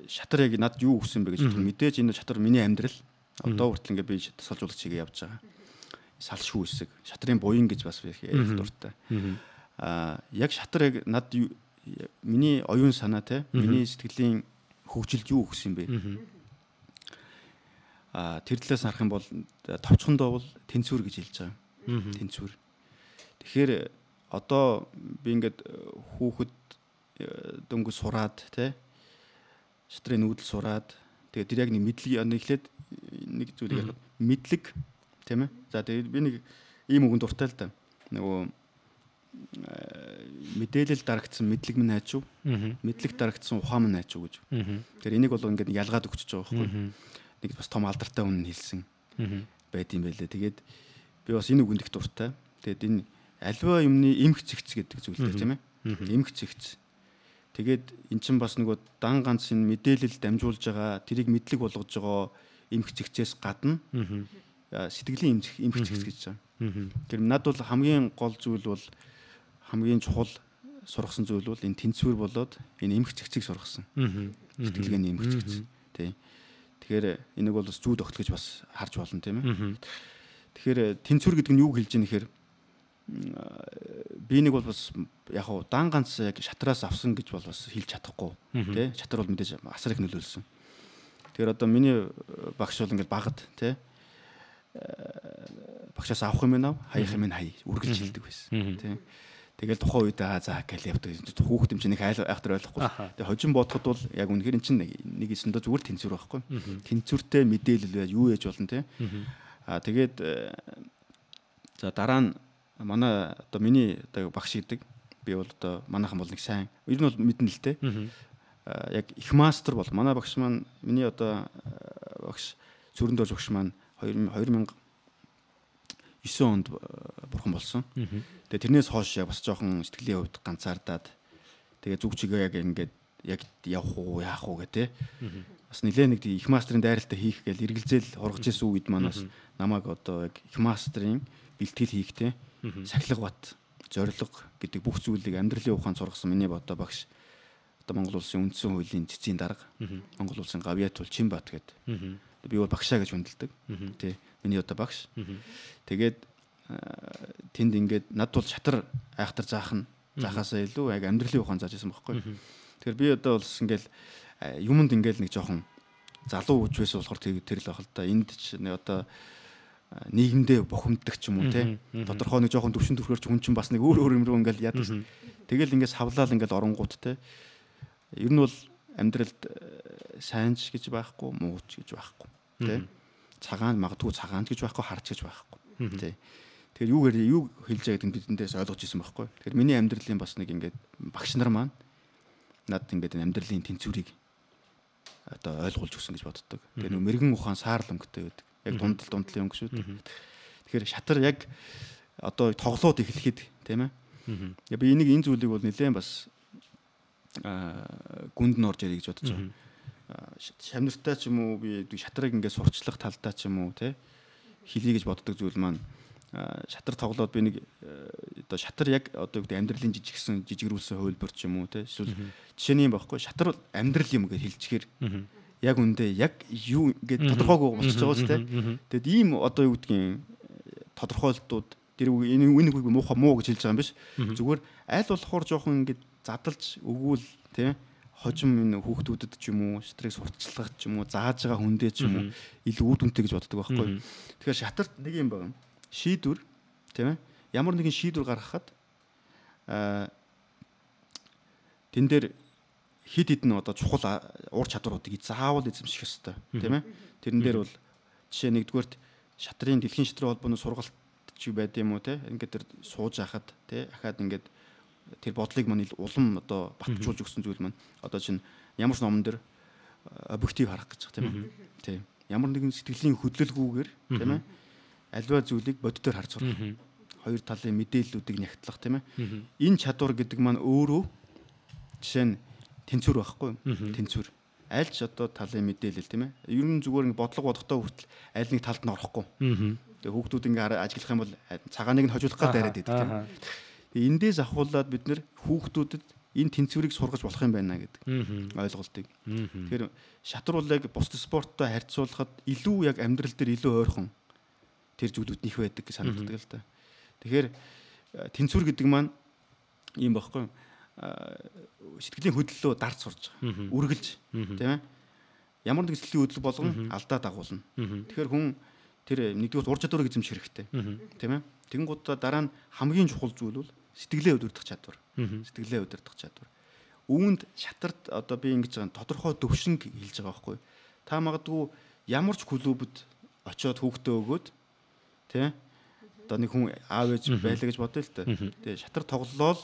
шатар яг над юу өгсөн бэ гэж мэдээж энэ шатар миний амьдрал одоо хүртэл ингээд би салжуулагч хийгээ явж байгаа. Салшгүй хэсэг. Шатрын буян гэж бас ярих дуртай. Яг шатар яг над миний оюун санаа те миний сэтгэлийн хөгжилд юу өгсөн бэ? Тэр талаас харах юм бол товчхондоо бол тэнцвэр гэж хэлж байгаа. Тэнцвэр. Тэгэхээр одоо би ингээд хүүхэд дөнгөж сураад те шатрын нүүдэл сураад тэгээд тэр яг нэг мэдлэг эхлээд нэг зүйлийг ярих мэдлэг тийм ээ. За тэгээд би нэг ийм үгэнд дуртай л да. Нөгөө мэдээлэл дарагдсан мэдлэг минь найч юу? Мэдлэг дарагдсан ухаан минь найч юу гэж. Тэгэхээр энийг бол ингээд ялгаад өгчөж байгаа байхгүй. Нэг бас том алдартай хүн хэлсэн байд юм байлээ. Тэгээд би бас энэ үгэнд их дуртай. Тэгээд энэ альва юмны эмх цэгц гэдэг зүйлтэй тийм ээ. Эмх цэгц. Тэгээд эн чинь бас нөгөө дан ганц энэ мэдээлэл дамжуулж байгаа, тэрийг мэдлэг болгож байгаа эмх цэгцээс гадна сэтгэлийн эмх цэгц гэж байна. Тэр над бол хамгийн гол зүйл бол хамгийн чухал сургасан зүйл бол энэ тэнцвэр болоод энэ эмх цэгцийг сургасан. Сэтгэлгээний эмх цэгц. Тий. Тэгэхээр энийг бол бас зүүд огт гэж бас харж болно тийм ээ. Тэгэхээр тэнцвэр гэдэг нь юу хэлж ийм нэхэр би нэг бол бас яг хуу дан ганц яг шатраас авсан гэж бол бас хэлж чадахгүй тий. Шатар бол мэдээж асар их нөлөөлсөн. Тэгэхээр одоо миний багш бол ингээд багад тий. Багшаас авах юм аа хаях юм хай үргэлж хэлдэг байсан тий. Тэгэл тухайн үед за гэл явдаг. Хүүхэд юм чинь их айхтар ойлгохгүй. Тэгээ хожим бодоход бол яг үнэхээр эн чинь нэг эсэндээ зүгээр тэнцвэр байхгүй. Тэнцвэртэй мэдээлэл байж юу яж болно те. Тэгээд за дараа нь манай одоо миний одоо багш гэдэг би бол одоо манайхан бол нэг сайн ер нь бол мэднэ л те. Яг их мастер бол манай багш маань миний одоо багш Зүрэн дорж багш маань 2009 онд бурхан болсон. Тэгээ тэрнээс хойш яг бас жоохон сэтгэлийн хувьд ганцаардаад тэгээ зүг чигээ яг ингээд яг явах уу яах уу гэх те. Бас нэлээ нэг их мастрын дайралтаа хийх гээл эргэлзээл хургаж исэн үед манаас намайг одоо яг их мастрын бэлтгэл хийхтэй сахилга бат зориг гэдэг бүх зүйлийг амьдралын ухаанд сургасан миний одоо багш одоо Монгол улсын үндсэн хуулийн цэцгийн дарга Монгол улсын Гавьят Чимбат гэдэг. Би бол багшаа гэж хүндэлдэг. Тий. Миний одоо багш. Тэгээд тэнд ингээд над бол шатар айхтар заахаасаа илүү яг амьдралын ухаан зааж байсан байхгүй. Тэгэхээр би одоо бол ингээл юмд ингээл нэг жоохон залуу үж байсан болохоор тэр л байх л да. Энд ч одоо нийгэмдээ бохимддаг ч юм уу те. Тодорхой нэг жоохон төвшин төрхөрч хүн чинь бас нэг өөр юм руу ингээл яадаг. Тэгэл ингээд савлаал ингээд оронгууд те. Ер нь бол амьдралд сайнч гэж байхгүй, мууч гэж байхгүй. Тэ? Цагаан магадгүй цагаанч гэж байхгүй, харч гэж байхгүй. Тэ? Тэгэхээр юу хэлж байгааг нь бидэндээс ойлгож ирсэн байхгүй. Тэгэхээр миний амьдралын бас нэг ингээд багш нар маань над ингээд амьдралын тэнцвэрийг одоо ойлгуулж өгсөн гэж боддог. Тэгээ нөө мэрэгэн ухаан саар л өнгөтэй байдаг. Яг дундлын өнгө шүү дээ. Тэгэхээр шатар яг одоо тоглоод эхлэхэд тийм ээ. Би энийг энэ зүйлийг бол нэлээд бас гүнд нь орж ирэх гэж бодож байгаа. Шамнартай ч юм уу би шатрыг ингээд сурчлах талдаа ч юм уу те хэлий гэж боддог зүйл маань шатар тоглоод би нэг одоо шатар яг одоо гэдэг амьдралын жижигрүүлсэн хөвлбөр ч юм уу те эсвэл жишээний юм байхгүй шатар амьдрал юм гэж хэлчихээр яг үндэ яг юу ингээд тодорхойгүй болчихж байгаа ч те тэгэд ийм одоо юу гэдгийг тодорхойлтууд тэр энэ үнийг муухай муу гэж хэлж байгаа юм биш зүгээр аль болохоор жоохон ингээд задалж өгвөл тийм хожим энэ хүүхдүүдэд ч юм уу шатрыг сурталчлах ч юм уу зааж байгаа хүндээ ч юм уу илүү үр дүнтэй гэж боддог байхгүй. Тэгэхээр шатарт нэг юм байна. Шийдвэр тийм ээ. Ямар нэгэн шийдвэр гаргахад тэн дээр хид хідэн одоо чухал ур чадваруудыг заавал эзэмших ёстой тийм ээ. Тэрэн дээр бол жишээ нэгдүгээрт шатрын дэлхийн шатрын холбооны сургалт ч байд юм уу тийм ингээд тэр сууж хахад тийм ахаад ингээд тэр бодлыг маань улам одоо батжуулж өгсөн зүйл маань одоо чинь ямар ч номон дээр объектив харах гэж байна тийм ээ. Тийм. ямар нэгэн сэтгэлийн хөдлөлгүйгээр тийм ээ альва зүйлийг боддоор харж сурах. Хоёр талын мэдээллүүдийг нягтлах тийм ээ. Энэ чадвар гэдэг маань өөрөө жишээ нь тэнцвэр байхгүй юу? Тэнцвэр. Аль ч одоо талын мэдээлэл тийм ээ. Ер нь зүгээр ингэ бодлого бодохдоо хүртэл аль нэг талд нь орохгүй. Тэгээ хүүхдүүд ингэ ажиллах юм бол цагааныг нь хожуулах гал дараад идэг тийм ээ. Тэгээ эндээс ахуулаад бид нэр хүүхдүүдэд энэ тэнцвэрийг сургаж болох юм байна гэдэг ойлголтыг. Тэгэхээр шатар бол яг бус спорттой харьцуулахад илүү яг амьдрал дээр илүү ойрхон тэр зүйлүүд нэх байдаг гэж санагддаг л да. Тэгэхээр тэнцвэр гэдэг маань юм багхгүй сэтгэлийн хөдлөлөө дарж сурж байгаа. Үргэлж тийм ээ. Ямар нэг сэтгэлийн хөдлөл болгон алдаа дагуулна. Тэгэхээр хүн тэр нэгдүгээр ур чадварыг эзэмших хэрэгтэй. Тийм ээ. Тэгэнгუთ дараа нь хамгийн чухал зүйл бол сэтгэлээ удирдах чадвар. Сэтгэлээ удирдах чадвар. Үүнд шатарт одоо би ингэж байгаа тодорхой төвшинг хэлж байгаа байхгүй. Та магадгүй ямар ч клубд очиод хүүхдээ өгөөд тийм одоо нэг хүн аав ээж байлаа гэж бодъё л та. Тэгээ шатар тоглолоо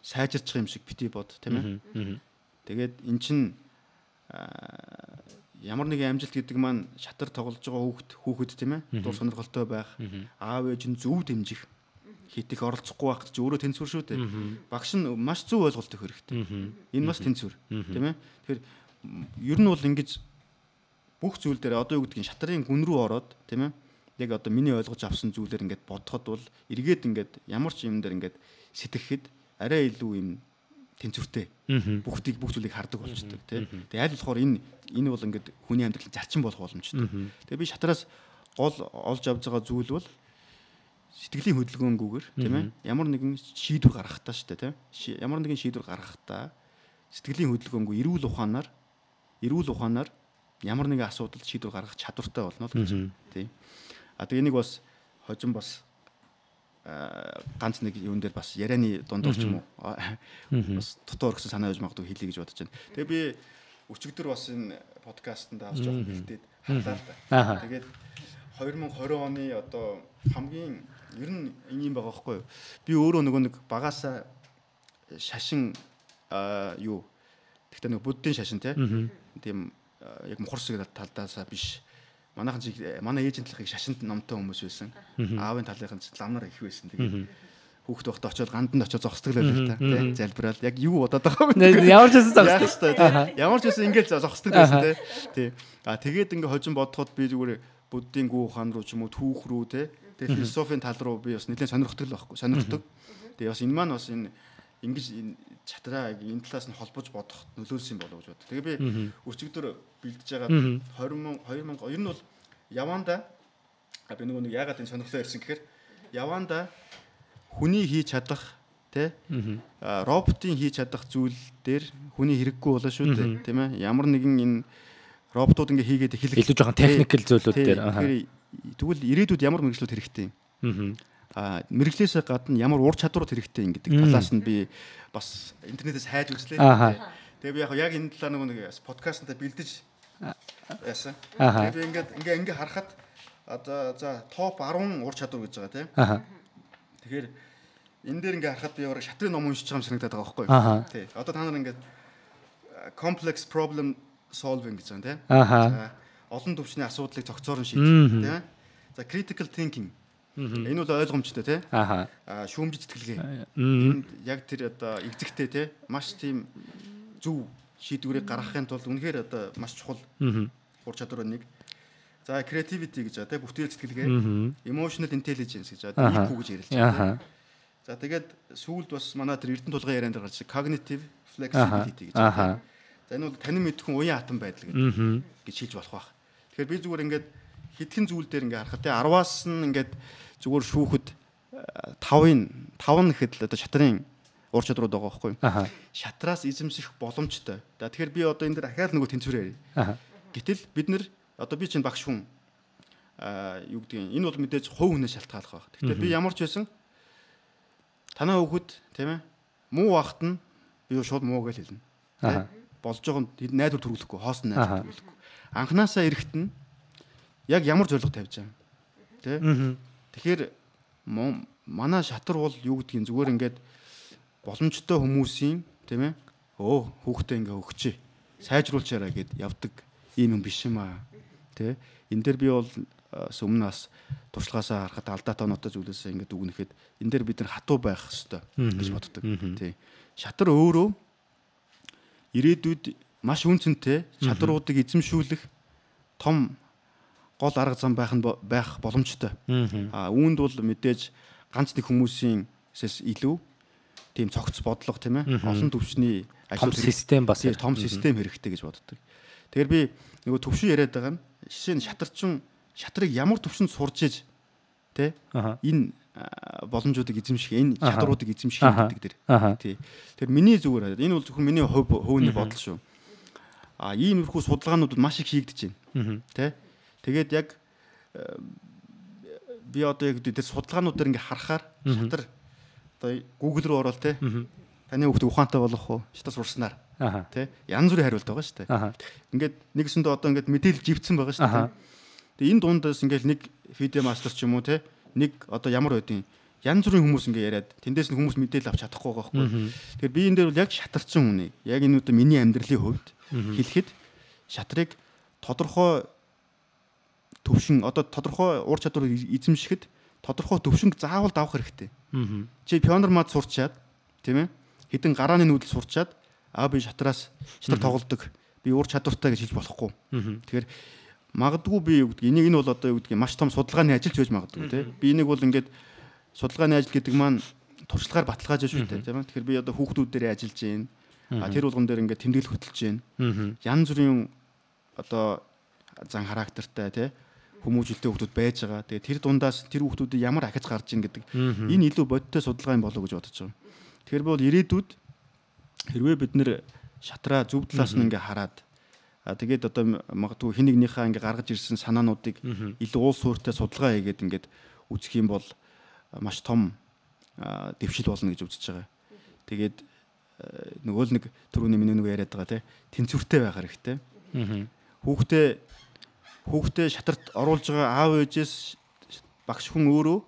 сайжирчих юм шиг бити бод тийм ээ. Тэгээд эн чин ямар нэгэн амжилт гэдэг маань шатар тоглож байгаа хүүхэд тийм ээ. Дур сонирхолтой байх, аав ээж нь зөв дэмжих, хит их оролцохгүй байх чи өөрөө тэнцвэр шүү дээ. Багш нь маш зөв ойлголт өгөх хэрэгтэй. Энэ бас тэнцвэр тийм ээ. Тэгэхээр ер нь бол ингэж бүх зүйл дээр одоо юу гэдгийг шатарын гүн рүү ороод тийм ээ. Яг одоо миний ойлгож авсан зүйлээр ингээд бодоход бол эргээд ингээд ямар ч юм дээр ингээд сэтгэхэд арай илүү юм тэнцвэртэй бүх зүйлийг хардаг болчтой тий. Тэгээ аль болохоор энэ бол ингээд хүний амьдралын зарчим болох боломжтой. Тэгээ би шатараас гол олж авж байгаа зүйл бол сэтгэлийн хөдөлгөөнгүйгээр тийм ээ ямар нэгэн шийдвэр гаргахтаа шүү дээ тий. Ямар нэгэн шийдвэр гаргахтаа сэтгэлийн хөдөлгөөнгүй эрүүл ухаанаар ямар нэгэн асуудалд шийдвэр гаргах чадвартай болно л гэж тий. А тэгээ энийг бас хожим бас ганц нэг юун дээр бас ярианы дундуур ч юм уу бас дотор орсон санаа явж магадгүй хэлье гэж бодож байна. Тэгээ би өчигдөр бас энэ подкастт авч жоох хэлтээд харлаа л да. Тэгээд 2020 оны одоо хамгийн ер нь ийм байгаа байхгүй юу? Би өөрөө нөгөө нэг багасаа шашин юу тэгтээ нэг буддын шашин тийм яг мухарсыг талдаасаа биш. Манай ээжийн талхыг шашинт номтой хүмүүс байсан. Аавын талынхан ламнар их байсан. Тэгээд хүүхд байхдаа очиод ганданд очиод зогсдог л байлаа та. Тий, залбирал. Яг юу бодоод байгаа юм. Ямар ч байсан зогсдог. Ямар ч байсан ингээл зогсдог байсан тий. А тэгээд ингээ хожим бодоход би зүгээр буддийн гүү ухаан руу ч юм уу түүх рүү тий. Тэгээд философийн тал руу би бас нэлээд сонирхдаг л байхгүй. Сонирхдаг. Тэгээд бас энэ маань бас энэ ингэж чатраа энэ талаас нь холбож бодох нөлөөлсөн болов гэж бод. Тэгээ би өчигдөр бэлдэж байгаа 2000 ер нь бол яванда би нэг яагаад энэ сонирхлоо ирсэн гэхээр яванда хүний хийж чадах тий роботын хийж чадах зүйл дээр хүний хэрэггүй болоо шүү дээ тийм ээ. Ямар нэгэн энэ роботууд ингээ хийгээд эхлэх илүү жоохон техникэл зүйлүүд дээр тэгвэл ирээдүйд ямар мэргэжлүүд хэрэгтэй юм. Мэрэгчлээс гадна ямар ур чадварууд хэрэгтэй юм гэдэг талаас нь би бас интернетээс хайж үзлээ. Тэгээ би яг энэ талаар нэг подкастнда бэлдэж яасан. Тэгээ би ингээ харахад одоо за топ 10 ур чадвар гэж байгаа тийм. Тэгэхээр энэ дээр ингээ харахад би яг шатрын ном уншиж байгаа юм санагдаад байгаа байхгүй юу? Тий. Одоо та нар ингээ complex problem solving гэж байна тийм. Олон түвшний асуудлыг цогцоор нь шийдэх тийм. За critical thinking энэ бол ойлгомжтой тий. Шүүмжит сэтгэлгээ. Энд яг тэр одоо эзэгтэй тий маш тийм зөв шийдвэрийг гаргахын тулд үнэхээр одоо маш чухал ур чадвар нэг. За creativity гэж тий бүтээл сэтгэлгээ, emotional intelligence гэж IQ гэж ярилж байгаа. За тэгээд сүүлд бас манай тэр Эрдэнэ тулгын ярианд гарч cognitive flexibility гэж байна. За энэ бол танин мэдхэн уян атом байдал гэж хэлж болох байх. Тэгэхээр би зүгээр ингээд хитгэн зүйл дээр ингээ харахад тий 10-аас нь ингээд зүгээр шүүхэд 5 гэхэд л одоо шатрын ур чадрууд байгаа байхгүй юу? Шатраас эзэмсэх боломжтой. За тэгэхээр би одоо энэ дээр ахаал нөгөө тэнцвэр ярив. Гэтэл бид нэр одоо би чинь багш хүн юу гэдгийг энэ бол мэдээж хувь хүнээс шалтгаалах байх. Гэхдээ би ямар ч байсан танаа хүүхэд тийм ээ муу ахт нь би шууд муу гэж хэлнэ. Болж байгаа нь найдвар төрүүлэхгүй, хоос нь найдвар төрүүлэхгүй. Анханасаа эрэхт нь яг ямар зорилго тавьж байгаа юм. Тэ? Тэгэхээр манай шатар бол юу гэдгийг зүгээр ингээд боломжтой хүмүүсийн тийм ээ хүүхдээ ингээ өгчээ. Сайжруулчаараа гэд явдаг ийм юм биш юм аа. Тэ энэ дээр би бол өмнө бас туршлагаасаа харахад алдаатай оноотой зүйлээс ингээд үгнэхэд энэ дээр бид нар хатуу байх хэрэгтэй гэж боддог. Тий. Шатар өөрөө ирээдүйд маш үнцэнтэй чадруудыг эзэмшүүлэх том гол арга зам байх боломжтой. Үүнд бол мэдээж ганц нэг хүмүүсээс илүү тийм цогц бодлого тийм ээ олон төвчний ажил систем бас том систем хэрэгтэй гэж боддог. Тэгэхээр би нөгөө төвшин яриад байгаа нь жишээ нь шатрыг ямар төвшөнд сурч иж тэ энэ боломжуудыг эзэмших энэ чадруудыг эзэмших гэдэг дэр тий. Тэгэхээр миний зүгээр энэ бол зөвхөн миний хувийн бодол шүү. Иймэрхүү судалгаанууд маш их хийгдэж байна. Тэ. Тэгээд яг би одоо яг тэр судалгаанууд дээр ингээ харахаар шатар одоо Google руу ороод тэ таны хүүхд ухаантай болох уу? Шатар сурснаар тэ янз бүрийн хариулт байгаа шүү дээ. Ингээд нэгсэндээ одоо ингээд мэдээлэл живцсэн байгаа шүү дээ. Тэгээ энэ дундаас ингээл нэг фидео мастер ч юм уу те нэг одоо ямар байдیں۔ Янз бүрийн хүмүүс ингээ яриад тэндээс нь хүмүүс мэдээлэл авч чадахгүй байгаа байхгүй. Тэгэхээр би энэ дээр бол яг шатарчин хүнийг яг энэ одоо миний амьдралын хувьд хэлэхэд шатрыг тодорхой төвшин одоо тодорхой ур чадварыг эзэмшихэд тодорхой төвшинг заавал давах хэрэгтэй. Чи пионер мад сурчаад тийм ээ хэдэн гарааны нүүдэл сурчаад би шатар тоглодог. Би ур чадвартай гэж хэлж болохгүй. Тэгэхээр магадгүй би юу гэдэг энийг энэ бол одоо юу гэдэг маш том судалгааны ажилч байж магадгүй тий. Би энийг бол ингээд судалгааны ажил гэдэг маань туршлагаар баталгааж шүү дээ тийм ээ. Тэгэхээр би одоо хүүхдүүд дээр ажиллаж байна. Тэр болгон дээр ингээд тэмдэглэл хөтэлж байна. Янз бүрийн одоо зан характертай тий хүмүүжлтэй хүүхдүүд байж байгаа. Тэгээ тэр дундаас тэр хүүхдүүдийг ямар ахиж гарч ийн гэдэг энэ илүү бодиттой судалгаа юм болов уу гэж бодож байгаа. Тэгэхээр бол ирээдүйд хэрвээ бид нэр шатраа зөв талаас нь ингээд хараад тэгээд одоо магадгүй хин нэгнийхээ ингээ гаргаж ирсэн санаануудыг илүү уул суурьтай судалгаа хийгээд ингээд үзэх юм бол маш том дэвшил болно гэж үзэж байгаа. Тэгээд нөгөө л нэг түрүүний миний нөгөө яриад байгаа тэнцвэртэй байх хэрэгтэй. Хүүхдээ шатарт оруулж байгаа аав ээжээс багш хүн өөрөө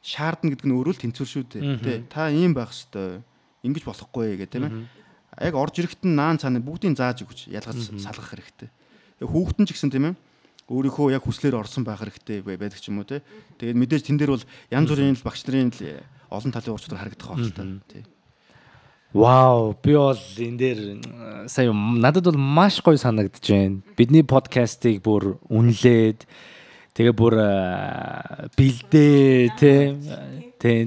шаардна гэдэг нь өөрөө л тэнцвэр шүү дээ. Та ийм байх хэвээр ингэж болохгүй гэх тийм ээ. Яг орж ирэхэд нь наан цаана бүгдийг зааж өгч ялгаж салгах хэрэгтэй. Хүүхдэн ч гэсэн тийм ээ өөрийнхөө яг хүслээр орсон байх хэрэгтэй байдаг ч юм уу те. Тэгээд мэдээж тэн дээр бол янз бүрийн багш нарын олон талын ур чадвар харагдах байх л та. Тий. Вау, би бол энэ дээр сая надад бол маш гоё санагдаж байна. Бидний подкастыг бүр үнэлээд тэгээ бүр бэлдээ тий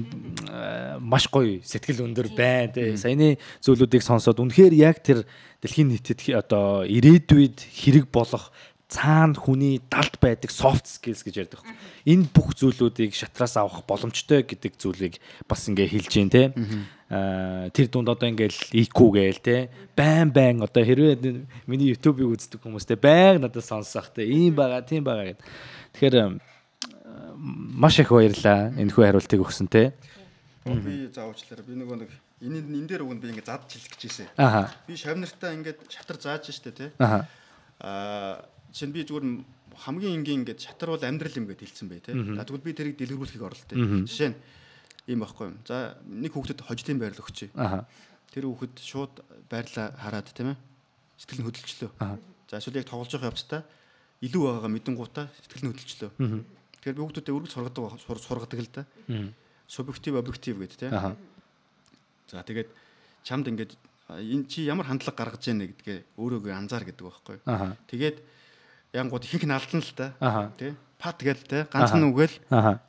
маш гоё сэтгэл өндөр байна тий. Саяны зүйлүүдийг сонсоод үнэхээр яг тэр дэлхийн нийтэд одоо ирээдүйд хэрэг болох цаана хүний далд байдаг soft skills гэж ярьдаг. Энэ бүх зүйлүүдийг шатраас авах боломжтой гэдэг зүйлийг бас ингээ хэлж гин те. Тэр дунд одоо ингээл IQ гээл те. Байн одоо хэрвээ миний YouTube-ыг үздэг хүмүүстэй байг надад сонсох те. Ийм байгаа, тийм байгаа гэд. Тэгэхээр маш их баярлаа энэхүү хариултыг өгсөн те. Би заавчлаарай. Би нэг энэ дээр өгөн би ингээ задж хэлэх гэжээсэ. Би шавнартаа ингээд шатар зааж штэ те. Жишээ нь би зүгээр хамгийн энгийн ингээд шатар бол амьдрал юм гэж хэлсэн бай тээ. Тэгвэл би тэрийг дэлгэрүүлэхийг оролтой. Жишээ нь ийм байхгүй юм. За нэг хүүхдэд хожлын байрал өгчээ. Тэр хүүхэд шууд байрлаа хараад тийм ээ. Сэтгэл нь хөдөлчлөө. За эсвэл яг тоглож байгаа явцдаа илүү байгаагаа мэдэнгуудаа сэтгэл нь хөдөлчлөө. Тэгэхээр би хүүхдүүдэд өргөж сургадаг л да. Субъектив, объектив гэдэг тийм. За тэгээд чамд ингээд энэ чи ямар хандлага гаргаж яана гэдгээ өөрөөгөө анзаар гэдэг байхгүй. Тэгээд янгууд ихэнх нь алдна л та тий пат гээл те ганцхан үгээл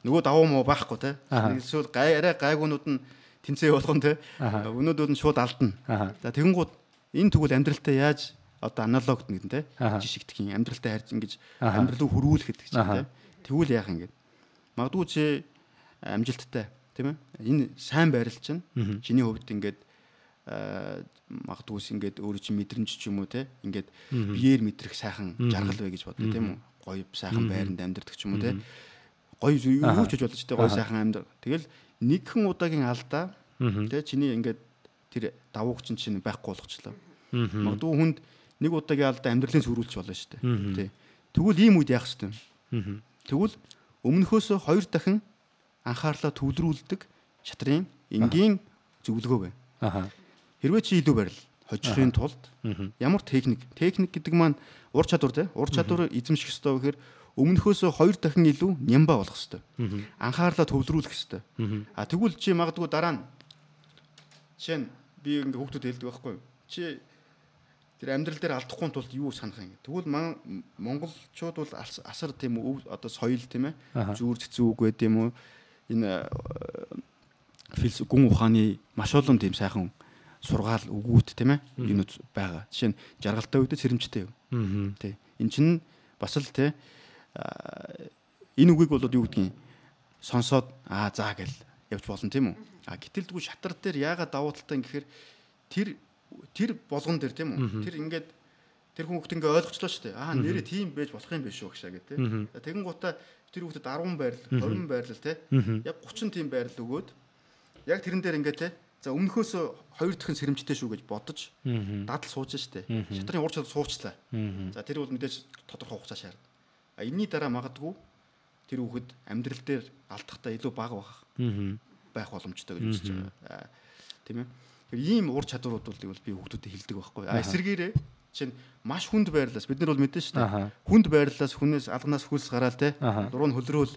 нөгөө давуу муу байхгүй те эсвэл арай гайгуунууд нь тэнцээ болгон те өнөөдөр нь шууд алдна. За тэгэнгүүт энэ тэгвэл амьдралтай яаж одоо аналогт нэгэн те жишигдэх юм амьдралтай харьж ингэж амьдралыг хөрвүүлэх гэдэг чинь те тэгвэл яах юм гээд магадгүй чи амжилттай тийм ээ энэ сайн байрал чинь чиний хувьд ингээд магадгүйс ингээд өөрөө чи мэдрэмж ч юм уу те ингээд биеэр мэдрэх сайхан жаргал бай гэж боддог тийм үү гоё сайхан байранд амьдардаг ч юм уу те гоё юу ч гэж бодож те гоё сайхан амьдар тэгэл нэгэн удаагийн алдаа те чиний ингээд тэр давууч чинь байхгүй болгочлоо магадгүй хүнд нэг удаагийн алдаа амьдралын сүрүүлж болно шүү дээ те тэгвэл ийм үед яах ёстой юм тэгвэл өмнөхөөсөө 2 дахин анхаарлаа төвлөрүүлдэг шатрын энгийн зөвлөгөө байна. Хэрвээ чи илүү барил хожихын тулд ямар техник гэдэг маань ур чадвар те ур чадвар эзэмших ёстой гэхээр өмнөхөөсөө 2 дахин илүү нямба болох ёстой. Анхаарлаа төвлөрүүлэх ёстой. Тэгвэл чи магадгүй дараа нь жишээ нь би ингээ хүүхдүүд хэлдэг байхгүй юу? Чи тэр амьдрал дээр алдахгүй тулд юу санах юм. Тэгвэл монголчууд бол асар тийм үү одоо соёл тийм ээ зүүр цэцүү үг байд юм уу? Энэ гүн ухааны маш олон тийм сайхан сургаал өгүүд тийм ээ юмуд байгаа. Жишээ нь жаргалтай үедээ сэрэмжтэй юу. Тий. Эн чинь бас л тий энэ үгийг бол юу гэдгийг сонсоод заа гэл явж болно тийм үү. Гэтэл дгүй шатар дээр яагаад давуу талтай гэхээр тэр болгон дээр тийм үү. Тэр ингээд тэр хүүхд ингээ ойлгочлоо шүү дээ. Нэрээ тийм байж болох юм биш үү гшаа гэх тийм. Тэгэн гутаа тэр хүүхдэд 10 байрлал 20 байрлал тийм. Яг 30 тийм байрлал өгөөд яг тэрэн дээр ингээ тийм. За өмнөхөөс 2 дахин сэрэмжтэй шүү гэж бодож дадал сууж штэ. Шатрын ур чадвар суучлаа. За тэр бол мэдээж тодорхой хугацаа шаардна. Энийний дараа магадгүй тэр хүүхэд амьдрал дээр алдахтаа илүү бага байх боломжтой гэж үзэж байгаа. Тийм ээ. Тэр ийм ур чадварууд бол би хүүхдүүдэд хэлдэг байхгүй. Эсэргээрээ чинь маш хүнд байрлалаас бид нар бол мэдэн штэ. Хүнд байрлалаас хүнээс алганаас хөлс гараал те. Дуруу хөлрөөл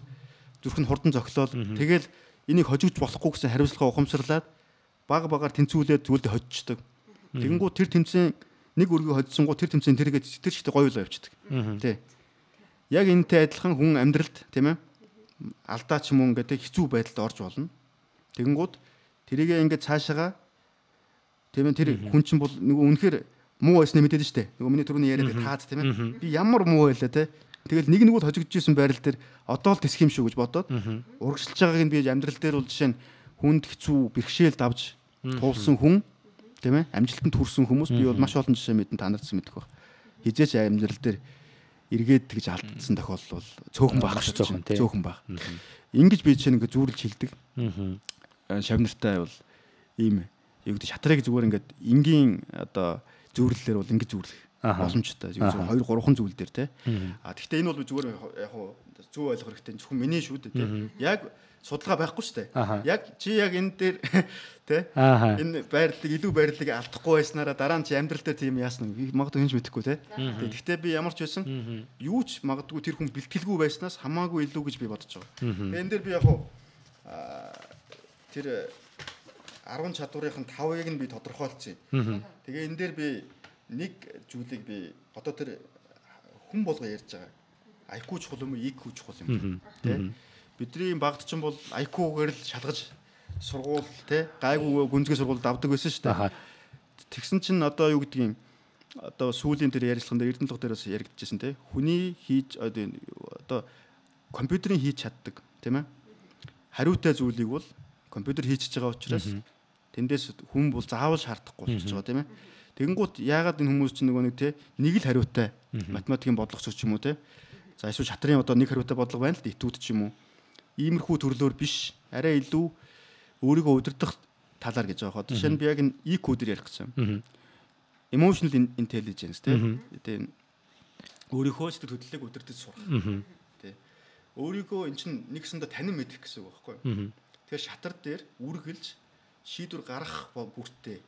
зүрх нь хурдан зохилол. Тэгэл энийг хожигч болохгүй гэсэн хариуцлага ухамсарлаад багаар тэнцвүүлээд зүйлдэ хожиждаг. Тэгэнгүү тэр тэмцэн нэг өргөө хоцсонгуу тэр тэмцэн тэргээд тэр чигтээ гоёлоо явчихдаг. Тэ. Яг энэтэй адилхан хүн амьдралд тийм ээ алдаа ч юм уу ингээд хэцүү байдалд орж болно. Тэгэнгүүт тэрийгээ ингээд цаашаага тийм ээ тэр хүн чинь бол нөгөө үнэхээр муу байснаа мэдээд штэ. Нөгөө миний түрүүний яриад таац тийм ээ. Би ямар муу байлаа те. Тэгэл нэг нь хожигдж исэн байрал дээр одоо л тэсэх юм шүү гэж бодоод урагшилж байгааг нь би амьдрал дээр бол жишээ нь хүнд хэцүү бэрхшээл давж туулсан хүн тийм ээ амжилтанд хүрсэн хүмүүс би бол маш олон жишээ мэдэн та нарт мэдэх баг. Хизээч амьдрал дээр эргээд тэгж алдсан тохиолдол бол цөөхөн баг шүү дээ. Цөөхөн баг. Ингэж би жишээ нэг зүүрлж хилдэг. Шавнартай бол ийм юу гэдэг шатрыг зүгээр ингээд энгийн одоо зүүрлэлээр бол ингэж зүүрлэх боломжтой. 2 3хан зүйл дээр те. Гэхдээ энэ бол зүгээр яг зөв ойлгох хэрэгтэй. Зөвхөн миний шүү дээ те. Яг судалгаа байхгүй шүү дээ. Яг чи яг энэ дээр те энэ байрлалыг илүү байрлалыг алдахгүй байснараа дараа нь чи амьдрал дээр тийм яасна магадгүй хинж мэдэхгүй те. Гэхдээ би ямар ч байсан юу ч магадгүй тэр хүн бэлтгэлгүй байснаас хамаагүй илүү гэж би бодож байгаа. Энэ дээр би яг тэр 10 чадварын 5-ыг нь би тодорхойлцъя. Тэгээ энэ дээр би нэг зүйлийг би одоо тэр хүн болго ярьж байгаа. IQ чухал юм уу, EQ чухал юм те. Бидний багт ч юм бол IQ-гээр л шалгаж сургууль те гайгүй гүнзгий сургуульд авдаг байсан шүү дээ. Тэгсэн чинь одоо юу гэдгийг одоо сүүлийн тэр ярилцлаган дээр Эрдэнэ тог дээрээс яригдчихсэн те. Хүний хийж одоо компьютерийн хийж чаддаг тийм ээ. Хариутай зүйлийг бол компьютер хийчихэж байгаа учраас тэндээс хүн бол заавал шаардахгүй болчихж байгаа тийм ээ. Тэгэнгუთ яагаад энэ хүмүүс чинь нөгөө нэг те нэг л хариутай математикийн бодлогоч ч юм уу те. За эсвэл шатрын одоо нэг хариутай бодлого байна л этүүд ч юм уу. Иймэрхүү төрлөөр биш арай илүү өөрийгөө удирдах талаар гэж байгаа. Жишээ нь би яг энэ EQ дээр ярих гэсэн. Emotional intelligence тийм өөрийнхөө сэтгэл хөдлөлийг удирдах сурах. Тэ. Өөрийгөө эн чинь нэгсэндээ танин мэдэх гэсэн үг байхгүй юу? Тэгэхээр шатар дээр үргэлж шийдвэр гаргах бүртээ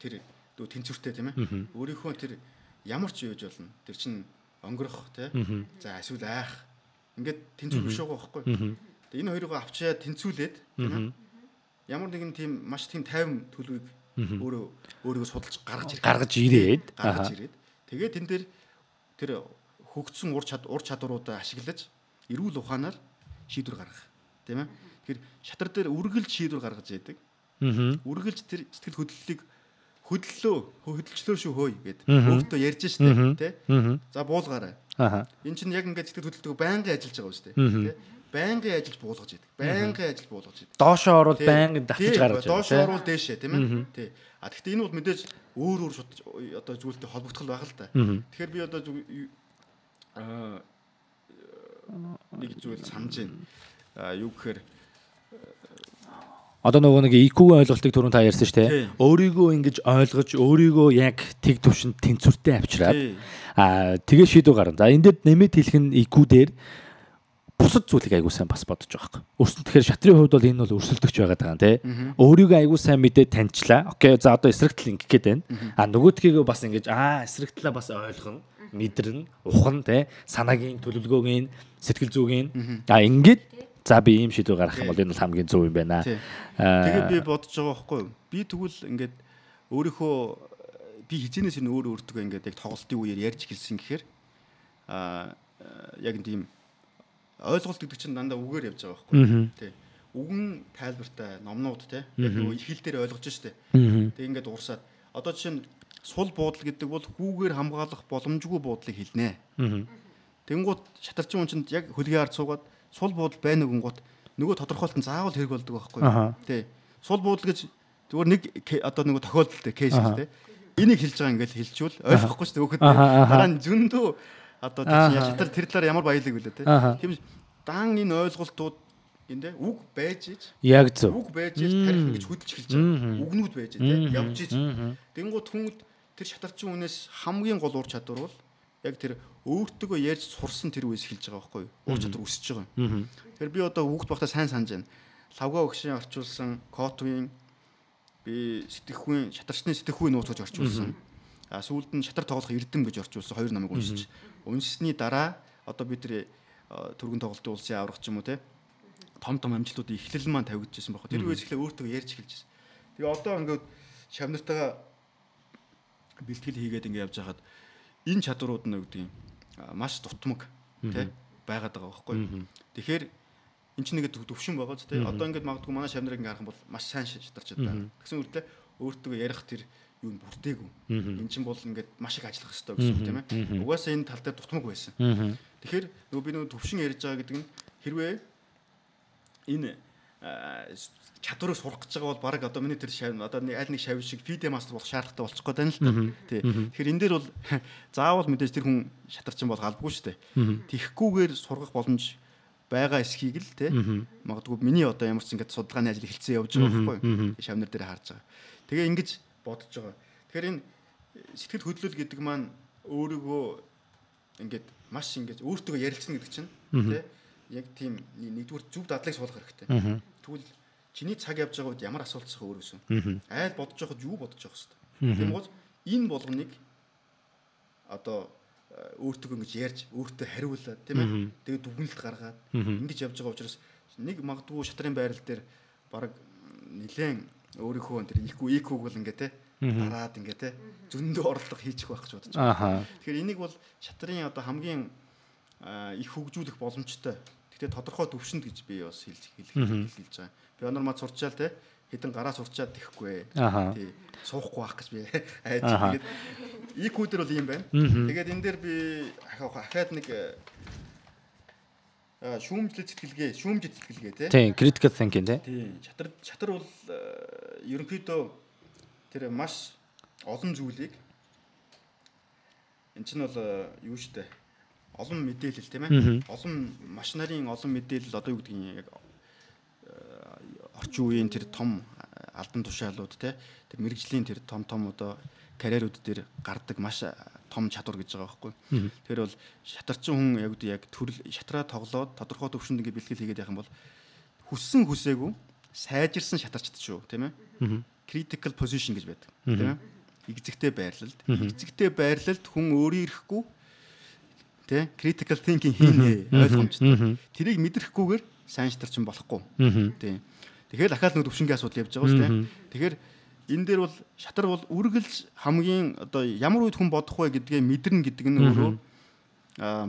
тэр тэнцвэртэй тийм ээ. Өөрийнхөө тэр ямар ч юуж болно. Тэр чинь онгорох тийм. За эсвэл айх. Ингээд тэнцвэр биш байгаа байхгүй. Тэгээ энэ хоёрыг авчиад тэнцвүүлээд тийм ээ. Ямар нэгэн тийм маш тийм тайван төлөвийг өөрийгөө судалж гаргаж ирээд тэгээд тэн дээр тэр хөгжсөн ур чадваруудаа ашиглаж эрүүл ухаанаар шийдвэр гаргах тийм ээ. Тэгэхээр шатар дээр үргэлж шийдвэр гаргаж яадаг. Үргэлж тэр сэтгэл хөдлөлийг хөдөлчлөө шүү хөөе гэдэг. Өөртөө ярьж штэ тий. За буулгаарай. Энд чинь яг ингээд сэтгэл хөдлөлтөд байнгын ажиллаж байгаа шүү дээ. Тий. Байнгын ажиллаж буулгаж яадаг. Байнгын ажиллаж буулгаж яадаг. Доошоо орвол байнгын татж гаргаж байгаа. Доошоо орвол дээшээ тийм ээ. Тий. Гэхдээ энэ бол мэдээж өөр одоо зүйлтэй холбогдол байгаа л да. Тэгэхээр би одоо нэг зүйл санаж байна. Юу гэхээр одоо нөгөө нэг IQ ойлголтыг түрүүн та ярьсан шүү дээ. Өөрийгөө ингэж ойлгож, өөрийгөө яг тэг төвшөнд тэнцвэртэй авчираад тэгээ шийдвэр гаргана. За энэ дээр нэмээд хэлэх нь IQ дээр бусад зүйлийг айгуу сайн бас бодож байгаа юм. Өөрсдөө тэгэхээр шатрын хувьд бол энэ бол өрсөлдөгч байгаа даа тий. Өөрийгөө айгуу сайн мэдээ таньчлаа. Окей, за одоо эсрэг тал ингэх гээд байна. Нөгөөдхийгөө бас ингэж эсрэг талаа бас ойлгоно, мэдэрнэ, ухна тий. Санаагийн төлөвлөгөөгийн, сэтгэл зүйн ингээд за би ийм шийдвэр гаргах юм бол энэ бол хамгийн зөв юм байна. Тэгээд би бодож байгаа байхгүй юу? Би тэгвэл ингээд өөрийнхөө би хизэнээс энэ өөртөө ингээд яг тоглолтын үеэр ярьж хэлсэн гэхээр яг тийм ойлголт гэдэг чинь дандаа үгээр явж байгаа байхгүй тий. Үгэн тайлбартай номнууд тий. Яг нөгөө их хэл дээр ойлгож штэ. Тэг ингээд уурсаад одоо жишээ нь сул буудал гэдэг бол хүүгээр хамгаалах боломжгүй буудлыг хэлнэ. Тэнгууд шатарчин хүн чинь яг хөлгийн ард суугаад сул буудал байна гингууд нөгөө тодорхойлолт нь заавал хэрэг болдог байхгүй тий. Сул буудал гэж зүгээр нэг одоо нөгөө тохиолдолтой кейс тий. Энийг хэлж байгаа ингээд хэлчихвэл ойлгохгүй шүү дээ хөөхд. Дараа нь зөндөө одоо шатар тэр талаар ямар баялаг үлээ тий. Тийм дан энэ ойлголтууд энэ үг байж ич яг зөв. Үг байж ич тарих гэж хөдөлж хэлж байгаа. Үгнүүд байж тий. Явж ич. Тэнгууд хүнд тэр шатарчин хүнээс хамгийн гол ур чадвар бол яг тэр өөртөө ярьж сурсан тэр үеэс хэлж байгаа байхгүй юу? Ур чадвар өсөж байгаа юм. Тэгэхээр би одоо хүүхд багтаа сайн санаж байна. Лавга өгшийн орчуулсан Котвийн би сэтгэхүйн шатарчны сэтгэхүйн нууц гэж орчуулсан. Сүүлд нь шатар тоглох эрдэм гэж орчуулсан хоёр номыг уншиж. Уншсны дараа одоо би тэр түргэн тоглолтын улсын аврах ч юм уу те том амжилтуудын эхлэл маань тавигдчихсан байхгүй. Тэр үеэс эхлээ өөртөө ярьж эхэлжсэн. Тэгээ одоо ингээд шавнартайгаа бэлтгэл хийгээд ингээд явж хахад энэ чадварууд нь гэдэг юм маш дутмаг те байгаад байгаа байхгүй. Тэгэхээр эн чинь нэг төвшин байгаа ч те одоо ингээд магадгүй манай шавнарыг ингээд харах юм бол маш сайн шатарч байгаа. Тэгсэн үрдээ өөртөө ярих тэр юу бүртээгүй. Эн чинь бол ингээд маш их ажиллах хэрэгтэй гэсэн үг тийм ээ. Угаасаа энэ тал дээр дутмаг байсан. Тэгэхээр нөгөө би нөгөө төвшин ярьж байгаа гэдэг нь хэрвээ энэ чадварыг сурах гэж байгаа бол баг одоо миний тэр шав одоо аль нэг шав шиг PD мастер болох шаардлагатай болчих гээд байна л та. Тий. Тэгэхээр энэ дээр бол заавал мэдээж тэр хүн шатарчин бол галбгүй шүү дээ. Тихгүйгээр сургах боломж байгаа эсхийг л тий. Магадгүй миний одоо ямар ч ингээд судалгааны ажил эхэлсэн явж байгаа байхгүй юу? Шавнар дээр харж байгаа. Тэгээ ингэж бодож байгаа. Тэгэхээр энэ сэтгэл хөдлөл гэдэг маань өөрийгөө ингээд маш ингээд өөртөө ярилцсан гэдэг чинь тий. Яг тийм нэгдүгээр зөв дадлыг суулгах хэрэгтэй. Тэгвэл чиний цаг явж байгаа үед ямар асуулт асах өөрөөсөө. Айл бодож байхад юу бодож байх хэвээр. Тийм бол энэ болгоныг одоо өөртөө ингэж ярьж өөртөө хариулаад тийм ээ. Тэгээд дүгнэлт гаргаад ингэж явж байгаа учраас нэг магадгүй шатрын байрал дээр баг нилээн өөрийнхөө тэр IQ-г бол ингээ те дараад ингээ те зөндөө орлого хийчих байх гэж бодож байгаа. Тэгэхээр энийг бол шатрын одоо хамгийн их хөгжүүлэх боломжтой. Гэхдээ тодорхой төвшөнд гэж би бас хэлж байгаа. Би онормаа сурчаал те хэдэн гараа сурчаад тэхгүй. Тий. Суухгүй байх гэж би айж тэгээд IQ дээр бол юм байна. Тэгээд энэ дээр би ахаад нэг шүүмжлэл сэтгэлгээ тий. Тийм, critical thinking тий. Тийм. Шатар бол ерөнхийдөө тэр маш олон зүйлийг эн чинь бол юу штэ олон мэдээлэл тийм ээ. Олон маш нарын олон мэдээлэл одоо юу гэдэг нь яг орчин үеийн тэр том албан тушаалууд тий. Тэр мэрэгжлийн тэр том одоо карьерууд дээр гардаг маш том чадвар гэж байгаа байхгүй. Тэгэхээр бол шатарчин хүн яг төрөл шатраа тоглоод тодорхой төвшөнд ингэ бэлтгэл хийгээд явах юм бол хүссэн хүсээгүй сайжирсан шатарчд шүү тийм ээ. Critical position гэж байдаг тийм ээ. Игзэгтэй байрлалд. Игзэгтэй байрлалд хүн өөрийн ирэхгүй тий critical thinking хийнэ ойлгомжтой. Тэрийг мэдрэхгүйгээр сайн шатарчин болохгүй. Тий. Тэгэхээр дахиад нэг төвшингийн асуудал явж байгаа шүү дээ. Тэгэхээр энэ дээр бол шатар бол үргэлж хамгийн одоо ямар үед хүн бодох вэ гэдгээ мэдэрнэ гэдэг нь өөрөө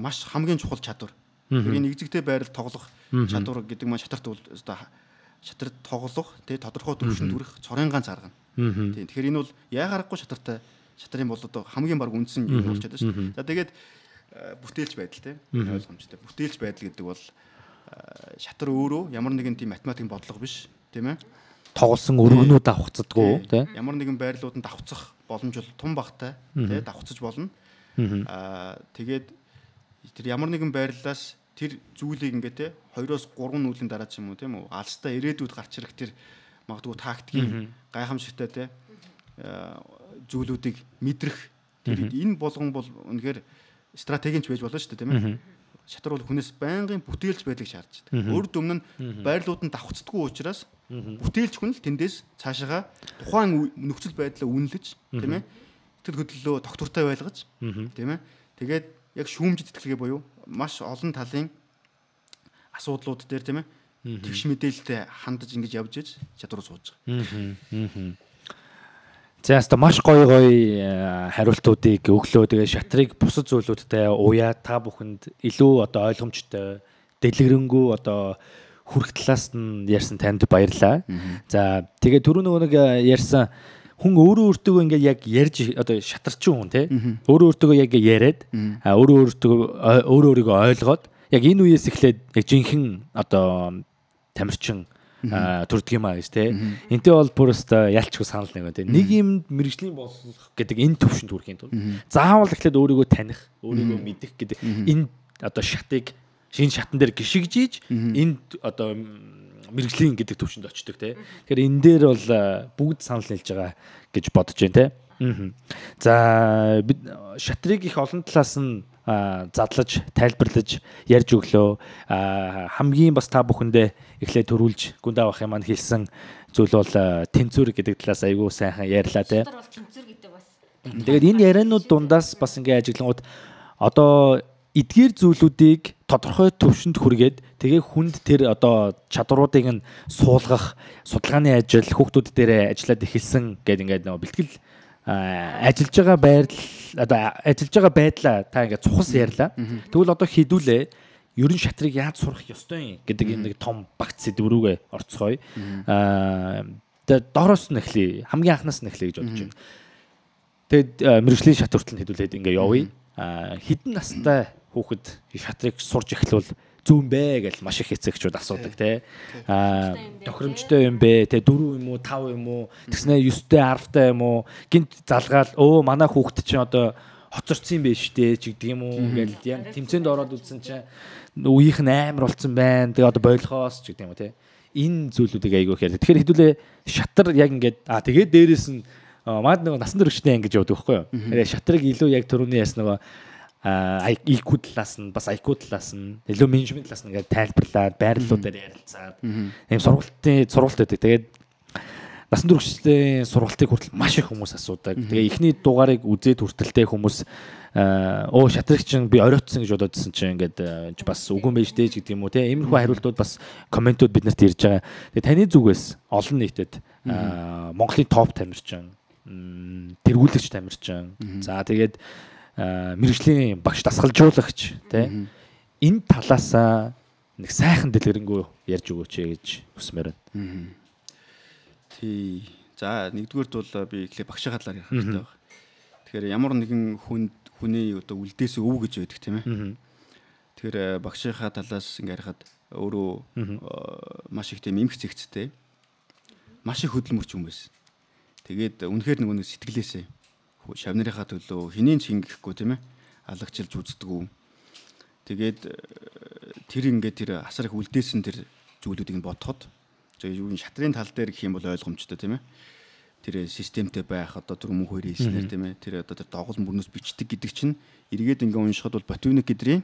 маш хамгийн чухал чадвар. Энэ игзэгтэй байрал тоглох чадвар гэдэг маань шатарт бол одоо шатар тоглох тий тодорхой төвшөнд хүрэх цорын ганц арга. Тий. Тэгэхээр энэ бол яа гарахгүй шатрын бол одоо хамгийн баг үндсэн юм болж байгаа шүү дээ. За тэгээд бүтээлч байдал тий ойлгомжтой. Бүтээлч байдал гэдэг бол шатар өөрөө ямар нэгэн тийм математикийн бодлого биш тийм ээ. Тоглосон өргөнүүд давхцдаггүй тий. Ямар нэгэн байрлалууд нь давхцах боломж бол тун багтай тий давхцаж болно. Тэгээд тэр ямар нэгэн байрлалаас тэр зүйлийг ингээ тий 2-3 нүүлийн дараа ч юм уу тийм үү алстаа ирээдүйд гарч ирэх тэр магадгүй тактикийн гайхамшигтай тий зүйлүүдийг мэдрэх тэр энэ болгон бол үнэхээр стратегийнч байж болно шүү дээ тийм ээ. шатар бол хүнээс байнгын бүтээлж байдлыг шаардж байдаг. Өөр дүмн нь байрлууд нь давхцдаггүй учраас бүтээлч хүн л тэндээс цаашаага тухайн нөхцөл байдлаа үнэлж тийм ээ сэтгэл хөдлөлөө тогтвортой байлгаж тийм ээ тэгээд яг шүүмжид тэтгэлгээ буюу маш олон талын асуудлууд дээр тийм ээ тэгш мэдээлэлтэй хандаж ингэж явж иж чадвар сууж байгаа. За яста маш гоё хариултуудыг өглөө тэгээ шатрыг бусад зүйлүүдтэй уяа та бүхэнд илүү одоо ойлгомжтой дэлгэрэнгүй одоо хүрх талаас нь ярьсан танд баярлалаа. За тэгээ түрүү нэг ярьсан хүн өөрөө өөртөө ингээд яг ярьж одоо шатарчин хүн тий өөрөө өөртөө яг яриад өөрөө өөрийгөө ойлгоод яг энэ үеэс эхлээд яг жинхэнэ одоо тамирчин төрдөг юм аа гэж тий. Энтэй бол бүрөөсөө ялчгүй санал нэг тий. Нэг юм мэрэгжлийн болох гэдэг энэ төвшөнд хүрэхийн тулд заавал эхлээд өөрийгөө таних, өөрийгөө мэдэх гэдэг энэ одоо шатыг шинэ шатан дээр гიშгэж энэ одоо мэрэгжлийн гэдэг төвшөнд очдог тий. Тэгэхээр энэ дээр бол бүгд санал нийлж байгаа гэж бодож байна тий. За бид шатрыг их олон талаас нь задлаж, тайлбарлаж ярьж өглөө. Хамгийн бас та бүхэндээ эхлээд төрүүлж гүнд авах юм маань хэлсэн зүйл бол тэнцвэр гэдэг талаас айгүй сайхан ярьлаа те. Тэгээд энэ ярианууд дундаас бас ингээ ажиглангууд одоо эдгээр зүйлүүдийг тодорхой төвшөнд хүргээд тэгээ хүнд тэр одоо чадваруудыг нь суулгах, судалгааны ажил хүүхдүүд дээр ажиллаад эхэлсэн гэдэг ингээд нөгөө бэлтгэл ажиллаж байгаа байдлаа та ингээд цухас ярьлаа. Тэгвэл одоо хідүүлээ ерөн шатрыг яаж сурах ёстой юм гэдэг энэ нэг том багц сэдв рүүгээ орцгоё. Тэгээд доороос нь эхлэе. Хамгийн анхнаас нь эхлэе гэж бодож байна. Тэгэд мэрэгжлийн шат хүртэл хідүүлээд ингээд явъя. Хэдэн настай хүүхэд шатрыг сурж эхлүүл зүүн бэ гэж маш их эцэгчүүд асуудаг тий. Тохиромжтой юм бэ? Тэ 4 юм уу, 5 юм уу? Тэгснэ 9-тэй 10-тай юм уу? Гинт залгаал манай хүүхэд чинь одоо хоцорцсон юм биш үү ч гэдэг юм уу? Ингээл яг тэмцээнд ороод үзсэн чинь үеийнх нь амар болцсон байна. Тэгээ одоо бойлохоос ч гэдэг юм уу тий. Энэ зүйлүүдийг айгүй хэрэг. Тэгэхээр хэдүүлээ шатар яг ингээд тэгээд дээрэс нь маад нэг насан туршидаа ингэж явдаг байхгүй юу? Тэгээ шатрыг илүү яг түрүүний яс нөгөө IQ талаас нь бас IQ талаас нь илүү менежмент талаас нь ингээд тайлбарлаад байрлалуудаар ярилцаад ийм сургалт байдаг. Тэгээд насан туршидын сургалтыг хүртэл маш их хүмүүс асуудаг. Тэгээ эхний дугаарыг үзээд хүртэлтэй хүмүүс шатрыг чинь би оройтсон гэж бодоодсэн чинь ингээд бас үгүй байж дээ гэдэг юм уу те. Иймэрхүү хариултууд бас комментууд биднэрт ирж байгаа. Тэгээ таны зүгээс олон нийтэд Монголын топ тамирчин, тэргүүлэгч тамирчин. За тэгээд мэрэгжлийн багш дасгалжуулагч тий энэ талаасаа нэг сайхан дэлгэрэнгүй ярьж өгөөч гэж хүсмээр байна. Тий. За нэгдүгээрт бол би эхлээ багшийн талаар ярих хэрэгтэй байна. Тэгэхээр ямар нэгэн хүний одоо үлдээс өв гэж байдаг тийм ээ. Тэгэхээр багшийнхаа талаас ингээ харахад өөрөө маш их тийм эмх зэгцтэй маш их хөдөлмөрч юм байсан. Тэгээд үнэхээр нэг сэтгэлээсээ шавнарынхаа төлөө хинийн ч хингэхгүй тийм ээ алагчилж үздэггүй. Тэгээд тэр ингээд тэр асар их үлдээсэн тэр зүйлүүдийг нь бодоход юу шатрын тал дээр гэх юм бол ойлгомжтой тийм ээ. Тэр системтэй байх одоо түр мөн хоёр хэлснээр тийм ээ. Тэр одоо тэр доголн бүрнөөс бичдэг гэдэг чинь эргээд ингээ уншихад бол ботвиник гэдрийн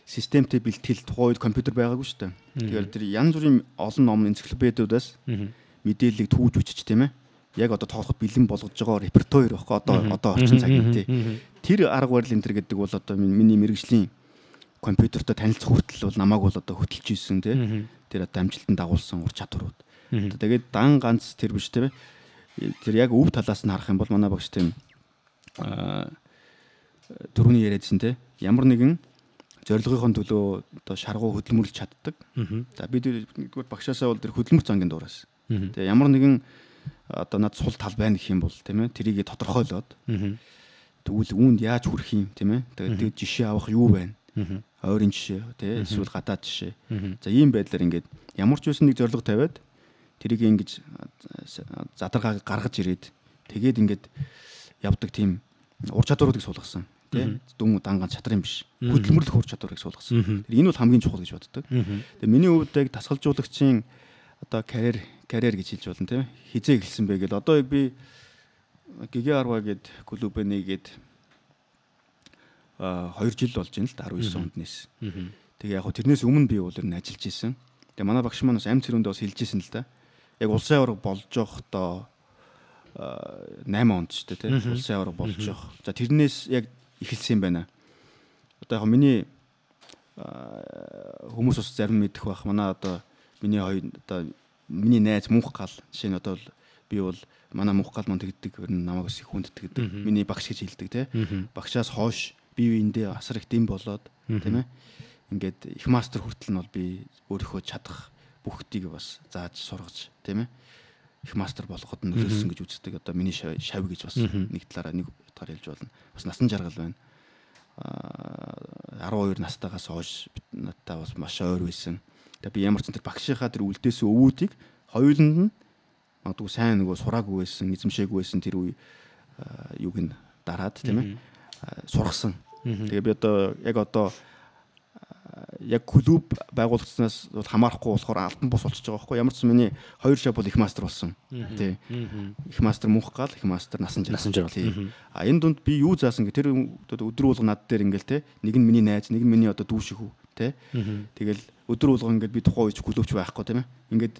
системтэй бэлтгэл тухайн үед компьютер байгаагүй шүү дээ. Тэгэхээр тэр янз бүрийн олон ном энциклопедиудаас мэдээллийг түүж үчиж тийм ээ. Яг одоо тоглоход бэлэн болгож байгаа репертуар байхгүй одоо орчин цагийн тий. Тэр арга барил энэ төр гэдэг бол одоо миний мэрэгжлийн компьютертой танилцах хүртэл бол намайг бол одоо хөтөлж ийсэн тий. Тэр одоо амжилтанд дагуулсан ур чадварууд. Тэгээд дан ганц тэр биш тий. Тэр яг өв талаас нь харах юм бол манай багш тийм түрүүний яриадсэн тий. Ямар нэгэн зорилгын төлөө одоо шаргуу хөдөлмөрлөж чаддаг. За бид нэгдүгээр багшаасаа бол тэр хөдөлмөр зангийн дуураас. Тэгээ ямар нэгэн одоо над сул тал байна гэх юм бол тийм ээ тэрийг тодорхойлоод тэгвэл үүнд яаж хүрэх юм тийм ээ тэгээд жишээ авах юу байна ойрын жишээ тийм эсвэл гадаад жишээ за ийм байдлаар ингээд ямар ч байсан нэг зорилго тавиад тэрийг ингэж задаргааг гаргаж ирээд тэгээд ингээд явдаг тийм ур чадваруудыг суулгасан тийм дүн дангаан чадар юм биш хөдөлмөрлөх ур чадварыг суулгасан энэ бол хамгийн чухал гэж боддог тэгээд миний хувьд яг дасгалжуулагчийн одоо карьер гэж хэлж болно тийм хизээ эхэлсэн бэ гэдээ одоо би ГГ10 гээд клуб нэгээд 2 жил болж байна л да 19 онд нээсэн. Тэгээ яг тэрнээс өмнө би бол ер нь ажиллаж исэн. Тэгээ манай багш маань бас амт цэрүүндээ бас хэлж исэн л да. Яг улсын аварга болж явахдаа 8 онд ч тийм улсын аварга болж явах. За тэрнээс яг эхэлсэн юм байна. Одоо яг миний хүмүүс бас зарим мэдэх байх. Манай одоо миний миний найз Мөнх гал жишээ нь одоо би бол манай Мөнх гал маань тэгдэг ер нь намайг их хүндэтгдэг. Миний багш гэж хэлдэг тийм. Багшаас хойш бие биендээ асар их дэм болоод тийм ээ. Ингээд их мастер хүртэл нь бол би өөрийнхөө чадах бүгдийг бас зааж сургаж тийм ээ. Их мастер болоход нь нөлөөлсөн гэж үздэг. Одоо миний шав гэж бас нэг талаараа хэлж болно. Бас насан жаргал байна. 12 настайгаас хойш надтай бас маш ойр байсан. Тэгээ би ямар ч тэр багшийнхаа тэр үлдээсэн өвүүдийг хоёуланд нь магадгүй сайн нөгөө сураагүй байсан, эзэмшээгүй байсан тэр үе юуг нь дараад тийм ээ сургасан. Тэгээ би одоо яг клуб байгуулагдсанаас хамаарахгүй болохоор алтан бус болчихж байгаа байхгүй ямар ч миний 2 шав бол их мастер болсон. Тий. Их мастер Мөнх гал, их мастер насан жаргал. А энэ дунд би юу заасан гэ тэр өдөр болго над дээр ингээл те нэг нь миний найз, нэг нь миний одоо дүү шиг үү те. Тэгэл өдөр болго ингээд би тухайн үеч клубч байхгүй тийм ээ. Ингээд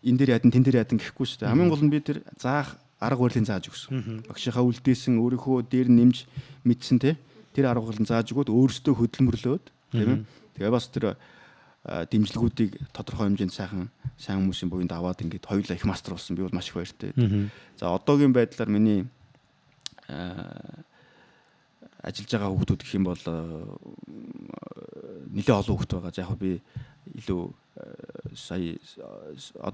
энэ дээр ядан тэн дээр ядан гэхгүй шүү дээ. Хамгийн гол нь би тэр заах арга барилын зааж өгсөн. Багшийнхаа үлдээсэн өөрийнхөө дээр нэмж мэдсэн те. Тэр арга барилын зааж өгөөд өөрөөсөө хөдөлмөрлөөд тийм ээ. Тэгээ бас тэр дэмжлэгүүдийг тодорхой хэмжээнд сайн хүмүүсийн буйнд аваад ингээд хоёулаа их мастер болсон. Би бол маш их баяртай. За одоогийн байдлаар миний ажиллаж байгаа хүүхдүүд гэх юм бол нэлээд олон хүүхд байгаа. За яг би илүү сая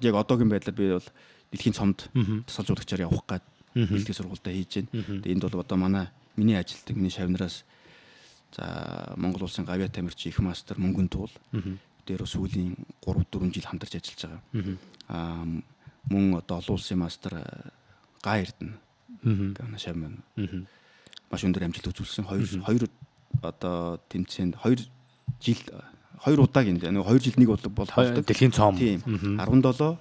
яг одоогийн байдлаар би бол дэлхийн цомд тасалжуулагчаар явах гээд бэлтгэл сургуультай хийж байна. Тэгээ энд бол одоо миний ажилтдаг миний шавнараас за Монгол улсын гавьяа тамирчин их мастер Мөнгөн Туул дээр сүүлийн 3-4 жил хамтарч ажиллаж байгаа. Мөн одоо олон улсын мастер Гай Эрдэнэ гэнэ шавман маш өндөр амжилт үзүүлсэн. 2 одоо тэмцээнд 2 жил 2 удаагийн нэг 2 жил нэг бол дэлхийн цом 17 19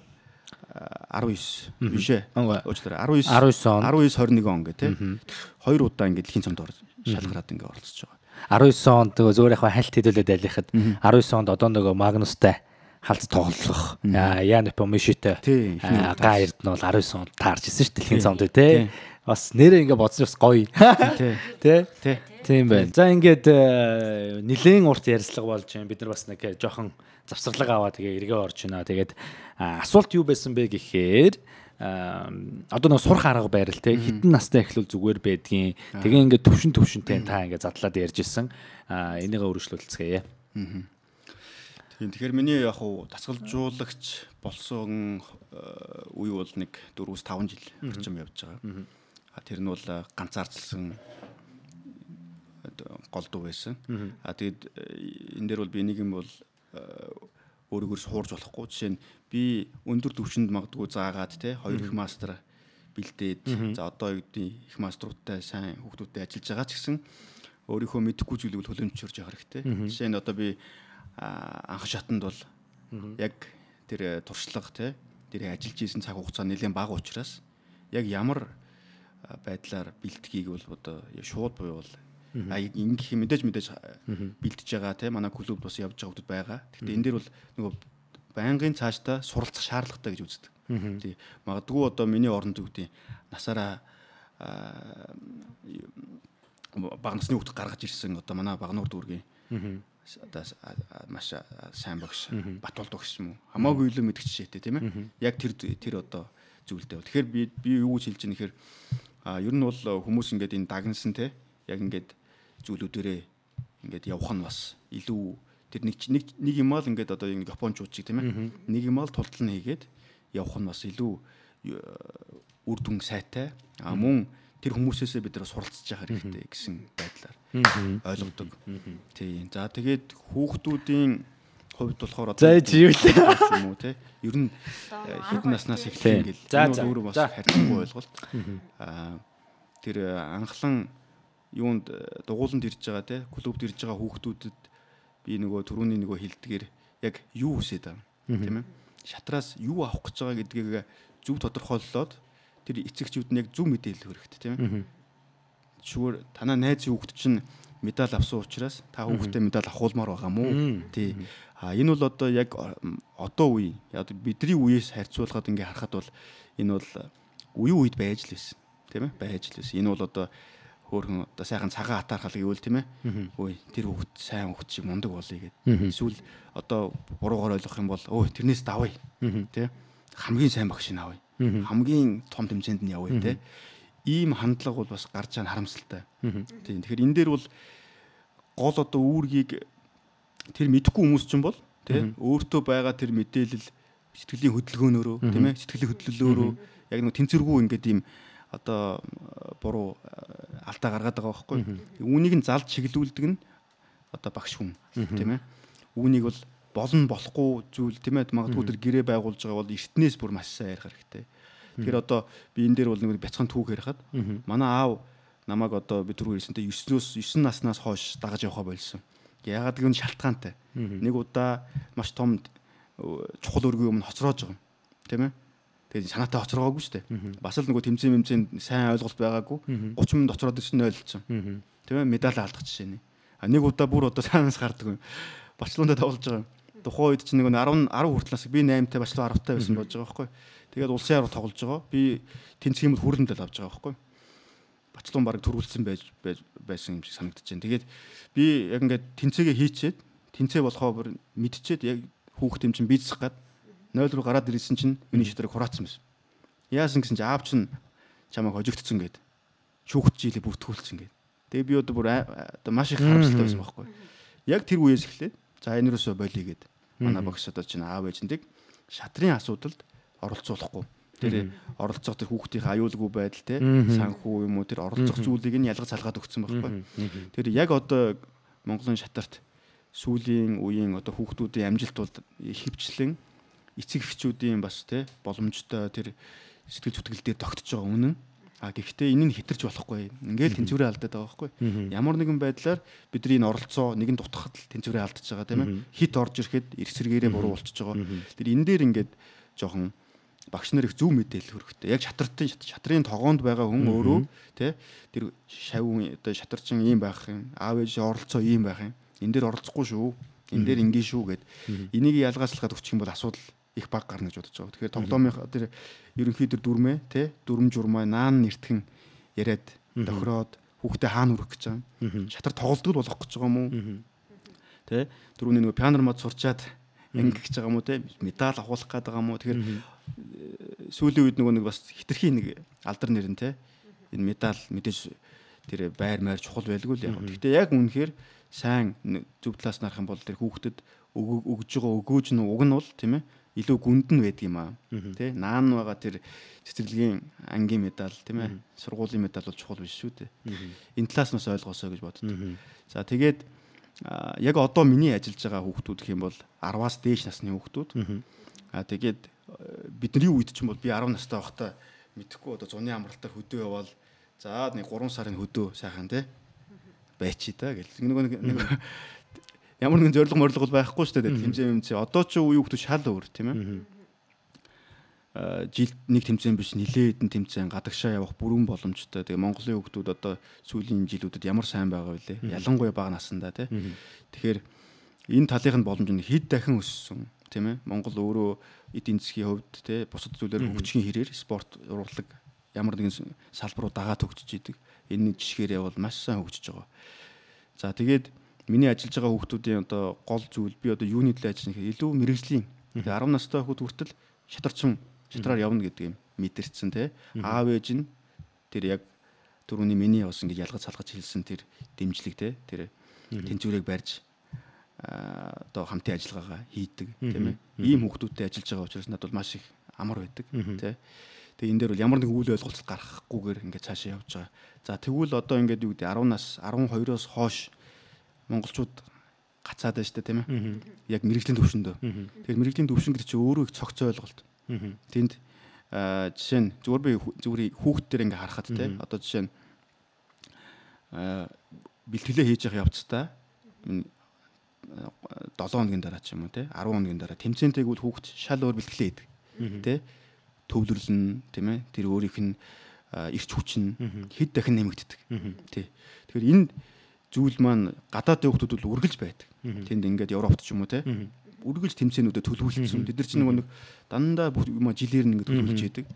биш ээ. Уучлаарай 19 21 он гэх тийм 2 удаа ингээд дэлхийн цомд шалгараад ингээд оролцож байгаа. 19 онд зөөр яг хальт хэдүүлээд алихад 19 онд одоо нөгөө Магнустай халт тоглох Ян Помишитэй Гай Эрдэнэ бол 19 онд таарч ирсэн шүү дэлхийн цомд тий. Бас нэрээ ингээ бодсон бас гоё. Тий. Тийм байна. За ингээд нэлээд урт ярилцлага болж байна. Бид нар бас нэг жоохон завсарлага аваа тэгээ эргээ орж байна. Тэгээд асуулт юу байсан бэ гэхээр одоо нэг сурах арга байрал те хитэн настай эхлүүл зүгээр байдгийн. Тэгээ ингээд төвшөнтэй та ингээд задлаад ярьж исэн. Энийгээ өргөжлүүлцгээе. Тэгэхээр миний яг хуу дасгалжуулагч болсон үе бол нэг 4-5 жил орчим явж байгаа. Тэр нь бол ганцаардсан голдуу байсан. Тэгээд энэ дээр бол би нэг юм бол өөрийгөө суурж болохгүй. Жишээ нь би өндөр түвшинд магадгүй заагаад те 2 их мастер бэлдээд за одоо юу гэдэг их маструудтай сайн хүүхдүүдтэй ажиллаж байгаа ч гэсэн өөрийнхөө мэдэхгүй зүйлийг төлөмжчөрж явах хэрэгтэй. Жишээ нь одоо би анх шатанд бол яг тэр туршлага те тэр ажиллаж исэн цаг хугацаа нэлээд бага учраас яг ямар байдлаар бэлтгийг бол одоо шууд буюу бол ингэх мэдээж бэлтэж байгаа те манай клубд бас явж байгаа хүмүүс байгаа. Гэхдээ энэ дээр бол нөгөө байнгын цаашдаа суралцах шаардлагатай гэж үздэг. Тий. Магадгүй одоо миний оронд үгдийн насаараа бага насны хүүхд гаргаж ирсэн одоо манай Багнуур дүүргийн одоо маш сайн багш Батболд багш юм уу хамаагүй илүү мэдгч шээтэй тийм ээ. Яг тэр одоо зүйлтэй бол. Тэгэхээр би юу гэж хэлж байгаа нэхэр ер нь бол хүмүүс ингээд энэ дагнсан те яг ингээд зүйлүүдээрээ ингээд явах нь бас илүү тэр нэг юм аа л ингээд одоо нэг японочууд чиг тийм ээ. Нэг юм аа л тултал нь хийгээд явах нь бас илүү үр дүн сайтай. Мөн тэр хүмүүсээсээ бид нар суралцж байгаа хэрэгтэй гэсэн байдлаар ойлгодог. Тийм. За тэгээд хүүхдүүдийн хувьд болохоор одоо юм уу те ер нь хэдэн наснаас эхлэх ингээл өөрөө бас харьцангуй ойлголт. Тэр анхлан юунд дугууланд ирж байгаа те клубд ирж байгаа хүүхдүүдэд би нөгөө түрүүний нөгөө хилдгээр яг юу хүсэж байгаа тийм ээ. Шатраас юу авах гэж байгаа гэдгийг зөв тодорхойлолоод тэр эцэгчүүд нь яг зөв мэдээлэл өгөх хэрэгтэй тийм ээ. Зүгээр танаа найзын хүүхд чинь медаль авсан учраас та хүүхдээ медаль авахулмаар байгаа мó. Тий. Энэ бол одоо яг одоо үе бидний үеэс харьцуулахад ингээ харахад бол энэ бол үе үед байж л байсан. Тийм ээ? Байж л байсан. Энэ бол одоо хөөрхөн одоо сайхан цагаан атаархал гэвэл тийм ээ. Ой тэр хүүхд сайн хүүхд шиг мундаг болъё гэдэг. Эсвэл одоо буруугаар ойлгох юм бол өө тэрнээс давъя. Тийм хамгийн сайн багш нь авъя. Хамгийн том тэмцээнд нь явъя тийм. Ийм хандлага бол бас гарч байгаа харамсалтай. Тийм. Тэгэхээр энэ дээр бол гол одоо үүргийг тэр мэдэхгүй хүмүүс ч юм бол тийм өөртөө байгаа тэр мэдээлэл сэтгэлийн хөдөлгөөнөөрөө тийм ээ сэтгэлийн хөдлөлөөрөө яг нэг тэнцвэргүй ингээд ийм одоо буруу алдаа гаргаад байгаа байхгүй. Үүнийг нь залж чиглүүлдэг нь одоо багш хүн тийм ээ. Үүнийг бол болно болохгүй зүйл тийм ээ магадгүй тэр гэрээ байгуулж байгаа бол эртнээс бүр маш сайн ярих хэрэгтэй. Тэгэхээр одоо би энэ дээр бол нэг бяцхан түүх ярихад манай аав намайг одоо би түрүү хэлсэнтэй 9 наснаас хойш дагаж явахаа болсон. Яагаад гэвэл шалтгаантай. Нэг удаа маш том чухал өргөний өмнө хоцроож байгаа юм. Тийм ээ. Тэгээд санаатай хоцроогүй шүү дээ. Бас л нөгөө тэмцээн сайн ойлголт байгаагүй 30 минут хоцроод ирсэн нь ойлгоцсон. Тийм ээ. Медаль алдах жишээ нэ. Нэг удаа бүр одоо санаас гардаг юм. Барселонд тоглож байгаа юм. Тухайн үед чинь нэг 10 хүртэл би 8-тай Барселон 10-тай байсан болж байгаа байхгүй. Тэгээд улсын арга тоглож байгаа. Би тэнцгийн хүрэн дэл авч байгаа байхгүй. Барселон баг төрүүлсэн байсан юм шиг санагдаж байна. Тэгээд би яг ингээд тэнцээгээ хийчээд тэнцээ болохоо бүр мэдчихэд яг хүүхд юм чинь бийцэх гад 0 руу гараад ирсэн чинь миний шатрыг хураацсан байсан. Яасан гэсэн чинь аав чинь чамайг хожигдсон гээд шүүхт жилээ бүртгүүлсэн гээд. Тэгээ би одоо бүр маш их харамсалтай байсан байхгүй. Яг тэр үеэс эхлээд за энэ рүүсөө болиё гээд манай багш одоо чинь аав ээжиндэг шатрын асуудалд оролцуулахгүй. Тэр оролцох тэр хүүхдийн аюулгүй байдал те санхүү юм уу тэр оролцох зүйлийг нь ялгаж салгаад өгсөн байхгүй. Тэр яг одоо Монголын шатарт сүүлийн үеийн одоо хүүхдүүдийн амжилт бол хөвчлэн эцэг эхчүүдийн бас те боломжтой тэр сэтгэл зүтгэл дээр тогтож байгаа үнэн. Гэхдээ энэ нь хэтэрч болохгүй. Ингээл тэнцвэрээ алдаад байгаа байхгүй. Ямар нэгэн байдлаар бидний энэ оролцоо нэгэн дутахад л тэнцвэрээ алдаж байгаа тийм ээ. Хит орж ирэхэд эрс сэргээрээ буруу болчихж байгаа. Тэр энэ дээр ингээд жоохон багш нар их зөв мэдээлэл хөрөхтэй. Яг шатрын тогоонд байгаа хүн өөрөө тий тэр шав одоо шатарчин ийм байх юм. Аав ээж оролцоо ийм байх юм. Энэ дээр оролцохгүй шүү. Энэ дээр ингийн шүү гэд энийг ялгаачлахад өгчих юм бол асуудал их баг гарна гэж бодож байгаа. Тэгэхээр тоглоомын тэр ерөнхий тэр дүрмээ тий дүрм журмаа наан нэртгэн яриад тохироод хүүхдээ хаана хүрэх гэж байгаа. Шатар тоглолтгол болох гэж байгаа юм уу? Тий түрүүний нөгөө пианор мод сурчаад ангих гэж байгаа юм уу тий медаль авахлах гээд байгаа юм уу? Тэгэхээр сүүлийн үед нөгөө нэг бас хитрхи нэг алдар нэрэн тий энэ медаль мэдээж тэр байр маяр чухал байлгүй л яг. Гэхдээ яг үнэхээр сайн зөв талаас нарах юм бол тэр хүүхдэд өгж байгаа өгөөж нь уг нь бол тийм ээ илүү гүнд нь байдаг юм аа. Тэ наан байгаа тэр цэцэрлэгийн ангийн медаль тийм ээ сургуулийн медаль бол чухал биш шүү дээ. Энэ талаас нь бас ойлгосоо гэж боддог. За тэгээд яг одоо миний ажиллаж байгаа хүүхдүүд гэх юм бол 10-аас дээш насны хүүхдүүд. Тэгээд бидний үед ч юм бол би 10 настай байхдаа мэдхгүй одоо зуны амралтаар хөдөө явбал за нэг 3 сарын хөдөө сайхан тий байчи та гэл. Нэг ямар нэгэн зориг морлого байхгүй шүү дээ. Тэмцээн одоо ч үе хүүхдүүд шал өөр тийм ээ. Жилд нэг тэмцээн биш нилээ хэдэн тэмцээн гадагшаа явах бүрэн боломжтой. Тэгээ Монголын хүүхдүүд одоо сүүлийн жилүүдэд ямар сайн байгаа вэ? Ялангуяа бага насандаа тий. Тэгэхээр энэ талынх нь боломж нь хэд дахин өссөн тийм ээ. Монгол өөрөө эдийн засгийн хувьд тий бусад зүйлээр хөгжихийн хэрээр спорт урлаг ямар нэгэн салбаруу дагаад хөгжиж идэг. Энэ жишгээр явал маш сайн хөгжиж байгаа. За тэгээд миний ажиллаж байгаа хүүхдүүдийн одоо гол зүйл би одоо юуны төлөө ажиллах юм илүү мэрэгжлийн 10 настай хүүхд хүртэл шатраар явна гэдэг юм мэдэрсэн тий. Аав ээж нь тэр яг түрүүний миний бас ингэж ялгаж салгаж хэлсэн тэр дэмжлэг тий тэр тэнцвэрийг барьж одоо хамтын ажиллагаагаа хийдэг тийм ээ. Ийм хүүхдүүдтэй ажиллаж байгаа учраас надад бол маш их амар байдаг тий. Тэгээ энэ дээр бол ямар нэгэн үйл ойлголт гаргахгүйгээр ингээд цаашаа явж байгаа. За тэгвэл одоо ингээд юу гэдэг 10 нас 12-оос хойш монголчууд гацаад байна шүү дээ тийм ээ. Яг мэрэгжлийн төвшөндөө. Тэгэхээр мэрэгжлийн төвшин гэдэг чинь өөрөө их цогц ойлголт. Тэнд жишээ нь зүгээр хүүхд төр ингээ харахад тийм одоо жишээ нь бэлтгэлээ хийж явах явцдаа 7 хоногийн дараа ч юм уу тийм 10 хоногийн дараа тэмцээнтэйг бол хүүхд шал өөр бэлтгэлээ хийдэг. Тийм төвлөрлөн тийм ээ тэр өөрийнх нь эрч хүч нь хэд дахин нэмэгддэг. Тий. Тэгэхээр энэ зүйл маань гадаадын хүмүүс бол үргэлж байдаг. Тэнд ингээд Европт ч юм уу те үргэлж тэмцээнүүдэд төлөвлөсөн. Тэд нар чинь нэг дандаа бүх юм жилээр нь ингээд төлөвлөж идэг.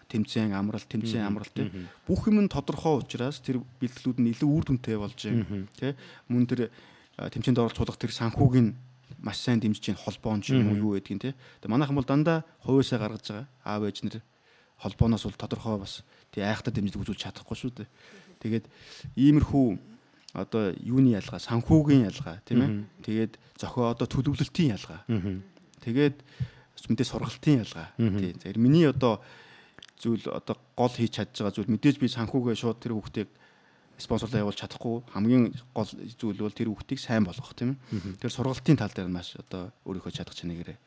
Тэмцээн амралт те бүх юм нь тодорхой учраас тэр бэлтгэлүүд нь илүү үр дүнтэй болж байна. Тэ мөн тэр тэмцээнд оролцох тэр санхүүгийн маш сайн дэмжиж чинь холбоон ч юм уу юу гэдгийг те. Тэгээ манайхан бол дандаа хувьсаа гаргаж байгаа. Аав ээж нэр холбооноос бол тодорхой бас тий айхтар дэмжлэг үзүүлж чадахгүй шүү дээ. Тэгээд иймэрхүү одоо юуны ялгаа, санхүүгийн ялгаа тийм ээ. Тэгээд зохио одоо төлөвлөлтийн ялгаа. Тэгээд мэдээ сургалтын ялгаа. Тий. Тэгэхээр миний одоо зүйл одоо гол хийж чадж байгаа зүйл мэдээж би санхүүгээ шууд тэр хүүхдийг спонсорлоо явуулж чадахгүй хамгийн гол зүйл бол тэр хүүхдийг сайн болгох тийм ээ. Тэр сургалтын тал дээр маш одоо өөрийнхөө чадах чанарыг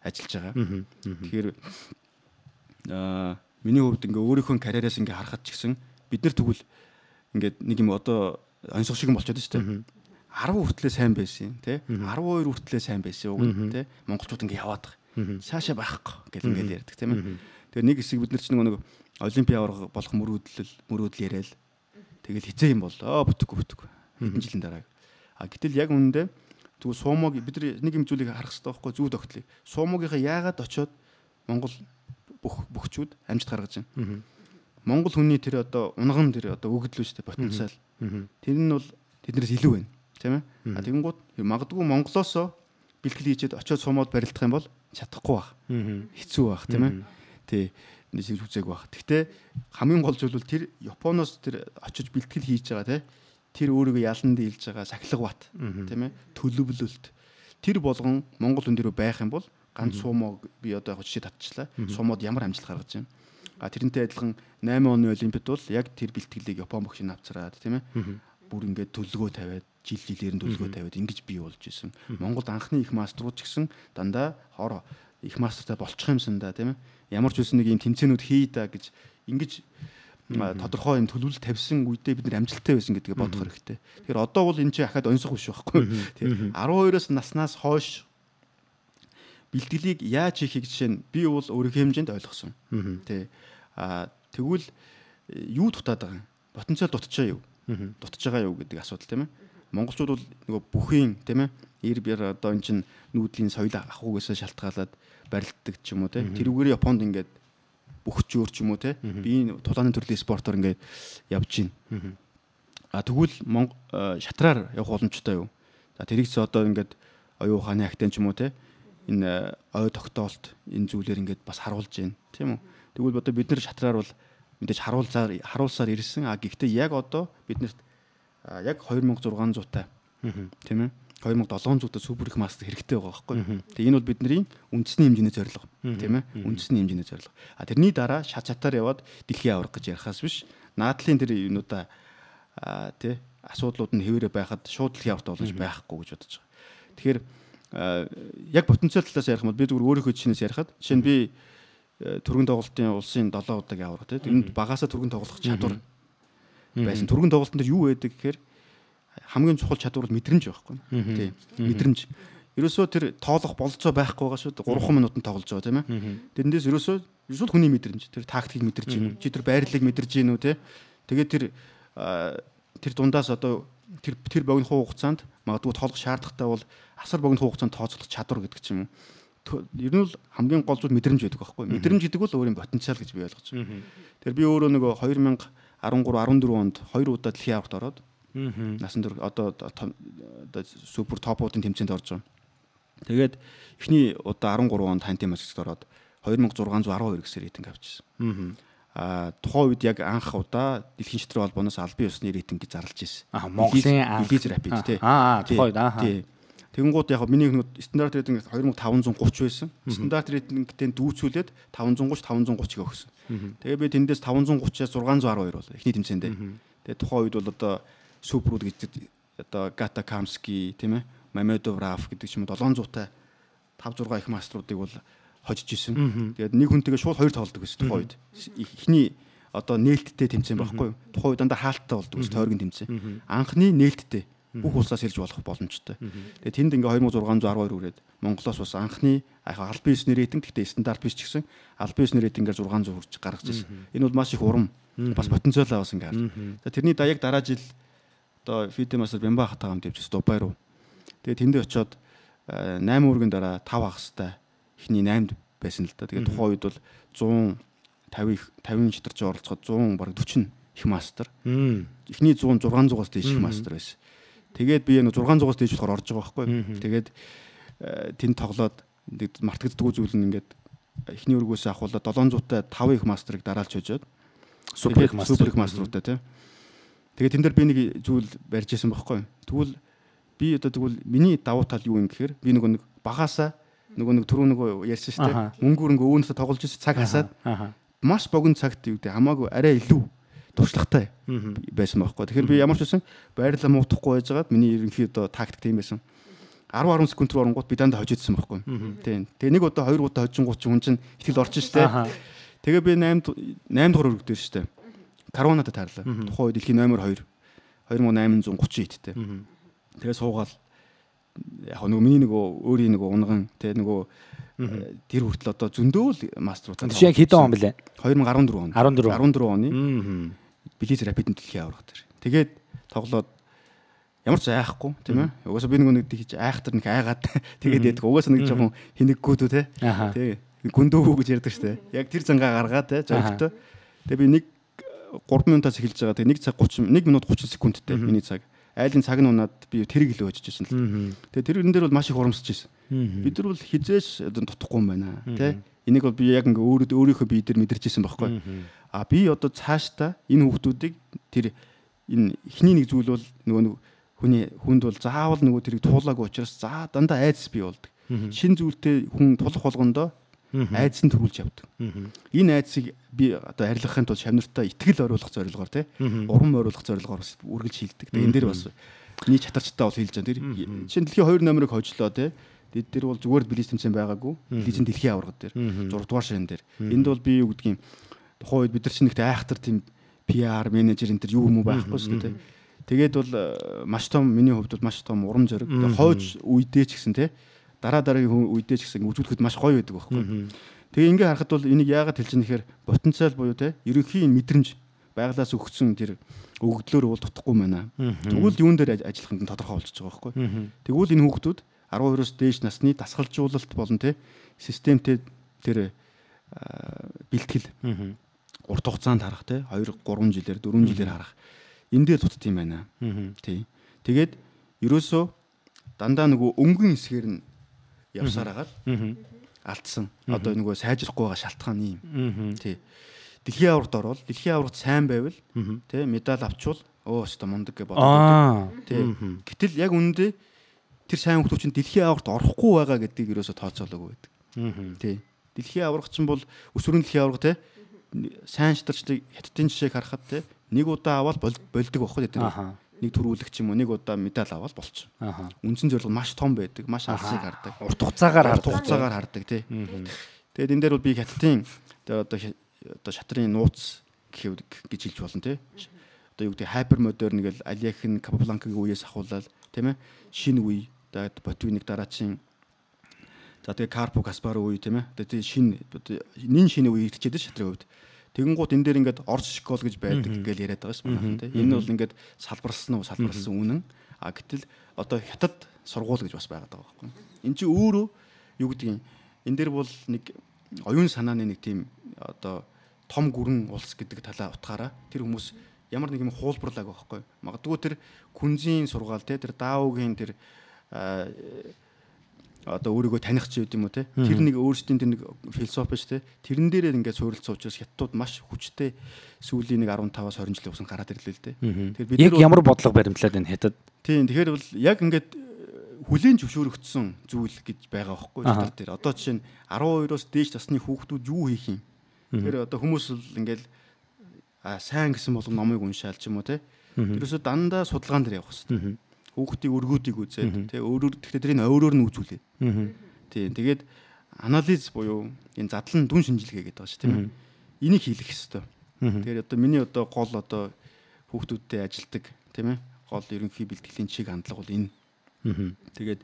ажиллаж байгаа. Тэгэхээр миний хувьд ингээ өөрийнхөө карьераас ингээ харахад ч гэсэн бид нар тэгвэл ингээд нэг юм одоо онцгой шиг болчиход шүү дээ. 10 хүртлээ сайн байсан тий 12 хүртлээ сайн байсан үг тий монголчууд ингээ яваад байгаа. Цаашаа байхгүй гэл ингээл ярьдаг тийм ээ. Тэгээ нэг хэсэг бид нар ч нэг олимпиа болох мөрөөдөл яриад тэгэл хизээ юм болоо бүтэхгүй хэдэн жилийн дараа. Гэтэл яг үнэндээ тэгвэл суумог бид нар нэг юм зүйлийг харах хэрэгтэй байхгүй зүү тогтлыг. Суумогийнхаа яагаад очиод Монгол бөхчүүд амжилт гаргаж байна. Монгол хүний тэр одоо унган тэр одоо өгөгдлөө шүү дээ потенциал. Тэр нь бол тэднээс илүү байна тийм ээ. Тэгэнгუთ магадгүй Монголоос бэлтгэл хийчихэд очиод суумод барилдах юм бол чадахгүй байх. Хэцүү байх тийм ээ. Тий нэг үзег байх. Гэхдээ хамгийн гол зүйл бол тэр Японоос тэр очиж бэлтгэл хийж байгаа тэр өөрийгөө ялан дийлж байгаа сахилга бат тийм ээ. Төлөвлөлт тэр болгон Монгол хүн дээр байх юм бол ганц суумог би одоо яг жишээ татчихлаа. Суумод ямар амжилт гаргаж байна. Тэрнтэй адилхан 8 оны олимпиад бол яг тэр бэлтгэлийг Япон багш авцраад тийм ээ. Бүр ингээд төлөвлөгөө тавиад жилээр нь төлөвлөгөө тавиад ингэж бий болж исэн. Монголд анхны их маструуд ч гэсэн дандаа хор их мастертай болчих юмсан да тийм ээ. Ямар ч үсэн нэг юм тэмцээнүүд хий да гэж ингэж тодорхой юм төлөвлөлт тавьсан үедээ бид нар амжилттай байсан гэдгийг бодох хэрэгтэй. Тэгэхээр одоо бол энэ чинь ахаад онцгой биш байхгүй. Тийм 12-оос наснаас хойш бэлтгэлийг яаж хийхийг жишээ нь би бол өөрийнхөө хэмжээнд ойлгосон. Тий. Тэгвэл юу дутаад байгаа юм? Потенциал дутчихаа юу? Дутж байгаа юу гэдэг асуудал тийм ээ. Монголчууд бол нөгөө бүхийн тийм ээ. Ир бэр одоо эн чин нүүдлийн соёл ахуйгээс шалтгаалаад барилддаг ч юм уу тийм. Тэрүүгээр Японд ингээд бөхчөөр ч юм уу тийм. Би тулааны төрлийн спортоор ингээд явж байна. Тэгвэл шатраар явах боломжтой юу? За тэрийгс одоо ингээд оюун ухааны актен ч юм уу тийм. Энэ ой тогтоолт энэ зүйлээр ингээд бас харуулж байна тийм үү. Тэгвэл одоо бид нар шатраар бол мэдээж харуулсаар ирсэн. Гэхдээ яг одоо биднэрт яг 2600 таа тийм ээ 2700 таа супер их мастер хэрэгтэй байгаа байхгүй. Тэгээ энэ бол бидний үндэсний хэмжээний зорилго тийм ээ үндэсний хэмжээний зорилго. Тэрний дараа шат чатаар яваад дэлхийн аврах гэж ярихаас биш наадлын тэр юмудаа тий асуудлууд нь хэвээрээ байхад шууд дэлхийн авралт болж байхгүй гэж бодож байгаа. Тэгэхээр яг потенциал талаас ярих юм бол би зүгээр өөрийнхөө жишээс ярихад жишээ нь би түргэн тоглолтын улсын 7 удаагийн аврах тийм энд багаасаа түргэн тоглох чадвар байсан. Түргэн тоглолтын дээр юу байдаг гэхээр хамгийн чухал чадвар бол мэдрэмж байхгүй. Тийм мэдрэмж. Ерөөсөө тэр тоолох болцоо байхгүй байгаа шүү дээ. 3 минутанд тоглож байгаа тийм ээ. Тэрнээс ерөөсөө хүний мэдрэмж. Тэр тактикийг мэдэрч гинүү. Чи тэр байрлалыг мэдэрч гинүү тийм. Тэгээд тэр дундаас одоо тэр богино хугацаанд магадгүй тоолох шаардлагатай бол асар богино хугацаанд тооцоолох чадвар гэдэг ч юм уу. Ер нь бол хамгийн гол зүйл мэдрэмж байдаг байхгүй. Мэдрэмж гэдэг бол өөрийн потенциал гэж би ойлгож байна. Тэгэхээр би өөрөө нөгөө 2013 14 онд 2 удаа дэлхийн авралт ороод насан турш одоо супер топуудын тэмцээнд орж байгаа. Тэгээд эхний удаа 13 онд хантын маскт ороод 2612 гэсээр рейтинг авчихсан. Тухайн үед яг анх удаа дэлхийн шатрын холбооноос албан ёсны рейтингийг зарлаж ирсэн. Монголын Elite Rapid тий. Тухайн үед Тэгэнгუთ яг миний стандарт рейтинг 2530 байсан. Стандарт рейтингтэй дүүцүүлээд 530 530-ыг өгсөн. Тэгээ би тэндээс 530-аас 612 болоо эхний тэмцээндээ. Тэгээ тухайн үед бол одоо суперуд гэдэг одоо Гата Камски тийм ээ Мамедов Раф гэдэг ч юм уу 700-тай 5 6 их маструудыг бол хожиж исэн. Тэгээд нэг хүнтэйгээ шууд хоёр тоглодог байсан тухайн үед. Эхний одоо нээлттэй тэмцээн байхгүй юу? Тухайн үед дандаа хаалттай болдог ус тойргийн тэмцээн. Анхны нээлттэй бүх улсаас ирж болох боломжтой. Тэгээд тэнд ингээ 2612 үрээд Монголоос бас анхны албан ёсны рейтинг гэхдээ стандарт биш ч гэсэн албан ёсны рейтингээр 600 хүрч гаргаж ирсэн. Энэ бол маш их урам бас потенциал авсан ингээ харж. За тэрний даяг дараа жил одоо фидэ мастер Бямба хатаа хамт явж Дубай руу. Тэгээд тэндээ очиод 8 үргийн дараа 5 хагастай эхний 8-д байсан л да. Тэгээд тухайн үед бол 150 шидарч оролцоход 100 бараг 40 их мастер. Эхний 100 600-аас дээш их мастер байсан. Тэгээд би нэг 600-аас дээш болохоор орж байгаа байхгүй. Тэгээд тэнд тоглоод мартагддаггүй зүйл нь ингээд эхний өргөөсөө авахуулаад 700-тай 5 их мастерыг дараалж хожоод супер их мастеруудтай тийм. Тэгээд тэн дээр би нэг зүйл барьж исэн байхгүй. Тэгвэл би одоо тэгвэл миний давуу тал юу юм гэхээр би нэг багаасаа нэг түрүү нэг ярьсан шүү дээ. Мөнгөөр ингээ өвөнөсө тоглож ирсэн цаг хасаад маш богино цагт юу гэдэг хамаагүй арай илүү туршлагатай байсан байхгүй. Тэгэхээр би ямар ч байсан байрлал муутахгүй байжгаад миний ерөнхий одоо тактик тийм байсан. 10 секунд руу оронгууд би дандаа хожижсэн байхгүй. Тийм. Тэгээ нэг удаа 2 удаа хожингууд чинь хүн чинь итгэл орчин шүү дээ. Тэгээ би 8 дугаар өргөд дээр шүү дээ. Карванатад таарлаа. Тухайн үед дэлхийн номер 2 2830 иттэй. Тэгээ суугаал яг нөгөө миний нөгөө өөрийн нөгөө унган тэгээ нөгөө тэр хүртэл одоо зөндөөл мастеруудаа. Тэг яг хэдэн он блэ? 2014 он. 14 оны. Билиз рапид дэлхийн аврах дээр. Тэгээд тоглоод ямар ч айхгүй тийм ээ. Угаасаа би нэг тийч айхтар нэг айгаад тэгээд яддаг. Угаасаа нэг жоохон хинэггүүдүү те. Тэгээ гүндөө гэж ярьдаг штэ. Яг тэр зангаа гаргаад те зөрөгтэй. Тэгээ би 3 минутаас эхэлж байгаа. Тэгээ 1 минут 30 секундтэй миний цаг. Айлын цаг нь унаад би тэрийг л өжчихсэн л. Тэгээ тэрэн дээр бол маш их урамсаж ирсэн. Бид нар бол хизээш дутхгүй юм байна тий. Энийг бол би яг ингээ өөрийнхөө бие дээр мэдэрч ирсэн байхгүй. А би одоо цаашдаа энэ хүүхдүүдийг тэр энэ эхний нэг зүйл бол нөгөө хүнд бол заавал нөгөө тэрийг туулаагүй учраас за дандаа айдас бий болдог. Шин зүйлтэй хүн тулах болгондоо айдас нь төрүүлж явдаг. Энэ айдсыг би одоо арилгахын тулд шавнартаа итгэл оруулах зорилгоор тий урам оруулах зорилгоор бас үргэлж хийлдэг. Тэгээ энэ дээр бас миний чатарчтай бол хэлж байгаа. Тэр чинь дэлхийн 2 номерыг хожлоо тий. Тэд дээр бол зүгээр билиз тэмцээн байгаагүй. Билизийн дэлхийн аварга дээр 6 дугаар ширэн дээр. Энд бол би юу гэдгийг тухайн үед бид нар чинь нэгт айхтар тийм PR менежер энэ төр юу юм байхгүй шүү дээ. Тэгээд бол маш том миний хувьд бол маш том урам зориг. Хойж үедээ ч гэсэн тий дараагийн үедээ ч гэсэн үзүүлэхэд маш гоё байдаг байхгүй. Тэгээ ингээ харахад бол энийг яагаад хэлж байгаа нэхэр потенциал буюу тий ерөнхий мэдрэмж байглаас өгсөн тэр өгөгдлөөр бол дутхгүй байна. Тэгвэл юун дээр ажиллах нь тодорхой болчихж байгаа байхгүй. Тэгвэл энэ хүүхдүүд 12-оос дээш насны дасгалжуулалт болон тий системтэй тэр бэлтгэл урт хугацаанд харах тий 2 3 жилээр 4 жилээр харах энэ дээр дутт юм байна. Тий. Тэгээд ерөөсөө дандаа нөгөө өнгөн хэсгээр нь явсаар хагаад алдсан. Одоо нөгөө сайжрахгүй байгаа шалтгаан юм. Тий. Дэлхийн аваргад орвол дэлхийн аваргад сайн байвал тий медаль авчвал өстө мундаг гэж боддог. Тий. Гэтэл яг үнэндээ тэр сайн хүмүүс чинь дэлхийн аваргад орохгүй байгаа гэдгийг ерөөсө тооцоолоогүй байдаг. Тий. Дэлхийн аварга чинь бол өсвөрийн дэлхийн аварга тий сайн шатарчдыг хятадын жишээг харахад тий нэг удаа аваад болдог байхгүй тий. Нэг төрүүлэгч юм уу нэг удаа медаль аваад болчих. Үндсэн зорилго маш том байдаг, маш алсыг хардаг. Урт хугацаагаар хардаг тий. Тэгээд энэ дээр бол би хятадын одоо шатрын нууц гэж хэлж болно тий. Одоо юу гэдэг хайпер модерн гэл Алиахын Капабланкагийн үеэс ахуулаад тийм ээ шинэ үе тэгээд Ботвиник дараачийн за тэгээ Карпо Каспаро үе тийм ээ тэгээд шинэ үе ирчээд шатрын хувьд тэгэнгუთ энэ дээр ингээд орц школ гэж байдаг гэж яриад байгаа юм тийм энэ бол ингээд салбарсан үнэн а гэтэл одоо хятад сургууль гэж бас байгаад байгаа байхгүй энэ чи өөрөө юу гэдгийг энэ дээр бол нэг оюун санааны нэг тийм одоо том гүрэн улс гэдэг талаа утгаараа тэр хүмүүс ямар нэг юм хуулбарлаг байхгүй магадгүй тэр күнзийн сургаал те тэр дааугийн тэр одоо өөрийгөө таних ч юм уу те тэр нэг өөрсдийн тэр нэг философи ш те тэрэн дээрээ ингээд суурилсан учраас хятадууд маш хүчтэй сүүлийн нэг 15-аас 20 жилийн хугацаанд гараад ирлээ л те тэгэхээр бид яг ямар бодлого баримтлаад байна хятад тийм тэгэхээр бол яг ингээд хүлийн зөвшөөрөгдсөн зүйл гэж байгаа байхгүй хятад дээр одоо жишээ нь 12-оос дээш насны хүүхдүүд юу хийх юм тэгэхээр одоо хүмүүс л ингээд сайн гэсэн болгон номыг уншаал ч юм уу те тэрөөсөө дандаа судалгаан дээр явах хэрэгтэй хүүхдийн өргүүдийг үзээд тий тэгэхээр тэрийг өөрөөр нь үзүүлээ. Тий тэгээд анализ буюу энэ задлан дүн шинжилгээ гэдэг байгаа шүү тийм ээ. Энийг хийх хэрэгтэй. Тэгэхээр одоо миний одоо гол одоо хүүхдүүдтэй ажилдаг тийм ээ. Гол ерөнхий бэлтгэлийн чиг хандлага бол энэ. Тэгээд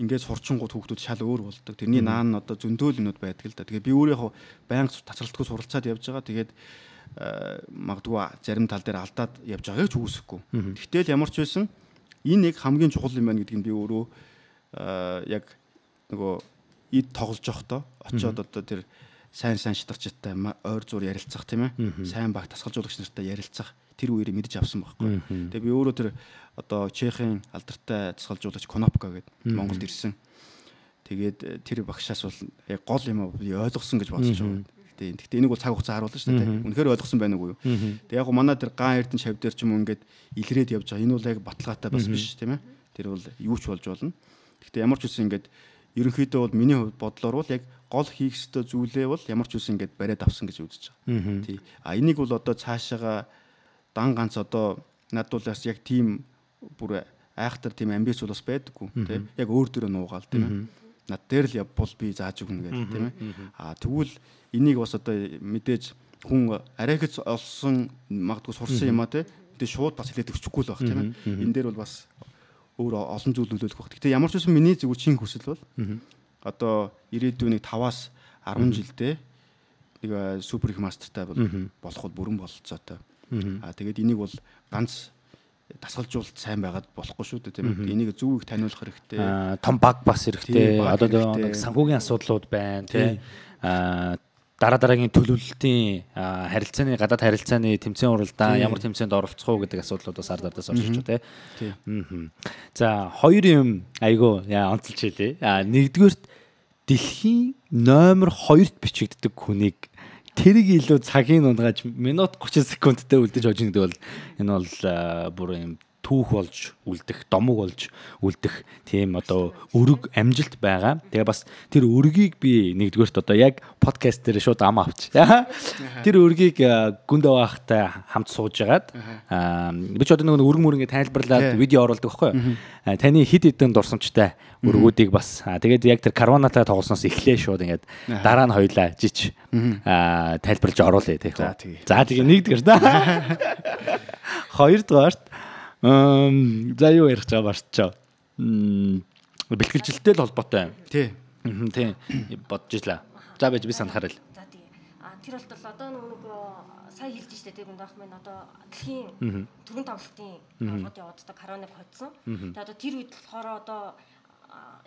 ингээд сурчингууд хүүхдүүд шал өөр болдог. Тэрний наан одоо зөндөөл юмуд байдаг л да. Тэгээд би өөрөө яг байнга тасралтгүй суралцаад явж байгаа. Тэгээд магадгүй зарим тал дээр алдаад явж байгааг ч үүсэхгүй. Гэтэл ямар ч байсан энэ нэг хамгийн чухал юм байна гэдгийг би өөрөө яг нөгөө эд тоглож явахдаа очиод одоо тэр сайн шатарчтай ойр зур ярилцах тийм ээ. Сайн баг тасгалжуулагч нартай ярилцах тэр үеэр мэдэж авсан байхгүй. Тэгээ би өөрөө тэр одоо Чехийн алдартай тасгалжуулагч Конопка гэдэг Монголд ирсэн. Тэгээд тэр багшаас бол яг гол юм би ойлгосон гэж бодож байгаа. Гэхдээ энийг бол цаг хугацаа харуулна шүү дээ. Үнэхээр ойлгосон байна уу юу? Тэг яг манай тэр Ган Эрдэнэ шав дээр ч юм уу ингээд илрээд явж байгаа. Энэ бол яг баталгаатай бас биш тийм ээ. Тэр бол юу ч болж болно. Гэхдээ ямар ч үсэн ингээд ерөнхийдөө бол миний бодлоор бол яг гол хийх ёстой зүйлээ бол ямар ч үсэн ингээд бариад авсан гэж үзэж байгаа. Тий. Энийг бол одоо цаашаага дан ганц одоо надуулаас яг тийм бүр айхтар тийм амбиц бол бас байдаггүй тий. Яг өөр дөрөө нуугаал тийм ээ. Над дээр л явбал би зааж өгнө гэдэг тийм ээ. Тэгвэл энийг бас одоо мэдээж хүн арайгц олсон магадгүй сурсан юм а тий. Тэгээ шууд бас хэлээд өчөхгүй л баг тийм ээ. Энэ дээр бол бас өөр олон зүйл нөлөөлөх баг. Гэтэ ямар ч үсэн миний зүгээр чин хүсэл бол одоо ирээдүйн 5-аас 10 жилдээ нэг супер их мастертай болоход бүрэн бололцоотой. Тэгээд энийг бол ганц дасгалжуулалт сайн байгаад болохгүй шүү дээ тийм ээ. Энийг зөв их таниулах хэрэгтэй. Том баг бас хэрэгтэй. Одоо нэг санхүүгийн асуудлууд байна тийм. Дараагийн төлөвлөлтийн харилцааны гадаад харилцааны тэмцээн уралдаан ямар тэмцээнд оролцох уу гэдэг асуудлууд бас ард ардаас орж ирж байна. За хоёр юм айгу онцолж хэлээ. Нэгдүгээрт дэлхийн номер 2-т бичигддэг хүнийг тэрийг илүү цагийн унгааж минут 30 секундтай үлдэж хожих гэдэг бол энэ бол бүр юм түүх болж үлдэх, домог болж үлдэх тийм одоо өрөг амжилт байгаа. Тэгээ бас тэр өргийг би нэгдүгээрт одоо яг подкаст дээр шууд ам авч. Тэр өргийг гүндэ байхтай хамт сууж агаад би ч одоо нэг өргөн мөрөнгө тайлбарлаад видео оруулдаг байхгүй. Таны хид хідэн дурсамжтай өргүүдийг бас тэгээд яг тэр карванатай тоглосноос эхлээ шууд ингээд дараа нь хоёлаа жич тайлбарлаж оруулъя тийм. За тэгээ нэгдүгээр да. Хоёрдугаарт за юу ярих гэж байгаа барчаа. Бэлтгэлжилттэй л холбоотой. Тий. Тий. Бодож ирлээ. За байж би санахаар л. За тий. Тэр бол одоо нэг сая хэлж штэ тэр гүнд ах минь одоо дэлхийн төрийн тоглолтын холбоот явууддаг короныг хоцсон. Тэгээд одоо тэр үед болохоор одоо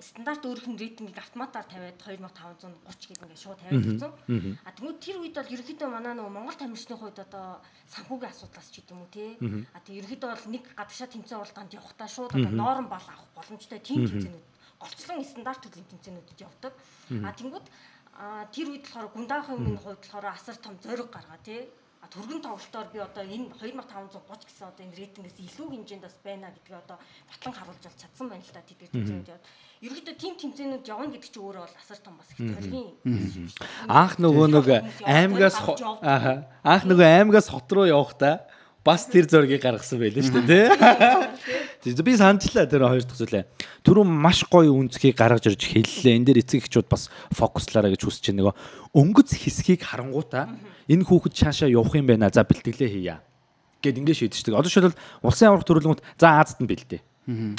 стандарт өөрхөн рейтингийг автоматар тавиад 2530 гэдэг ингээд шууд тавиад өгсөн. Тэгвэл тэр үед бол ерөнхийдөө манай нөгөө Монгол тамирчны хувьд одоо санхүүгийн асуудлаас ч гэдэг юм уу тий. Тэг ерөнхийдөө бол нэг гадагшаа тэмцээн уралдаанд явахдаа шууд одоо норм бал авах боломжтой тийм тэмцээнүүд голцлон стандарт төрлийн тэмцээнүүдэд явдаг. Тэнгүүд тэр үед болохоор гундаахын хувьд болохоор асар том зориг гаргаа тий. Түргэн тоглолтоор би одоо энэ 2530 гэсэн одоо энэ рейтингээс илүү хэмжээнд бас байна гэдгийг одоо батлан харуулж бол чадсан байна л да тэдгээр тэмцээнүүд яваад. Ерөнхийдөө тим тэмцээнүүд явна гэдэг чинь өөрөө бол асар том бас их зорилгын. Анх нөгөө аймагаас хот руу явахдаа бас тэр зургийг гаргасан байлээ шүү дээ тий. Би санджлаа тэр хоёр дахь зүйлээ. Түрүү маш гоё үнцгийг гаргаж ирж хэллээ. Энд дээр эцэг эхчүүд бас фокуслаараа гэж хүсэж байгаа. Нөгөө өнгөц хэсгийг харангуутаа энэ хүүхэд цаашаа явах юм байна. За бэлтгэлээ хийя гэд ингэ шийдчихдэг. Одоо жишээлбэл улсын аврах төрөлгөнд за Азад нь бэлдээ.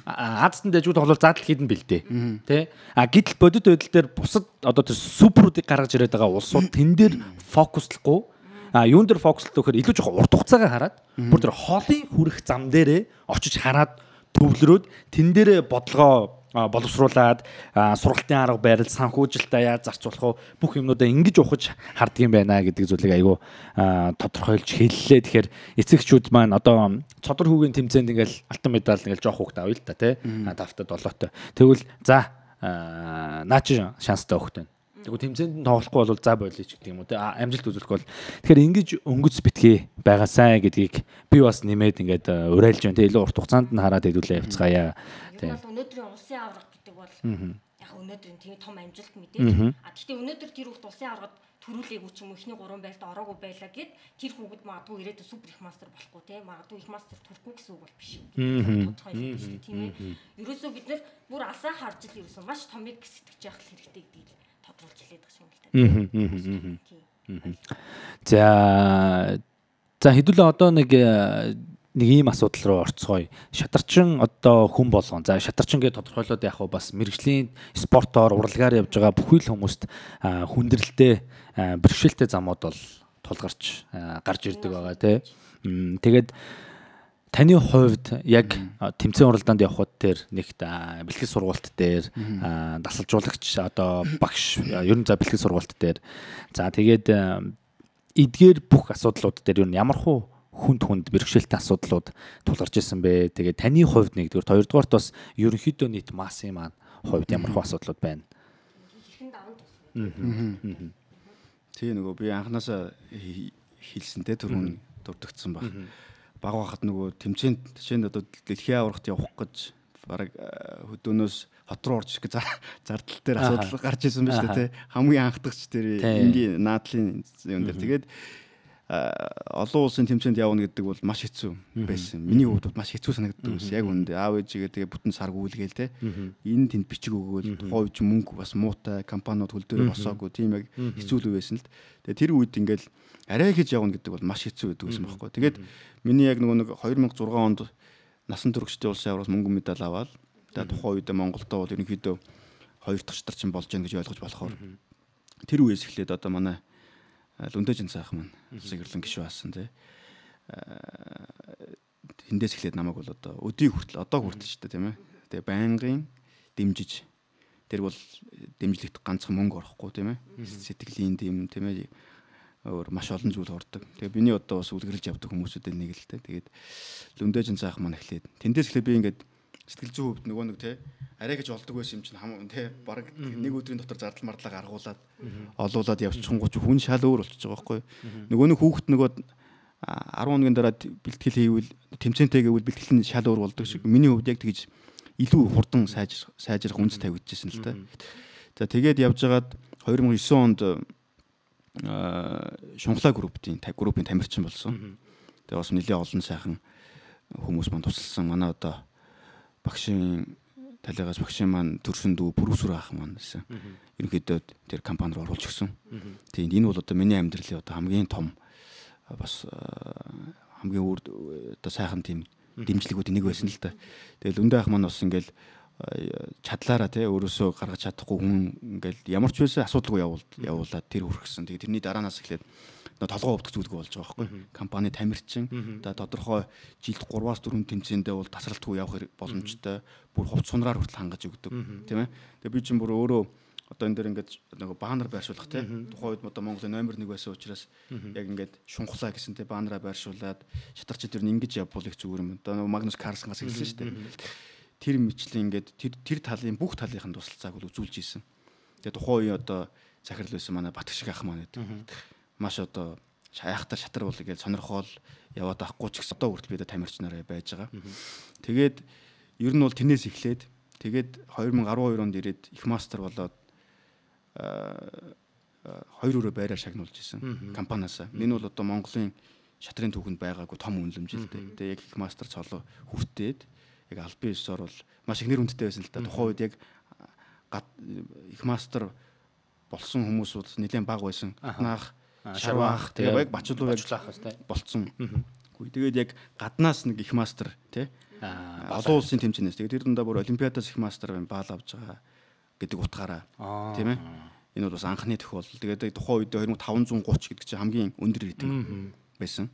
Азад нь дэжүүд тоглол заадал хийдэн бэлдээ. Тэ? Гэтэл бодит байдал дээр бусад одоо тэр суперүүдийг гаргаж ирээд байгаа улсууд тэн дээр фокуслахгүй юун дээр фокуслох гэхээр илүү жоохон урт хугацаагаа хараад бүр тэр холын хүрэх зам дээрээ очиж хараад төвлөрөөд тэн дээрээ бодлогоо боловсруулад сургалтын арга барил санхүүжилтаа яаж зарцуулах вэ бүх юмнуудаа ингэж ухаж харддаг юм байна гэдэг зүйлийг айгүй тодорхойлж хэллээ. Тэгэхээр эцэгчүүд маань одоо цодор хүүгийн тэмцээнд ингээл алтан медаль ингээл жоох хүүхд авъя л та тий. Давтад 7-той. Тэгвэл за наач шанстай хүүхд байна. Тэгвэл тэмцээнд тоглохгүй бол за болъё ч гэдэг юм уу те амжилт үзүүлэх бол тэгэхээр ингэж өнгөц битгий байгаасай гэдгийг би бас нэмээд ингээд уриалж байна те илүү урт хугацаанд нь хараад хэдүүлээ явцгаая те. Өнөөдрийн улсын авраг гэдэг бол яг өнөөдрийн тийм том амжилт мэдээ. Гэхдээ өнөөдөр тэр хүүхд улсын аврагад төрүүлээгүй ч юм уу эхний 3 байлд ороогүй байлаа гэд тэр хүүхэд магадгүй ирээдүйн супер их мастер болохгүй те магадгүй их мастер төрөхгүй гэсэн үг бол биш. Тодорхой шүү дээ тийм ээ. Ерөөсөө бид нэр бүр асаа харж ил ерөөсөө маш томыг сэтгэж явах хэрэгтэй гэдгийг тодруулж хэлээд байгаа юм л та. За хэдүүлээ одоо нэг ийм асуудал руу орцгоё. Шатарчин одоо хүн болгон. За шатарчин гэж тодорхойлоод яг бас мэрэгжлийн спортоор уралгаар явж байгаа бүхий л хүмүүст хүндрэлтэй бэрхшээлтэй замууд бол тулгарч гарч ирдэг байгаа тий. Тэгээд таны хувьд яг тэмцээн уралдаанд явхад дээр нэгт бэлтгэл сургалт дээр дасалжуулагч одоо багш ер нь за бэлтгэл сургалт дээр за тэгээд эдгээр бүх асуудлууд дээр ер нь ямархуу хүнд бэрхшээлтэй асуудлууд тулгарч ирсэн бэ. Тэгээд таны хувьд нэгдүгээр хоёрдугаарт бас ерөнхийдөө нийт массын маань хувьд ямархуу асуудлууд байна. Тэгээ нөгөө би анханасаа хэлсэнтэй түрүүн дурдгдсан баг. Баг байхад нөгөө тэмцээнд жишээнд одоо дэлхийн аврагт явах гэж бараг хөдөөнөөс хот руу орж ирэх зардал дээр асуудал гарч ирсэн байна шүү дээ тий. Хамгийн анхдагч тэр энгийн наадлын юм дээр тэгээд олон улсын тэмцээнд явна гэдэг бол маш хэцүү байсан. Миний хувьд бол маш хэцүү санагддаг байсан. Яг үнэндээ аав ээжигээ тэгээ бүтэн сар гүйлгээл те. Энэ тэнд бичиг өгөөл тухайн үед мөнгө бас муутай компаниуд хөл дээр босоогүй тийм яг хэцүү л байсан л. Тэгээ тэр үед ингээл арай хийж явна гэдэг бол маш хэцүү байдаг байсан байхгүй. Тэгээд миний яг нэг 2006 онд насан туршидын улсын авраас мөнгө медаль аваад тэгээ тухайн үед Монголдоо бол ерөнхийдөө хоёр дахь шатарчин болж гэн гэж ойлгож болохоор тэр үеэс эхлээд одоо манай Лүндэжин цаах маань сэгэрлэн гişүү аасан тий. Тэндээс эхлээд намайг бол одоо өдийг хүртэл одоо хүртэл ч тийм ээ. Тэгээ байнгын дэмжиж тэр бол дэмжлэгт ганцхан мөнгө орохгүй тийм ээ. Сэтгэлийн дэм тийм ээ. Өөр маш олон зүйл ордог. Тэгээ миний одоо бас үлгэрлж явдаг хүмүүсүүдээ нэг л дээ. Тэгээд Лүндэжин цаах маань эхлээд тэндээс эхлээд би ингээд сэтгэл зүйн хувьд нөгөө нэг тий арай гэж олдог байсан юм чинь тий баг нэг өдрийн дотор зардал мардлаа гаргуулад олуулаад явчихгооч хүн шал өөр болчихж байгаа байхгүй. Нөгөө нэг хүүхэд нөгөө 10 хоногийн дараа бэлтгэл хийвэл тэмцээнтэй гэвэл бэлтгэл нь шал өөр болдог шиг миний хувьд яг тэгж илүү хурдан сайжрах үндэс тавигдчихсэн л та. За тэгээд явжгаад 2009 онд Шунхлаа группийн тамирчин болсон. Тэгээ бас нэлээд олон сайхан хүмүүс маань тусалсан. Манай одоо багшийн талигаас багшийн маань төрсөн дүү Бүрүсүр ах маань гэсэн. Ерөнхийдөө тэр компани руу оруулж өгсөн. Тийм энэ бол одоо миний амьдралын одоо хамгийн том бас хамгийн одоо сайхан тийм дэмжлэгүүд нэг байсан л да. Тэгэл Лүндэ ах маань бас ингээл чадлаараа тий өөрөөсөө гаргаж чадахгүй хүн ингээл ямар ч байсан асуудалгүй явуулаад тэр хүргэсэн. Тэгээ тэрний дараанаас эхлээд толгоо өвдөх зүйлгүй болж байгаа байхгүй. Компани тамирчин одоо тодорхой жилд 3-4 тэмцээндээ бол тасралтгүй явах боломжтой. Бүр хувц сунраар хүртэл хангаж өгдөг тийм ээ. Тэгээ би чинь бүр өөрөө одоо энэ дээр ингээд нэг баанар байршуулах тийм. Тухайн үед одоо Монголын номер 1 байсан учраас яг ингээд Шунхлаа гэсэн тийм баанараа байршуулад шатарч тэр нь ингэж явбал их зүгээр юм. Одоо Магнус Карлсенгаас хэлсэн шүү дээ. Тэр мэтчлийн ингээд тэр талын бүх талынхын тусалцааг бол үзүүлж ийсэн. Тэгээ тухайн үе одоо захирал байсан манай Батгшиг ах маань гэдэг. Маш одоо хайхтар шатар бол гэж сонирхол яваад авахгүй ч гэсэн одоо хүртэл бид тамирчнараа байж байгаа. Тэгээд ер нь бол тэрнээс эхлээд тэгээд 2012 онд ирээд их мастер болоод 2 өрөө байраар шагнуулж исэн компаниасаа. Энэ бол одоо Монголын шатрын түүхэнд байгаагүй том үнэлэмжтэй. Тэгээд яг их мастер цолоо хүртээд яг албан ёсоор бол маш их нэр хүндтэй байсан л да. Тухайн үед яг их мастер болсон хүмүүс бол нэлээд бага байсан. Анхнаах шарваах тэгээ яг бачлуу болцсон. Тэгээд яг гаднаас нэг их мастер тий олон улсын тэмцээнээс тэгээд тэр дундаа бүр олимпиадаас их мастер баал авч байгаа гэдэг утгаараа тийм ээ. Энэ бол бас анхны тохиолдол. Тэгээд тухайн үед 2530 гэдэг чинь хамгийн өндөр рейтинг байсан.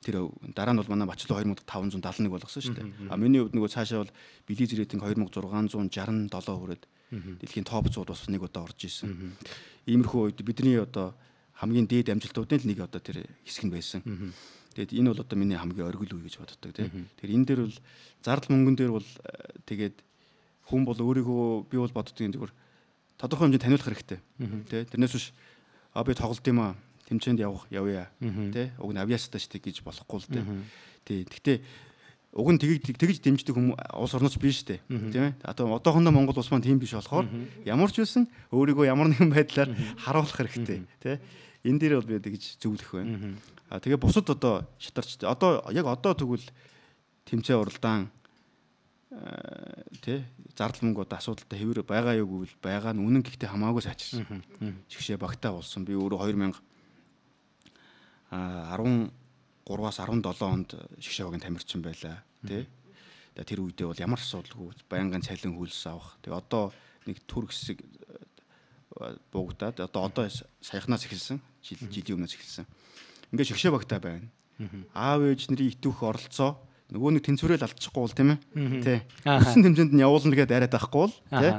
Тэр дараа нь бол манай бачлуу 2571 болгосон шүү дээ. А миний хувьд нөгөө цаашаа бол Билиз рейтинг 2667 хүрээд дэлхийн топ 100-д бас нэг удаа орж исэн. Иймэрхүү үед бидний одоо хамгийн дээд амжилтуудын л нэг одоо тэр хэсэг нь байсан. Тэгээд энэ бол одоо миний хамгийн оргил үе гэж боддог тийм. Тэр энэ дээр бол зардал мөнгөн дээр бол тэгээд хүн бол өөрийгөө би бол боддог юм зүгээр тодорхой хэмжээнд таниулах хэрэгтэй. Тэ тэрнээс биш би тоглолт юм аа тэмцээнд явъя тэ уг нь авиастаа штэ гэж болохгүй л тэ. Тий. Гэхдээ уг нь тэгж дэмждэг хүмүүс улс орноч биш штэ. Тийм ээ. Одоохондоо Монгол улс маань тийм биш болохоор ямар ч байсан өөрийгөө ямар нэгэн байдлаар харуулах хэрэгтэй тэ. Энэ дээр бол би тэгж зөвлөх байна. Тэгээ бусад одоо шатарч одоо яг одоо тэгвэл тэмцээн уралдаан тий зардал мөнгө одоо асуудалтай хэвээр байгаа юу гэвэл байгаа нь үнэн гэхдээ хамаагүй сайжирсан. Жигшээ багтаа болсон. Би өөрөө 2013-аас 17 онд шигшээ багийн тамирчин байлаа тий. Тэр үедээ бол ямар асуудалгүй байнгын цалин хөлс авах. Тэгээ одоо нэг төр хэсэг буугдаад одоо саяхнаас эхэлсэн. Жилийн өмнөөс эхэлсэн. ингээд шигшээ багтаа байна. Аав ээж нарын итвэх оролцоо нөгөө нэг тэнцвэрэл алдчихгүй бол тийм ээ. Тий. Өссөн хэмжээнд нь явуулна гэдээ арайд байхгүй бол тий.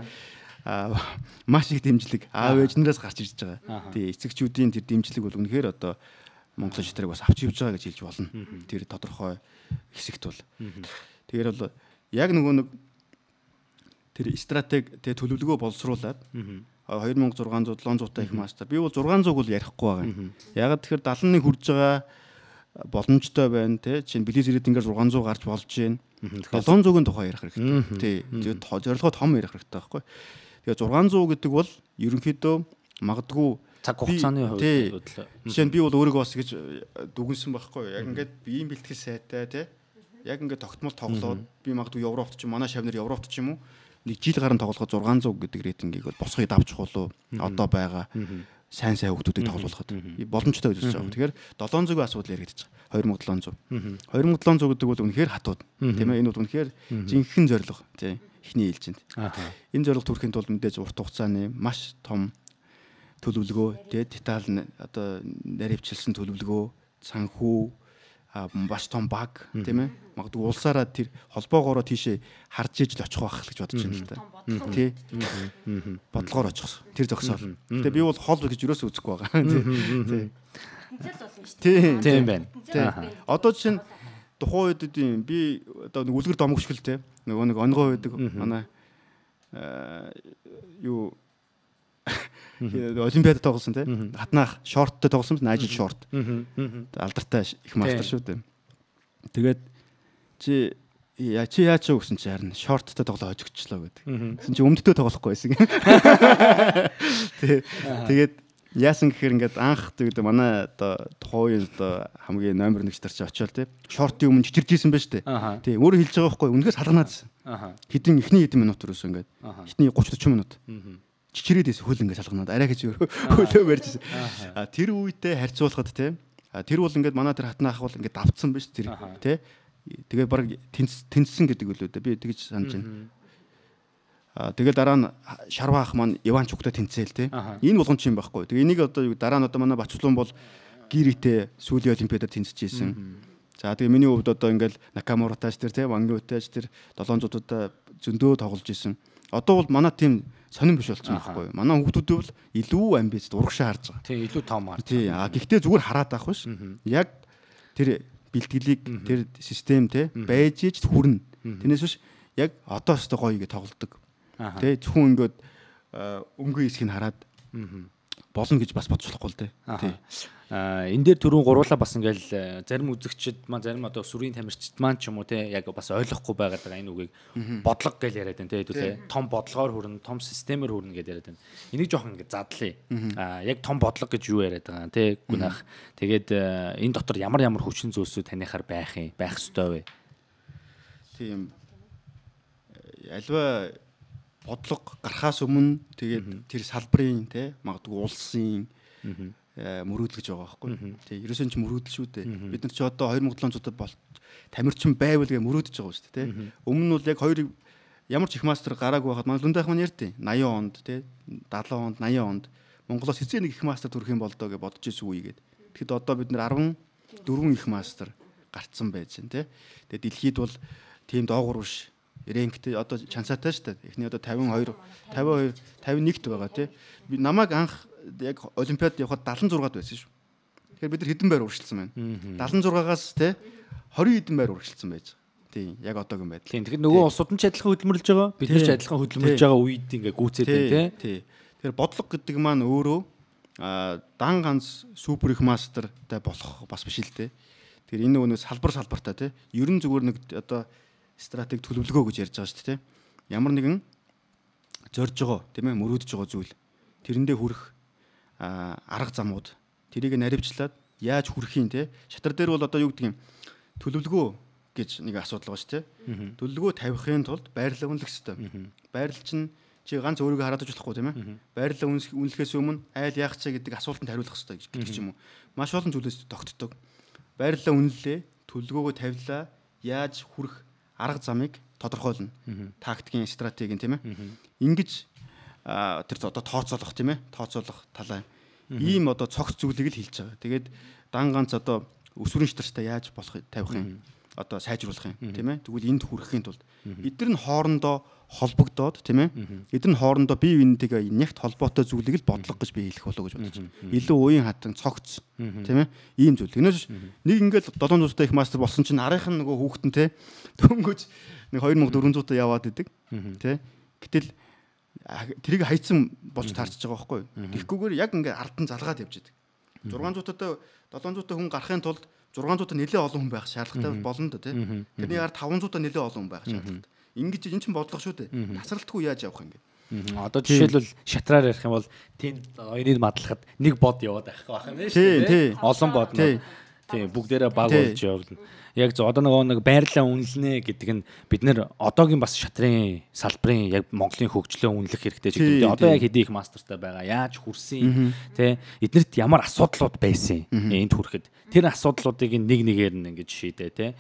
Маш их дэмжлэг аав ээжнээс гарч ирж байгаа. Тий. Эцэгчүүдийн тэр дэмжлэг бол үнэхээр одоо Монголын шитрэг бас авч явж байгаа гэж хэлж болно. Тэр тодорхой хэсэгт бол. Тэгэхээр бол яг нөгөө нэг тэр стратеги тэ төлөвлөгөө боловсруулад 2600 700 их мастер. Би бол 600 бол ярихгүй байгаа. Ягаад тэгэхээр 71 хүрж байгаа боломжтой байна те чинь билиз ирээд ингээд 600 гарч болж байна. 700-ын тухай ярих хэрэгтэй. Тий. Зорилгоо том ярих хэрэгтэй байхгүй. Тэгээ 600 гэдэг бол ерөнхийдөө магадгүй цаг хугацааны хувьд жишээ нь би бол өөрийгөө бас гэж дүгнсэн байхгүй. Яг ингээд биеийн бэлтгэл сайтай те. Яг ингээд тогтмол тоглоод би магадгүй Европт ч манай шавнар Европт ч юм уу нэг жил гарan тоглоход 600 гэдэг рейтингийг бол босхыг давчих болов одоо байгаа сайн хүүхдүүдийг тоглуулахад боломжтой гэж үзэж байгаа. Тэгэхээр 700-ийн асуудал яригдчих. 2700. 2700 гэдэг бол үнэхээр хатууд. Тийм ээ энэ бол үнэхээр жинхэнэ зорилго тийм эхний ээлжинд. Энэ зорилго төрөхийн тулд мэдээж урт хугацааны маш том төлөвлөгөө тийм деталь одоо наривчилсан төлөвлөгөө санхүү маш том баг тийм ээ магадгүй улсаараа тэр холбоогоороо тийшээ харж иж л очих байх гэж бодож байна л да. Тий. Бодлогоор очих. Тэр зогсоол. Гэтэ би бол хол гэж юусоо үзэхгүй байгаа. Тий. Тэнцэл болно шүү дээ. Тийм байна. Тий. Одоо жишээ нь тухайн үед би одоо нэг үлгэр домогшгөл те нөгөө нэг онгой байдаг манай юу олимпиадад тоглосон те хатнаах шорттой тоглосон ажил шорт алдартай их мастер шүү дээ. Тэгээд чи яач гэсэн чи харин шорттой тоглоо хожигчлоо гэдэг. Гэсэн чи өмдтөө тоглохгүй байсан. Тэгээд яасан гэхээр ингээд анх тэгээд манай одоо тухайн одоо хамгийн номер 1 стар чи очиод те шортын өмнө чичиржсэн байж тээ. Тий өөрөө хэлж байгаа байхгүй үнэхээр салганаадсэн. Хэдэн эхний хэдэн минут өрөөс ингээд эхний 30-40 минут. Чичирээдээс хөл ингээд салганаад арай гэж хөлөө барьжсэн. Тэр үедээ харьцуулахад те тэр бол ингээд манай тэр хатнаах бол ингээд давцсан байж тэр те тэгээ баг тэнцсэн гэдэг үлээ дээ би тэгж санаж байна. Тэгээд дараа нь шарваах маань Иванчуктай тэнцээл те энэ болгон ч юм байхгүй. Тэгээ энийг одоо дараа нь одоо манай Бачулуун бол гиритэй сүүлийн олимпиадаар тэнцэжсэн. За тэгээ миний хувьд одоо ингээд Накамуратаач тэр те Вангиутаач тэр 700-уудаа зөндөө тоглож исэн. Одоо бол манай тим сонирн биш болсон байхгүй. Манай хүүхдүүд бол илүү амбиц урагшаа харж байгаа. Тий, илүү том харж. Тий, гэхдээ зүгээр хараад авах биш. Яг тэр бэлтгэлийг тэр систем те байж ич хүрнэ. Тэрнээс биш яг одоо өстө гоё ингэ тоглодог. Тий, зөвхөн ингээд өнгөө хэсгийг хараад болно гэж бас бодож болохгүй л дээ. Тий. Энэ дээр түрүүн гуруулаа бас ингээл зарим үзэгчд маань зарим одоо сүрийн тамирчид маань ч юм уу те яг бас ойлгохгүй байгаад байгаа энэ үгийг бодлого гэж яриад байна те хэдүүлээ том бодлогоор хүрнэ том системээр хүрнэ гэж яриад байна. Энийг жоохон ингэ задлаа. Яг том бодлого гэж юу яриад байгаа те гүнах. Тэгээд энэ дотор ямар хүчин зүйлсүүд танихаар байх ёстой вэ? Тийм. Альва бодлого гарахаас өмнө тэгээд тэр салбарын те магадгүй улсын мөрөөдөлж байгаа байхгүй. Тий, ерөөсөн ч мөрөөдөл шүү дээ. Бид нар ч одоо 2700-ад бол тамирчин байвал гэж мөрөөдөж байгаа шүү дээ, тий. Өмнө нь бол яг хоёрыг ямар ч их мастер гараагүй байхад манай Лүндайх маань ярьдیں۔ 80 онд, тий, 70 онд, 80 онд Монголоос хэзээ нэг их мастер төрөх юм болдоо гэж бодож ирсэн үегээд. Тэгэхэд одоо бид нар 14 их мастер гарцсан байж байна, тий. Тэгээд дэлхийд бол тийм доогуур биш. Рэнктэй одоо чансаатай шүү дээ. Эхний одоо 52, 51-т байгаа, тий. Би намайг анх яг олимпиад явахад 76-д байсан шүү. Тэгэхээр бид нар хэдэн байр урагшилсан байна. 76-аас те 20 хэдэн байр урагшилсан байж байгаа. Тийм, яг одоогийн байдал. Тийм, тэгэхээр нөгөө улсууд нь ч адилхан хөдөлмөрлөж байгаа. Бид нар ч адилхан хөдөлмөрлөж байгаа үед ингээ гүйцээд байна те. Тэгэхээр бодлого гэдэг маань өөрөө дан ганц супер их мастертай болох бас биш л те. Тэгэхээр энэ нөгөө салбартаа те. Ер нь зүгээр нэг одоо стратеги төлөвлөгөө гэж ярьж байгаа шүү дээ те. Ямар нэгэн зорж байгаа тийм ээ мөрөөдөж байгаа зүйл тэрэндээ хүрэх арга замууд тэрийг наривчлаад яаж хүрэх юм те шатар дээр бол одоо юу гэдэг юм төлөвлөгөө гэж нэг асуудал байгаа шүү те төлөвлөгөө тавихын тулд байрлал үнэлэх хэрэгтэй байрлал чинь чи ганц өөрийгөө хараад ажиллахгүй тийм ээ байрлал үнэлэхээс өмнө айл яах чаа гэдэг асуултанд хариулах хэрэгтэй гэж юм уу маш олон зүйлээс тогтдог байрлал үнэллээ төлөвлөгөөгөө тавилаа яаж хүрэх арга замыг тодорхойлно тактикийн стратегийн тийм ээ ингэж тэр одоо тооцоолох тийм ээ тооцоолох талаа Ийм одоо цогц зүйлийг л хэлж байгаа. Тэгээд дан ганц одоо өсвөрийн шатартай яаж тавих юм? Одоо сайжруулах юм тийм ээ. Тэгвэл энд хүрэхийн тулд эдгээр нь хоорондоо холбогдоод тийм ээ. Эдгээр нь хоорондоо бие биентэйгээ нягт холбоотой зүйлийг л бодлого гэж би хэлэх болов гэж бодож байна. Илүү уян хатан цогц тийм ээ. Ийм зүйл. Тэгнээс нэг ингээл 700-тай их мастер болсон чинь арийнхан нөгөө хүүхдэн те дөнгөж нэг 2400-тай яваад идэг тий. Гэтэл тэрийг хайцсан болж таарч байгаа байхгүй. Тэгэхгүйгээр яг ингээд ардан залгаад явж идэг. 600-тай 700-тай хүн гарахын тулд 600-тай нэлээд олон хүн байх шаардлагатай болно да тий. Тэрний ард 500-тай нэлээд олон хүн байх шаардлагатай. Ингэж эн чинь бодлого шүү дээ. Тасралтгүй яаж явах юм бэ? Одоо жишээлбэл шатраар ярих юм бол тэнд оёныг мадлахад нэг бод яваад байх байх юм шүү дээ. Олон бод нь. Тийм бүгдээрээ баг болж явна. Яг зөв одоо нэг байрлалаа үнэлнэ гэдэг нь бид нэр одоогийн бас шатрын салбарын яг Монголын хөгжлөө үнэлэх хэрэгтэй ч гэдэг. Одоо яг хэдий их мастертай байгаа. Яаж хүрсэн тий эднэрт ямар асуудлууд байсан энд хүрэхэд тэр асуудлуудыг нэг нэгээр нь ингэж шийдээ тий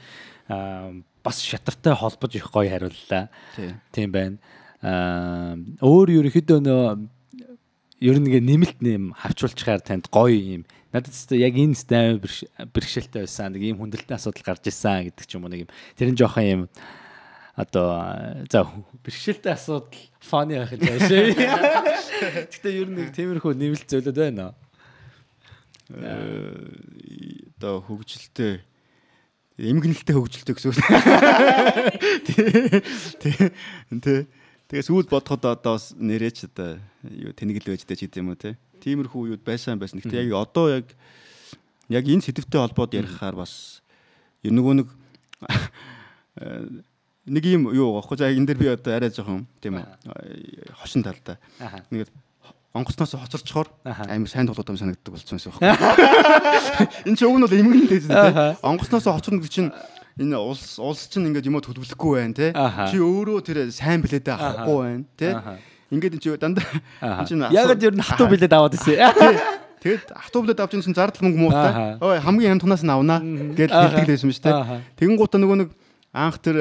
бас шатартай холбож их гоё хариуллаа. Тийм байна. Өөр ерөнхийдөө ер нь ингээ нэмэлт нэм хавчуулчихаар танд гоё юм. Надад ч яг энэ стайл бэрхшээлтэй байсан. Нэг ийм хүндрэлтэй асуудал гарч ирсэн гэдэг ч юм уу нэг юм. Тэр нь жоохон юм одоо за бэрхшээлтэй асуудал фаны байх юм байна. Гэтэ ер нь нэг тиймэрхүү нэмэлт зөвлөд байна. Одоо хөгжилтэй эмгэнэлтэй хөгжилтэй гэсэн үг. Тэ тэгээс үл бодоход одоо бас нэрээч одоо юу тэнэглэл байж дээ ч гэдэм үү те. Тиймэрхүү юуд байсан. Гэхдээ яг одоо яг энэ сэдвтэй холбоод ярихаар бас нөгөө нэг юм юу гоохгүй. За энэ дэр би одоо арай жоохон тийм ээ хошин талдаа. Нэг онгоцноос хоцорчхоор амар сайн тоглоод байгаа санагддаг болсон байсан байхгүй. Энэ ч өг нь бол эмгэнэлтэй те. Онгоцноос хоцорно гэдэг чинь энэ улс чинь ингээд юмд төлөвлөхгүй байна те. Чи өөрөө тэр сайн билетээ авахгүй байна те. Ингээд чи дандаа чинь ягаад ер нь хатуу билет аваад ирсэн. Тэгээд хатуу билет авч ирсэн зардал мөнгө муутай. Ой хамгийн хямд тунаас нь авнаа гэж хэлдэг байсан биз те. Тэгэн гутаа нөгөө нэг анх тэр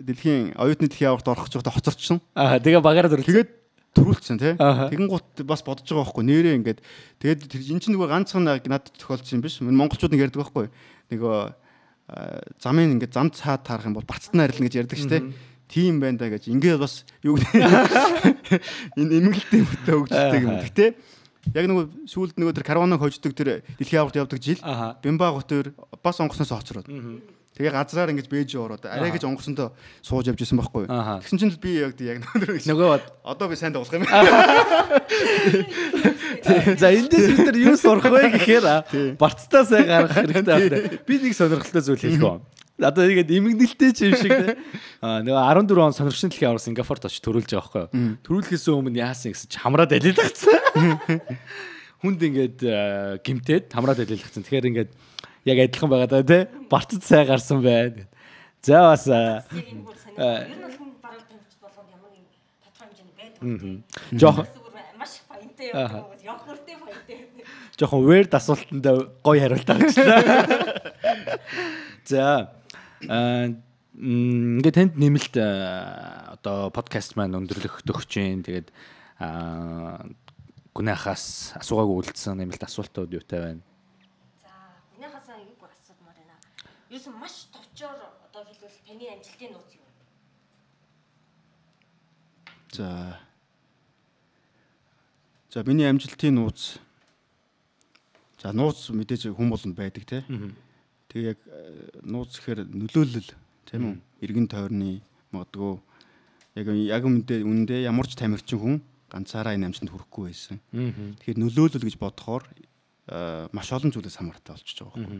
дэлхийн оюутны дэлхийн аварт орох гэж байхдаа хоцорчсон. Тэгээ багаараа төрүүлсэн. Тэгээд төрүүлсэн те. Тэгэн гут бас бодож байгаа байхгүй нэрээ ингээд тэгээд тэр эн чинь нөгөө ганцхан надад тохиолдсон юм биш. Монголчууд нэг ярьдаг байхгүй. Нөгөө замын ингээд зам цаад таарах юм бол бацд нь арилна гэж ярьдаг шүү дээ. Тийм байна да гэж. Ингээд бас юу гэдэг энэ эмгэлтэй хөтөө хөгждөг юм. Гэтэ яг нөгөө сүүлд нөгөө тэр карваныг хождог тэр дэлхийн аварт явдаг жил Бямба готор бас онгоцноос хоцроод. Тэгээ газраар ингэж бэж ороод арай гэж онгоцондоо сууж явж исэн байхгүй. Тэгсэн чинь би яг нөгөө одоо би сайн тоглох юм. За эндээс бид нар юу сурах вэ гэхээр барцтаа сайн гаргах хэрэгтэй байна. Би нэг сонирхолтой зүйл хэлэх юм. Одоо ингээд эмгэнэлтэй ч юм шиг те. Нөгөө 14 он сонирхчны дэлхийн авар Сингапурт очиж төрүүлж байгаа байхгүй юу. Төрүүлэхээс өмнө яасан гэсэн чи хамраад алилгацсан. Хүнд ингээд гимтээд хамраад алилгацсан. Тэгэхээр ингээд яг адилхан байгаа даа те. Барцд сайн гарсан байна. За бас ер нь бол хүн бараг төвч болгонд ямар нэг тодорхой хэмжээний байдаг. Жохон маш их баянтай явдаг. Явхуртай баянтай. Жохон weird асуултанд гоё хариулт авчихлаа. За ингээд танд нэмэлт одоо подкаст маань өндөрлөх төгсөж जैन. Тэгээд гүнэхаас асуугаагүй үлдсэн нэмэлт асуултууд юутай байна? За гүнэхаас аюугүй асуудмаар байна. Юусэн маш товчоор одоо хэлбэл таны амжилтын нууц юу вэ? За миний амжилтын нууц. За нууц мэдээж хүн болгонд байдаг те. Тэгээ яг нууц гэхээр нөлөөлөл тийм үү? Иргэн тойрны магадгүй яг үндэ ямар ч тамирчин хүн ганцаараа энэ амжилтанд хүрэхгүй байсан. Тэгэхээр нөлөөлөл гэж бодохоор маш олон зүйлээс хамаартай болчихж байгаа байхгүй.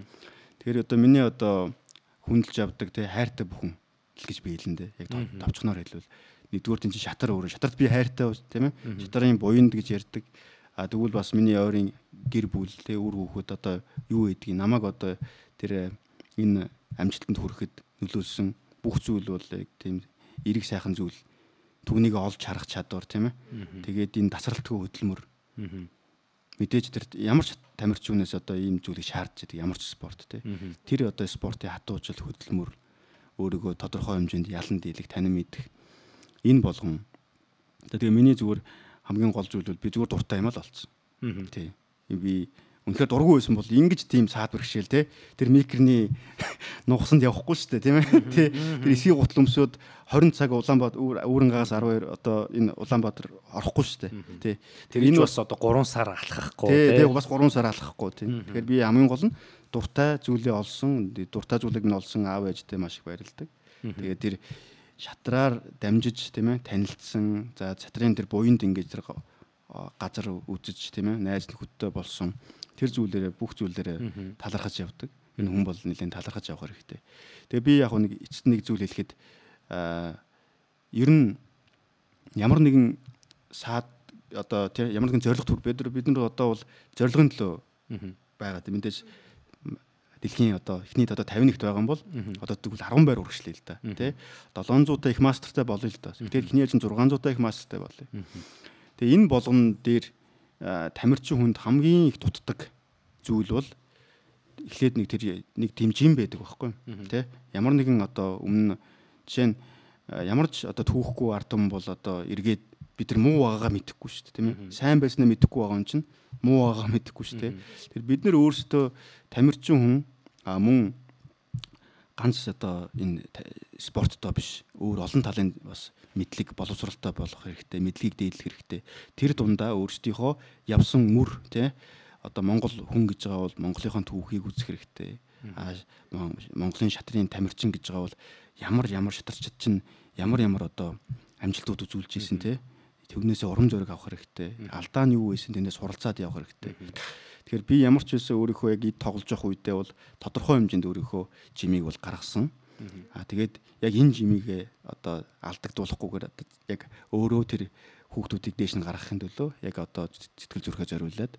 Тэгэхээр одоо миний одоо хүндэлж авдаг те хайртай бүхэн л гэж би хэлэндээ яг товчхоноор хэлвэл нэгдүгээр тийм шатар өөрөө шатарт би хайртай тийм ээ шатарын буйнд гэж ярьдаг. Тэгвэл бас миний ойрын гэр бүл те үр хүүхэд одоо юу гэдгийг намайг одоо тэр энэ амжилтанд хүрэхэд нөлөөлсөн бүх зүйл бол яг тийм эрэг сайхан зүйл түүнийг олж харах чадвар тийм ээ. Тэгээд энэ тасралтгүй хөдөлмөр. Мэдээж тэр ямар ч тамирчнаас одоо ийм зүйлийг шаардж байдаг ямар ч спорт тийм. Тэр одоо спортын хатуужил хөдөлмөр өөрийгөө тодорхой хэмжээнд ялан дийлэх танин мэдэх энэ болгон. Тэгээ миний зүгээр хамгийн гол зүйл бол би зүгээр дуртай юм л олцсон. Тийм. би үнэхээр дургүй байсан бол ингэж тийм саад бэрхшээл те тэр микроны нугасанд явахгүй шүү дээ тийм ээ тий тэр эсгийн гутал өмсөд 20 цаг Улаанбаатар Үүрэнгээс 12 одоо энэ Улаанбаатар орохгүй шүү дээ тий тэр энэ бас одоо 3 сар алхахгүй тий бас 3 сар алхахгүй тий тэгэхээр би хамгийн гол нь дуртай зүйлээ олсон дуртай зүйлийг нь олсон аав ээжтэй маш их баярлдаг тэгээд тэр шатраар дамжиж тийм ээ танилцсан за шатрын тэр буянд ингэж тэр газар үзэж тийм ээ найз нөхөдтэй болсон тэр зүйлээрээ бүх зүйлээрээ талархаж явдаг. Энэ хүн бол нэлээд талархаж явах хэрэгтэй. Тэгээ би яг нэг эцэст нэг зүйл хэлэхэд ер нь ямар нэгэн саад одоо тийм ямар нэгэн зорилго төр бид нар одоо бол зорилгын төлөө байгаа. Мэдээж дэлхийн одоо эхний одоо 51-т байгаа юм бол одоо тэгвэл 10 байр үргэлжлэе л да. Тэ 700-тай их мастертай болъё л да. Тэгээд эхний ээлжин 600-тай их мастертай болъё. Тэгээ энэ болгон дээр тамирчин хүнд хамгийн их дутдаг зүйл бол эхлээд нэг тийм жим байдаг байхгүй тий ямар нэгэн одоо өмнө жишээ нь ямар ч одоо түүхгүй ард түмэн бол одоо эргээд бид нар муу байгаагаа мэдэхгүй шүү дээ тийм ээ сайн байснаа мэдэхгүй байгаа юм чинь муу байгаагаа мэдэхгүй шүү дээ тэр бид нар өөрсдөө тамирчин хүн мөн ганц одоо энэ спорттой биш өөр олон талын бас мэдлэг боловсралтай болох хэрэгтэй мэдлэгийг дээдлэх хэрэгтэй тэр дундаа өөрсдийнхөө явсан мөр тий одоо Монгол хүн гэж байгаа бол Монголынхаа түүхийг үзэх хэрэгтэй Монголын шатрын тамирчин гэж байгаа бол ямар шатарчид чинь ямар одоо амжилтууд үзүүлж ийсэн тий түүнээсээ урам зориг авах хэрэгтэй алдаа нь юу байсан тэндээ суралцаад явах хэрэгтэй тэгэхээр би ямар ч байсан өөрийнхөө яг тоглож явах үедээ бол тодорхой хэмжээнд өөрийнхөө жимийг бол гаргасан тэгээд яг энэ жимигээ одоо алдагдуулахгүйгээр яг өөрөө тэр хүүхдүүдийг дээш нь гаргахын төлөө яг одоо сэтгэл зүрхээ зориулаад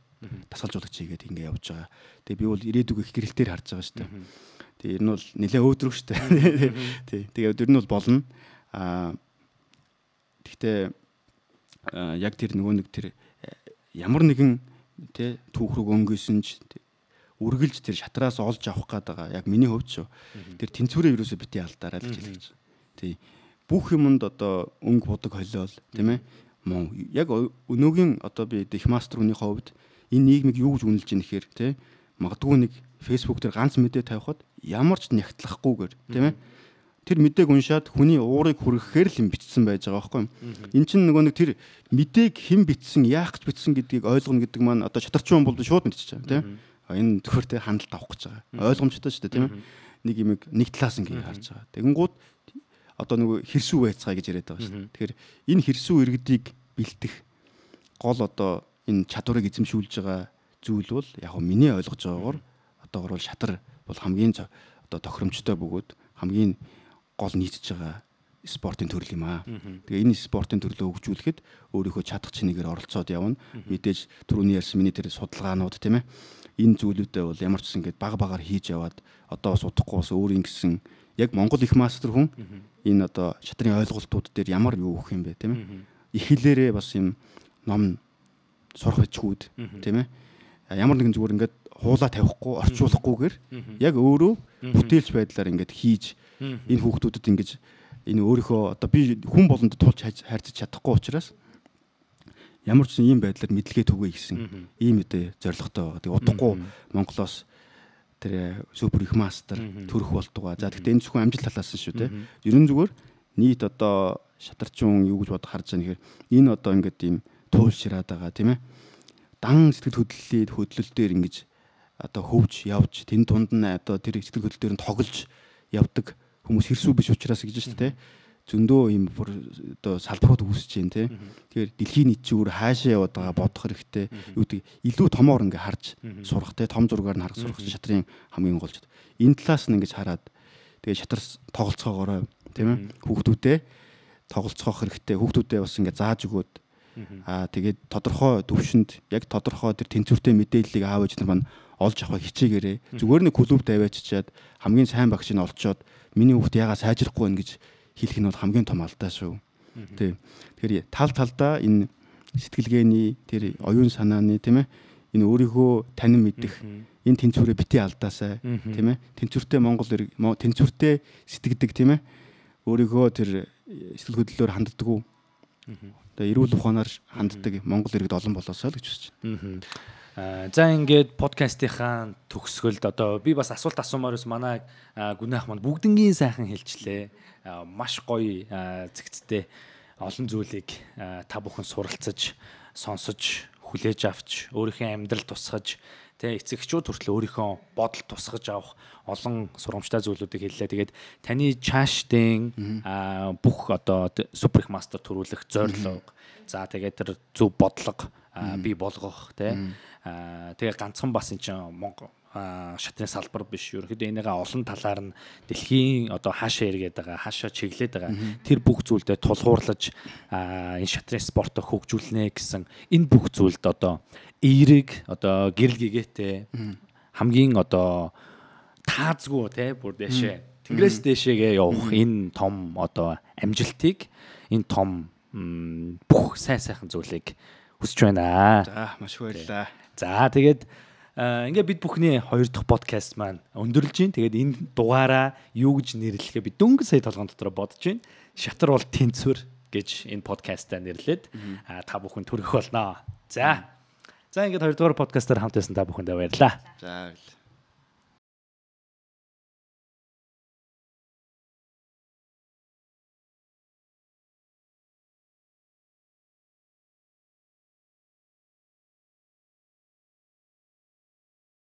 тасгалжуулагч хийгээд ингэ явж байгаа. Тэгээ би бол ирээдүг их гэрэлтээр харж байгаа шүү дээ. Тэгээ ер нь бол нэлээ өөдрөг шүү дээ. Тий. Тэгээ ер нь бол болно. Гэхдээ яг тэр нөгөө нэг тэр ямар нэгэн тий түүх рүү өнгөсөн ч үргэлж тэр шатраас олж авах гээд байгаа. Яг миний хувьд шүү. Тэр тэнцвэрээ юусоо бити алдаарай л гэж хэлж. Тий. Бүх юмд одоо өнгө будаг холиол тийм ээ. Яг өнөөгийн одоо би их мастерууны хувьд энэ нийгмийг юу гэж үнэлж ийн гэхээр тий магадгүй нэг фэйсбુક дээр ганц мэдээ тавихад ямар ч нягтлахгүйгээр тийм ээ тэр мэдээг уншаад хүний уурыг хүргэхээр л юм бичсэн байж байгаа байхгүй юм. Эн чинь нөгөө нэг тэр мэдээг хэн бичсэн, яах гэж бичсэн гэдгийг ойлгоно гэдэг маань одоо шатарчин хүн бол шууд мэдчихэж байгаа тийм. Энэ зөвхөр тэ хяналт авах гэж байгаа. Ойлгомжтой шүү дээ тийм ээ. Нэг юм нэг талаас ингээ харж байгаа. Тэгэнгүүт одоо нөгөө хэрсүү байцгаа гэж яриад байгаа шүү дээ. Тэгэхээр энэ хэрсүү иргэдийг бэлтэх гол одоо энэ чадварыг эзэмшүүлж байгаа зүйл бол яг нь миний ойлгож байгаагаар одоогор бол шатар бол хамгийн одоо тохиромжтой бөгөөд хамгийн гол нийцэж байгаа спортын төрөл юм аа. Тэгээ энэ спортын төрлөө хөгжүүлэхэд өөрийнхөө чадах чинээгээр оролцоод явна. Мэдээж түрүүний ярьсан миний тэр судалгаанууд тийм ээ. Энэ зүйлүүдээ бол ямар ч гэсэн ингээд багаар хийж яваад одоо бас удахгүй бас өөрийн гэсэн яг Монгол их мастер хүн энэ одоо шатрын ойлголтууд дээр ямар юу өгөх юм бэ тийм ээ. Их хэлээрээ бас юм ном сурах бичгүүд тийм ээ. Ямар нэгэн зүгээр ингээд хуулаа тавихгүй орчуулахгүйгээр яг өөрөө бүтээлч байдлаар ингээд хийж энэ хүүхдүүдэд ингэж энэ өөрийнхөө одоо би хүн болонд тулж харьцаж чадахгүй учраас ямар ч ийм байдлаар мэдлэгээ түгэй гэсэн ийм үдэ зорилготой байгаа. Тэгээ удахгүй Монголоос тэр супер их мастер төрөх болтугай. За гэхдээ энэ зөвхөн амжилт талаас нь шүү те. Ерөн зүгээр нийт одоо шатарчин юу гэж бодох харж байгаа нэхэр энэ одоо ингээд ийм туйлшраад байгаа тийм ээ. Дан сэтгэл хөдлөл дээр ингэж одоо хөвж явж тэн тунд нь одоо тэр сэтгэл хөдлөл дээр нь тоглож явдаг хүмүүс хэрсүү биш учраас гэж шүү дээ. Зөндөө юм бүр одоо салбарууд үүсэж байна те. Тэгэхээр дэлхийн нийт зүгээр хаашаа яваад байгаа бодох хэрэгтэй. Юу гэдэг илүү томоор ингээ харж сурах те. Том зургаар нь харах сурах шатрын хамгийн голж. Энэ талаас нь ингэж хараад тэгээ шатар тоглолцоогоорой тийм ээ. Хүүхдүүдэд тоглолцоох хэрэгтэй. Хүүхдүүдэд бас ингээ зааж өгөөд тэгээд тодорхой төвшөнд яг тодорхой тэр тэнцвэртэй мэдээллийг аав ээж нар маань олж авах хичээгээрээ зүгээр нэг клуб тавиачаад хамгийн сайн багшийг олцоод миний хүүхд ягаа сайжрахгүй байна гэж хэлэх нь бол хамгийн том алдаа шүү. Тий. Тэгэхээр талдаа энэ сэтгэлгээний тэр оюун санааны тийм ээ энэ өөрийнхөө танин мэдэх энэ тэнцвэрээ бити алдаасай тийм ээ тэнцвэртэй Монгол тэнцвэртэй сэтгэдэг тийм ээ өөрийнхөө тэр сэтгэл хөдлөлөөр ханддаг уу Одоо эрүүл ухаанаар ханддаг Монгол иргэд олон болоосоо л гэж хүсэж байна. За ингээд подкастынхаа төгсгөлд одоо би бас асуулт асуумаар ус манай гүнээх манд бүгднгийн сайхан хэлжлээ. Маш гоё зэгцтэй олон зүйлийг та бүхэн суралцаж, сонсож, хүлээж авч, өөрийнхөө амьдрал тусгаж, эцэгчүүд хүртэл өөрийнхөө бодол тусгаж авах олон сурамжтай зүйлүүдийг хэллээ. Тэгээд таны чаашдын бүх одоо супер мастер төрүүлэх зорилго. За тэгээд тэр зөв бодлого бий болгох тэгээ ганцхан бас энэ чинь Монгол шатрын салбар биш. Ерөнхийдөө энийгээ олон талаар нь дэлхийн одоо хаашаа эргээд байгаа, хаашаа чиглээд байгаа. Тэр бүх зүйлдээ тулгуурлаж энэ шатрын спортоо хөгжүүлнэ гэсэн энэ бүх зүйлд одоо эерэг одоо гэрэл гэгээтэй хамгийн одоо таазгүй бүр дэшээ тэнгэрээс дэшээгээ явах энэ том одоо амжилтыг энэ том бүх сайхан зүйлийг хүсэж байна. За маш баярлалаа. За тэгээд ингээ бид бүхний 2 дахь подкаст маань өндөрлж байна. Тэгээд энэ дугаараа юу гэж нэрлэхээ би дөнгөж сая толгойн дотор бодож байна. Шатар бол тэнцвэр гэж энэ подкастаа нэрлээд та бүхэн төрөх болно. За ингээд 2 дугаар подкастаар хамт байсан та бүхэндээ баярлалаа. За баярлалаа.